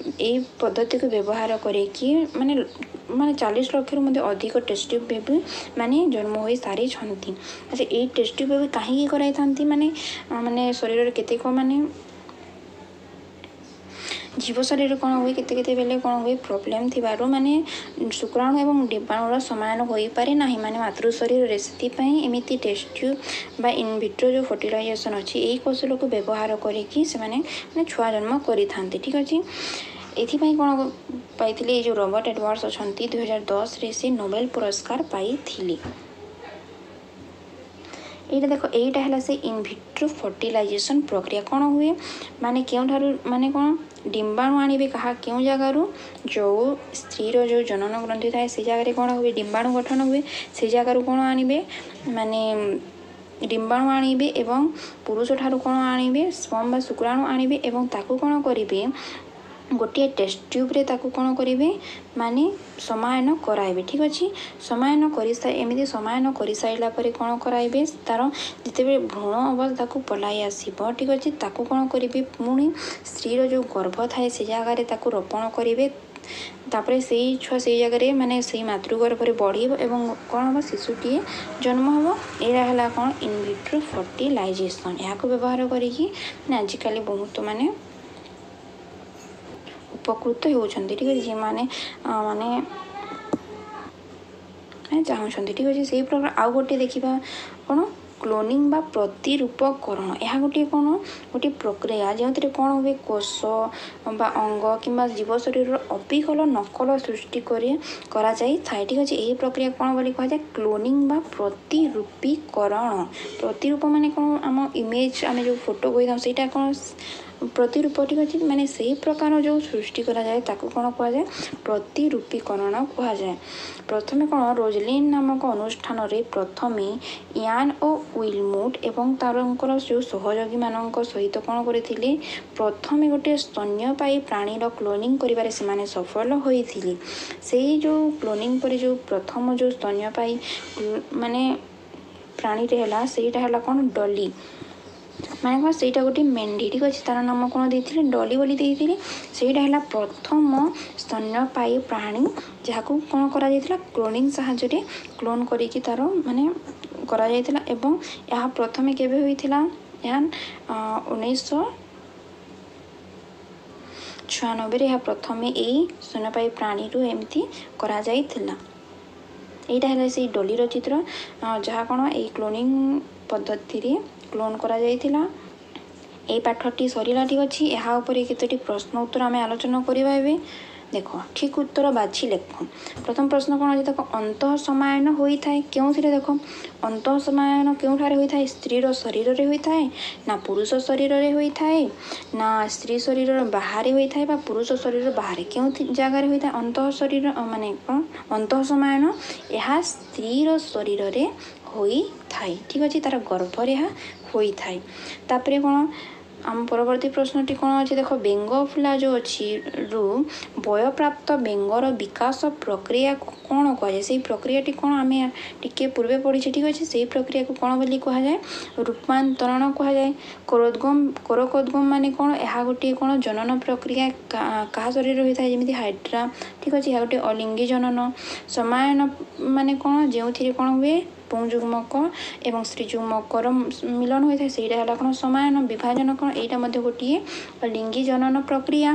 Speaker 1: ଏଇ ପଦ୍ଧତିକୁ ବ୍ୟବହାର କରିକି ମାନେ ମାନେ ଚାଳିଶ ଲକ୍ଷରୁ ମଧ୍ୟ ଅଧିକ ଟେଷ୍ଟ ଟ୍ୟୁବ୍ ବେବି ମାନେ ଜନ୍ମ ହୋଇ ସାରିଛନ୍ତି। ଆଚ୍ଛା, ଏଇ ଟେଷ୍ଟ ଟ୍ୟୁବ୍ ବେବି କାହିଁକି କରାଇଥାନ୍ତି? ମାନେ ମାନେ ଶରୀରରେ କେତେକ ମାନେ ଜୀବ ଶରୀରରେ କ'ଣ ହୁଏ, କେତେ କେତେବେଳେ କ'ଣ ହୁଏ, ପ୍ରୋବ୍ଲେମ୍ ଥିବାରୁ ମାନେ ଶୁକ୍ରାଣୁ ଏବଂ ଡିମ୍ବାଣୁର ସମାୟନ ହୋଇପାରେ ନାହିଁ ମାନେ ମାତୃ ଶରୀରରେ। ସେଥିପାଇଁ ଏମିତି ଟେଷ୍ଟ ଟ୍ୟୁବ୍ ବା ଇନଭିଟ୍ରୋ ଯେଉଁ ଫର୍ଟିଲାଇଜେସନ୍ ଅଛି, ଏଇ କୌଶଳକୁ ବ୍ୟବହାର କରିକି ସେମାନେ ମାନେ ଛୁଆ ଜନ୍ମ କରିଥାନ୍ତି, ଠିକ୍ ଅଛି। ଏଥିପାଇଁ କ'ଣ ପାଇଥିଲେ? ଏଇ ଯେଉଁ ରବର୍ଟ ଏଡୱାର୍ଡସ୍ ଅଛନ୍ତି, ଦୁଇହଜାର ଦଶରେ ସେ ନୋବେଲ ପୁରସ୍କାର ପାଇଥିଲେ। ଏଇଟା ଦେଖ, ଏଇଟା ହେଲା ସେ ଇନଭିଟ୍ରୋ ଫର୍ଟିଲାଇଜେସନ୍ ପ୍ରକ୍ରିୟା। କ'ଣ ହୁଏ? ମାନେ କେଉଁଠାରୁ ମାନେ କ'ଣ ଡିମ୍ବାଣୁ ଆଣିବେ? କାହା କେଉଁ ଜାଗାରୁ? ଯେଉଁ ସ୍ତ୍ରୀର ଯେଉଁ ଜନନ ଗ୍ରନ୍ଥି ଥାଏ, ସେ ଜାଗାରେ କ'ଣ ହୁଏ? ଡିମ୍ବାଣୁ ଗଠନ ହୁଏ। ସେ ଜାଗାରୁ କ'ଣ ଆଣିବେ? ମାନେ ଡିମ୍ବାଣୁ ଆଣିବେ ଏବଂ ପୁରୁଷ ଠାରୁ କ'ଣ ଆଣିବେ? ସ୍ପର୍ମ ବା ଶୁକ୍ରାଣୁ ଆଣିବେ ଏବଂ ତାକୁ କ'ଣ କରିବେ? ଗୋଟିଏ ଟେଷ୍ଟ ଟ୍ୟୁବ୍ରେ ତାକୁ କ'ଣ କରିବେ? ମାନେ ସମାୟନ କରାଇବେ, ଠିକ୍ ଅଛି। ସମାୟନ କରି ଏମିତି ସମାୟନ କରିସାରିଲା ପରେ କ'ଣ କରାଇବେ? ତା'ର ଯେତେବେଳେ ଭ୍ରୂଣ ଅବସ୍ଥାକୁ ପଳାଇ ଆସିବ, ଠିକ୍ ଅଛି, ତାକୁ କ'ଣ କରିବେ? ପୁଣି ସ୍ତ୍ରୀର ଯେଉଁ ଗର୍ଭ ଥାଏ, ସେ ଜାଗାରେ ତାକୁ ରୋପଣ କରିବେ। ତାପରେ ସେଇ ଛୁଆ ସେଇ ଜାଗାରେ ମାନେ ସେଇ ମାତୃଗର୍ଭରେ ବଢ଼ିବ ଏବଂ କ'ଣ ହେବ? ଶିଶୁଟିଏ ଜନ୍ମ ହେବ। ଏଇଟା ହେଲା କ'ଣ? In vitro fertilisation. ଏହାକୁ ବ୍ୟବହାର କରିକି ମାନେ ଆଜିକାଲି ବହୁତ ମାନେ ଉପକୃତ ହେଉଛନ୍ତି, ଠିକ୍ ଅଛି, ଯେଉଁମାନେ ମାନେ ଚାହୁଁଛନ୍ତି, ଠିକ୍ ଅଛି। ସେଇ ପ୍ରକାର ଆଉ ଗୋଟିଏ ଦେଖିବା କ'ଣ? କ୍ଲୋନିଂ ବା ପ୍ରତିରୂପକରଣ। ଏହା ଗୋଟିଏ କ'ଣ? ଗୋଟିଏ ପ୍ରକ୍ରିୟା ଯେଉଁଥିରେ କ'ଣ ହୁଏ? କୋଷ ବା ଅଙ୍ଗ କିମ୍ବା ଜୀବ ଶରୀରର ଅବିକଳ ନକଲ ସୃଷ୍ଟି କରି କରାଯାଇଥାଏ, ଠିକ୍ ଅଛି। ଏହି ପ୍ରକ୍ରିୟା କ'ଣ ବୋଲି କୁହାଯାଏ? କ୍ଲୋନିଂ ବା ପ୍ରତିରୂପୀକରଣ। ପ୍ରତିରୂପ ମାନେ କ'ଣ? ଆମ ଇମେଜ୍, ଆମେ ଯେଉଁ ଫଟୋ କହିଥାଉ, ସେଇଟା କ'ଣ? ପ୍ରତିରୂପ, ଠିକ୍ ଅଛି। ମାନେ ସେଇ ପ୍ରକାର ଯେଉଁ ସୃଷ୍ଟି କରାଯାଏ, ତାକୁ କ'ଣ କୁହାଯାଏ? ପ୍ରତିରୂପୀକରଣ କୁହାଯାଏ। ପ୍ରଥମେ କ'ଣ ରୋଜଲିନ୍ ନାମକ ଅନୁଷ୍ଠାନରେ ପ୍ରଥମେ ୟାନ୍ ଓ ୱିଲମୁଟ୍ ଏବଂ ତାଙ୍କର ଯେଉଁ ସହଯୋଗୀମାନଙ୍କ ସହିତ କ'ଣ କରିଥିଲେ? ପ୍ରଥମେ ଗୋଟିଏ ସ୍ତନ୍ୟପାୟୀ ପ୍ରାଣୀର କ୍ଲୋନିଂ କରିବାରେ ସେମାନେ ସଫଳ ହୋଇଥିଲେ। ସେଇ ଯେଉଁ କ୍ଲୋନିଂ ପରେ ଯେଉଁ ପ୍ରଥମ ଯେଉଁ ସ୍ତନ୍ୟପାୟୀ ମାନେ ପ୍ରାଣୀରେ ହେଲା, ସେଇଟା ହେଲା କ'ଣ? ଡଲି, ମାନେ କ'ଣ ସେଇଟା ଗୋଟିଏ ମେଣ୍ଢି, ଠିକ୍ ଅଛି। ତା'ର ନାମ କ'ଣ ଦେଇଥିଲେ? ଡଲି ବୋଲି ଦେଇଥିଲେ। ସେଇଟା ହେଲା ପ୍ରଥମ ସ୍ତନ୍ୟପାୟୀ ପ୍ରାଣୀ ଯାହାକୁ କ'ଣ କରାଯାଇଥିଲା? କ୍ଲୋନିଂ ସାହାଯ୍ୟରେ କ୍ଲୋନ୍ କରିକି ତା'ର ମାନେ କରାଯାଇଥିଲା। ଏବଂ ଏହା ପ୍ରଥମେ କେବେ ହୋଇଥିଲା? ଏହା ଉଣେଇଶହ ଛୟାନବେରେ ଏହା ପ୍ରଥମେ ଏଇ ସ୍ତନ୍ୟପାୟୀ ପ୍ରାଣୀରୁ ଏମିତି କରାଯାଇଥିଲା। ଏଇଟା ହେଲା ସେଇ ଡଲିର ଚିତ୍ର, ଯାହା କ'ଣ ଏଇ କ୍ଲୋନିଂ ପଦ୍ଧତିରେ କ୍ଲୋନ୍ କରାଯାଇଥିଲା। ଏଇ ପାଠଟି ସରିଲା, ଠିକ୍ ଅଛି। ଏହା ଉପରେ କେତୋଟି ପ୍ରଶ୍ନ ଉତ୍ତର ଆମେ ଆଲୋଚନା କରିବା ଏବେ। ଦେଖ, ଠିକ୍ ଉତ୍ତର ବାଛି ଲେଖ। ପ୍ରଥମ ପ୍ରଶ୍ନ କ'ଣ ଅଛି ଦେଖ, ଅନ୍ତଃ ସମାୟନ ହୋଇଥାଏ କେଉଁଥିରେ? ଦେଖ, ଅନ୍ତଃ ସମାୟନ କେଉଁଠାରେ ହୋଇଥାଏ? ସ୍ତ୍ରୀର ଶରୀରରେ ହୋଇଥାଏ ନା ପୁରୁଷ ଶରୀରରେ ହୋଇଥାଏ ନା ସ୍ତ୍ରୀ ଶରୀରର ବାହାରେ ହୋଇଥାଏ ବା ପୁରୁଷ ଶରୀର ବାହାରେ, କେଉଁ ଜାଗାରେ ହୋଇଥାଏ ଅନ୍ତଃ ଶରୀର ମାନେ କ'ଣ ଅନ୍ତଃ ସମାୟନ? ଏହା ସ୍ତ୍ରୀର ଶରୀରରେ ହୋଇଥାଏ, ଠିକ୍ ଅଛି, ତା'ର ଗର୍ଭରେ ଏହା ହୋଇଥାଏ। ତାପରେ କ'ଣ ଆମ ପରବର୍ତ୍ତୀ ପ୍ରଶ୍ନଟି କ'ଣ ଅଛି ଦେଖ, ବେଙ୍ଗ ଫୁଲା ଯେଉଁ ଅଛି ରୁ ବୟପ୍ରାପ୍ତ ବେଙ୍ଗର ବିକାଶ ପ୍ରକ୍ରିୟାକୁ କ'ଣ କୁହାଯାଏ? ସେଇ ପ୍ରକ୍ରିୟାଟି କ'ଣ ଆମେ ଟିକେ ପୂର୍ବେ ପଢ଼ିଛେ, ଠିକ୍ ଅଛି। ସେଇ ପ୍ରକ୍ରିୟାକୁ କ'ଣ ବୋଲି କୁହାଯାଏ? ରୂପାନ୍ତରଣ କୁହାଯାଏ। କୋରୋଦ୍ଗମ, କୋରକୋଦ୍ଗମ ମାନେ କ'ଣ? ଏହା ଗୋଟିଏ କ'ଣ ଜନନ ପ୍ରକ୍ରିୟା କାହା ଶରୀରରେ ହୋଇଥାଏ? ଯେମିତି ହାଇଡ୍ରା, ଠିକ୍ ଅଛି। ଏହା ଗୋଟିଏ ଅଲିଙ୍ଗୀ ଜନନ। ସମାୟନ ମାନେ କ'ଣ? ଯେଉଁଥିରେ କ'ଣ ହୁଏ? ପୁଂଯୁଗ୍ମକ ଏବଂ ସ୍ତ୍ରୀଯୁଗ୍ମକର ମିଲନ ହୋଇଥାଏ, ସେଇଟା ହେଲା କ'ଣ ସମାୟନ। ବିଭାଜନ କ'ଣ? ଏଇଟା ମଧ୍ୟ ଗୋଟିଏ ଲିଙ୍ଗୀ ଜନନ ପ୍ରକ୍ରିୟା।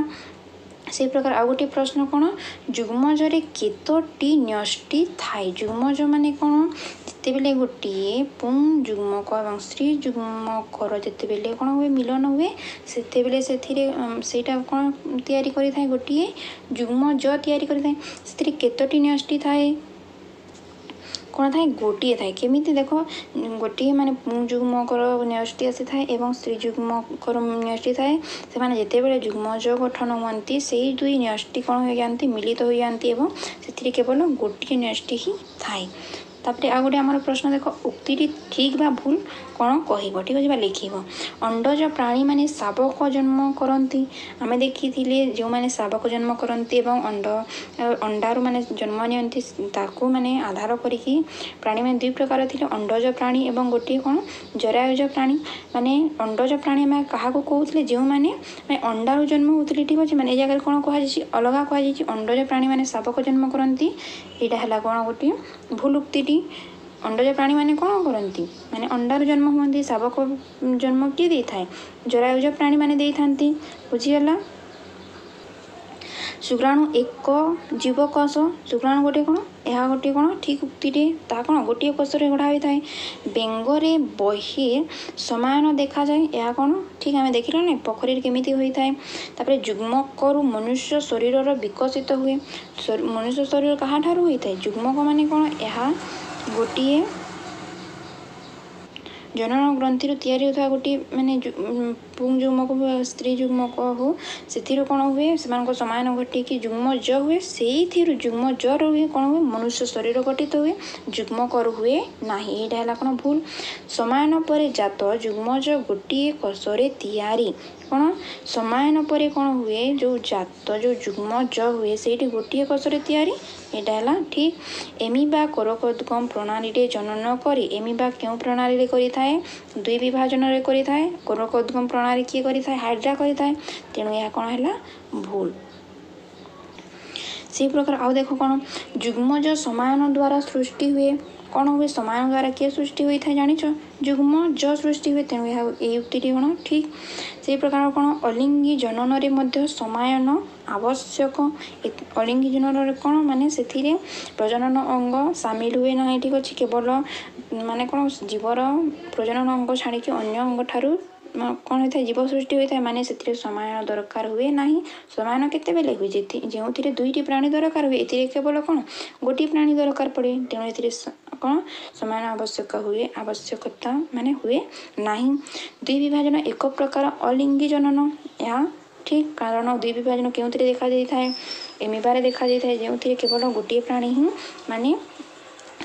Speaker 1: ସେଇ ପ୍ରକାର ଆଉ ଗୋଟିଏ ପ୍ରଶ୍ନ କ'ଣ? ଯୁଗ୍ମଜରେ କେତୋଟି ନ୍ୟଷ୍ଟି ଥାଏ? ଯୁଗ୍ମଜ ମାନେ କ'ଣ? ଯେତେବେଳେ ଗୋଟିଏ ପୁଂ ଯୁଗ୍ମକ ଏବଂ ସ୍ତ୍ରୀ ଯୁଗ୍ମକର ଯେତେବେଳେ କ'ଣ ହୁଏ, ମିଲନ ହୁଏ, ସେତେବେଳେ ସେଥିରେ ସେଇଟା କ'ଣ ତିଆରି କରିଥାଏ? ଗୋଟିଏ ଯୁଗ୍ମଜ ତିଆରି କରିଥାଏ। ସେଥିରେ କେତୋଟି ନ୍ୟଷ୍ଟି ଥାଏ? କ'ଣ ଥାଏ? ଗୋଟିଏ ଥାଏ। କେମିତି ଦେଖ, ଗୋଟିଏ ମାନେ ପୁଂଯୁଗ୍ମକର ନ୍ୟଷ୍ଟି ଆସିଥାଏ ଏବଂ ସ୍ତ୍ରୀ ଯୁଗ୍ମକର ନ୍ୟଷ୍ଟି ଥାଏ। ସେମାନେ ଯେତେବେଳେ ଯୁଗ୍ମଜ ଗଠନ ହୁଅନ୍ତି, ସେଇ ଦୁଇ ନ୍ୟଷ୍ଟି କ'ଣ ହୋଇଯାଆନ୍ତି? ମିଳିତ ହୋଇଯାଆନ୍ତି ଏବଂ ସେଥିରେ କେବଳ ଗୋଟିଏ ନ୍ୟଷ୍ଟି ହିଁ ଥାଏ। ତାପରେ ଆଉ ଗୋଟେ ଆମର ପ୍ରଶ୍ନ ଦେଖ, ଉକ୍ତିଟି ଠିକ୍ ବା ଭୁଲ କ'ଣ କହିବ, ଠିକ୍ ଅଛି, ବା ଲେଖିବ। ଅଣ୍ଡଜ ପ୍ରାଣୀମାନେ ଶାବକ ଜନ୍ମ କରନ୍ତି। ଆମେ ଦେଖିଥିଲେ ଯେଉଁମାନେ ଶାବକ ଜନ୍ମ କରନ୍ତି ଏବଂ ଅଣ୍ଡ ଅଣ୍ଡାରୁ ମାନେ ଜନ୍ମ ନିଅନ୍ତି, ତାକୁ ମାନେ ଆଧାର କରିକି ପ୍ରାଣୀମାନେ ଦୁଇ ପ୍ରକାର ଥିଲେ, ଅଣ୍ଡଜ ପ୍ରାଣୀ ଏବଂ ଗୋଟିଏ କ'ଣ ଜରାୟୁଜ ପ୍ରାଣୀ। ମାନେ ଅଣ୍ଡଜ ପ୍ରାଣୀ ଆମେ କାହାକୁ କହୁଥିଲେ? ଯେଉଁମାନେ ମାନେ ଅଣ୍ଡାରୁ ଜନ୍ମ ହେଉଥିଲେ, ଠିକ୍ ଅଛି। ମାନେ ଏ ଜାଗାରେ କ'ଣ କୁହାଯାଇଛି? ଅଲଗା କୁହାଯାଇଛି, ଅଣ୍ଡଜ ପ୍ରାଣୀମାନେ ଶାବକ ଜନ୍ମ କରନ୍ତି। ଏଇଟା ହେଲା କ'ଣ ଗୋଟିଏ ଭୁଲ ଉକ୍ତିଟି। ଅଣ୍ଡଜ ପ୍ରାଣୀମାନେ କ'ଣ କରନ୍ତି? ମାନେ ଅଣ୍ଡାରୁ ଜନ୍ମ ହୁଅନ୍ତି। ଶାବକ ଜନ୍ମ କିଏ ଦେଇଥାଏ? ଜରାୟୁଜ ପ୍ରାଣୀମାନେ ଦେଇଥାନ୍ତି। ବୁଝିଗଲା? ଶୁକ୍ରାଣୁ ଏକ ଜୀବକୋଷ। ଶୁକ୍ରାଣୁ ଗୋଟିଏ କ'ଣ? ଏହା ଗୋଟିଏ କ'ଣ ଠିକ୍ ଉକ୍ତିଟିଏ। ତାହା କ'ଣ ଗୋଟିଏ କୋଷରେ ଗଢ଼ା ହୋଇଥାଏ। ବେଙ୍ଗରେ ବହି ସମାୟନ ଦେଖାଯାଏ। ଏହା କ'ଣ ଠିକ୍, ଆମେ ଦେଖିଲେ ନା ପୋଖରୀରେ କେମିତି ହୋଇଥାଏ। ତାପରେ ଯୁଗ୍ମକରୁ ମନୁଷ୍ୟ ଶରୀରର ବିକଶିତ ହୁଏ। ମନୁଷ୍ୟ ଶରୀର କାହାଠାରୁ ହୋଇଥାଏ? ଯୁଗ୍ମକ ମାନେ କ'ଣ? ଏହା ଗୋଟିଏ ଜନନ ଗ୍ରନ୍ଥିରୁ ତିଆରି ହେଉଥିବା ଗୋଟିଏ ମାନେ ପୁଂ ଯୁଗ୍ମକ ସ୍ତ୍ରୀ ଯୁଗ୍ମକ ହଉ, ସେଥିରୁ କ'ଣ ହୁଏ? ସେମାନଙ୍କ ସମାୟନ ଘଟିକି ଯୁଗ୍ମଜ ହୁଏ। ସେଇଥିରୁ ଯୁଗ୍ମଜରୁ ହୁଏ କ'ଣ ହୁଏ? ମନୁଷ୍ୟ ଶରୀର ଗଠିତ ହୁଏ, ଯୁଗ୍ମକରୁ ହୁଏ ନାହିଁ। ଏଇଟା ହେଲା କ'ଣ ଭୁଲ। ସମାୟନ ପରେ ଜାତ ଯୁଗ୍ମଜ ଗୋଟିଏ କୋଷରେ ତିଆରି। କ'ଣ ସମାୟନ ପରେ କ'ଣ ହୁଏ? ଯେଉଁ ଜାତ ଯେଉଁ ଯୁଗ୍ମଜ ହୁଏ ସେଇଠି ଗୋଟିଏ କୋଷରେ ତିଆରି, ଏଇଟା ହେଲା ଠିକ୍। ଏମିବା କୋରକୋଦ୍ଗମ ପ୍ରଣାଳୀରେ ଜନନ କରି। ଏମିବା କେଉଁ ପ୍ରଣାଳୀରେ କରିଥାଏ? ଦୁଇ ବିଭାଜନରେ କରିଥାଏ। କୋରକୋଦ୍ଗମ ପ୍ରଣାଳୀ କିଏ କରିଥାଏ? ହାଇଡ୍ରା କରିଥାଏ। ତେଣୁ ଏହା କ'ଣ ହେଲା? ଭୁଲ। ସେଇ ପ୍ରକାର ଆଉ ଦେଖ କ'ଣ, ଯୁଗ୍ମଜ ସମାୟନ ଦ୍ୱାରା ସୃଷ୍ଟି ହୁଏ। କ'ଣ ହୁଏ? ସମାୟନ ଦ୍ୱାରା କିଏ ସୃଷ୍ଟି ହୋଇଥାଏ ଜାଣିଛ? ଯୁଗ୍ମଜ ସୃଷ୍ଟି ହୁଏ। ତେଣୁ ଏହା ଏଇ ଉକ୍ତିଟି କ'ଣ ଠିକ୍। ସେଇ ପ୍ରକାର କ'ଣ, ଅଲିଙ୍ଗୀ ଜନନରେ ମଧ୍ୟ ସମାୟନ ଆବଶ୍ୟକ। ଅଲିଙ୍ଗୀ ଜନନରେ କ'ଣ ମାନେ ସେଥିରେ ପ୍ରଜନନ ଅଙ୍ଗ ସାମିଲ ହୁଏ ନାହିଁ, ଠିକ୍ ଅଛି। କେବଳ ମାନେ କ'ଣ ଜୀବର ପ୍ରଜନନ ଅଙ୍ଗ ଛାଡ଼ିକି ଅନ୍ୟ ଅଙ୍ଗ ଠାରୁ କ'ଣ ହୋଇଥାଏ? ଜୀବ ସୃଷ୍ଟି ହୋଇଥାଏ। ମାନେ ସେଥିରେ ସମାୟନ ଦରକାର ହୁଏ ନାହିଁ। ସମାୟନ କେତେବେଳେ ହୁଏ? ଯେଉଁଥିରେ ଦୁଇଟି ପ୍ରାଣୀ ଦରକାର ହୁଏ। ଏଥିରେ କେବଳ କ'ଣ ଗୋଟିଏ ପ୍ରାଣୀ ଦରକାର ପଡ଼େ। ତେଣୁ ଏଥିରେ କ'ଣ ସମାୟନ ଆବଶ୍ୟକ ହୁଏ, ଆବଶ୍ୟକତା ମାନେ ହୁଏ ନାହିଁ। ଦୁଇ ବିଭାଜନ ଏକ ପ୍ରକାର ଅଲିଙ୍ଗୀ ଜନନ, ଏହା ଠିକ୍। କାରଣ ଦୁଇ ବିଭାଜନ କେଉଁଥିରେ ଦେଖାଯାଇଥାଏ? ଏମିବାରେ ଦେଖାଯାଇଥାଏ, ଯେଉଁଥିରେ କେବଳ ଗୋଟିଏ ପ୍ରାଣୀ ହିଁ ମାନେ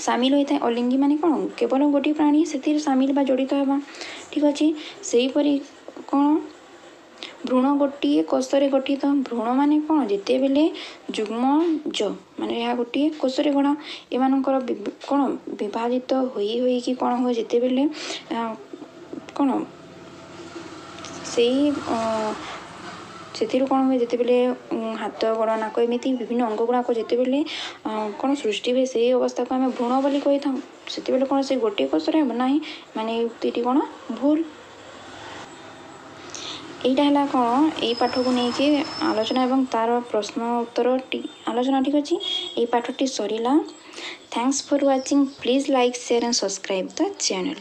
Speaker 1: ସାମିଲ ହୋଇଥାଏ। ଅଲିଙ୍ଗୀ ମାନେ କ'ଣ? କେବଳ ଗୋଟିଏ ପ୍ରାଣୀ ସେଥିରେ ସାମିଲ ବା ଜଡ଼ିତ ହେବା, ଠିକ୍ ଅଛି। ସେହିପରି କ'ଣ, ଭ୍ରୂଣ ଗୋଟିଏ କୋଷରେ ଗଠିତ। ଭ୍ରୂଣ ମାନେ କ'ଣ? ଯେତେବେଳେ ଯୁଗ୍ମଜ ମାନେ ଏହା ଗୋଟିଏ କୋଷରେ ଗଢ଼ା, ଏମାନଙ୍କର କ'ଣ ବିଭାଜିତ ହୋଇ ହୋଇକି କ'ଣ ହୁଏ? ଯେତେବେଳେ କ'ଣ ସେଇ ସେଥିରୁ କ'ଣ ହୁଏ? ଯେତେବେଳେ ହାତ, ଗୋଡ଼, ନାକ ଏମିତି ବିଭିନ୍ନ ଅଙ୍ଗ ଗୁଡ଼ାକ ଯେତେବେଳେ କ'ଣ ସୃଷ୍ଟି ହୁଏ, ସେଇ ଅବସ୍ଥାକୁ ଆମେ ଭ୍ରୂଣ ବୋଲି କହିଥାଉ। ସେତେବେଳେ କ'ଣ ସେ ଗୋଟିଏ କୋଷରେ ହେବ ନାହିଁ। ମାନେ ଏଇ ଉକ୍ତିଟି କ'ଣ ଭୁଲ। ଏଇଟା ହେଲା କ'ଣ ଏଇ ପାଠକୁ ନେଇକି ଆଲୋଚନା ଏବଂ ତାର ପ୍ରଶ୍ନ ଉତ୍ତର ଆଲୋଚନା, ଠିକ୍ ଅଛି। ଏଇ ପାଠଟି ସରିଲା। Thanks for watching. Please like, share and subscribe the channel.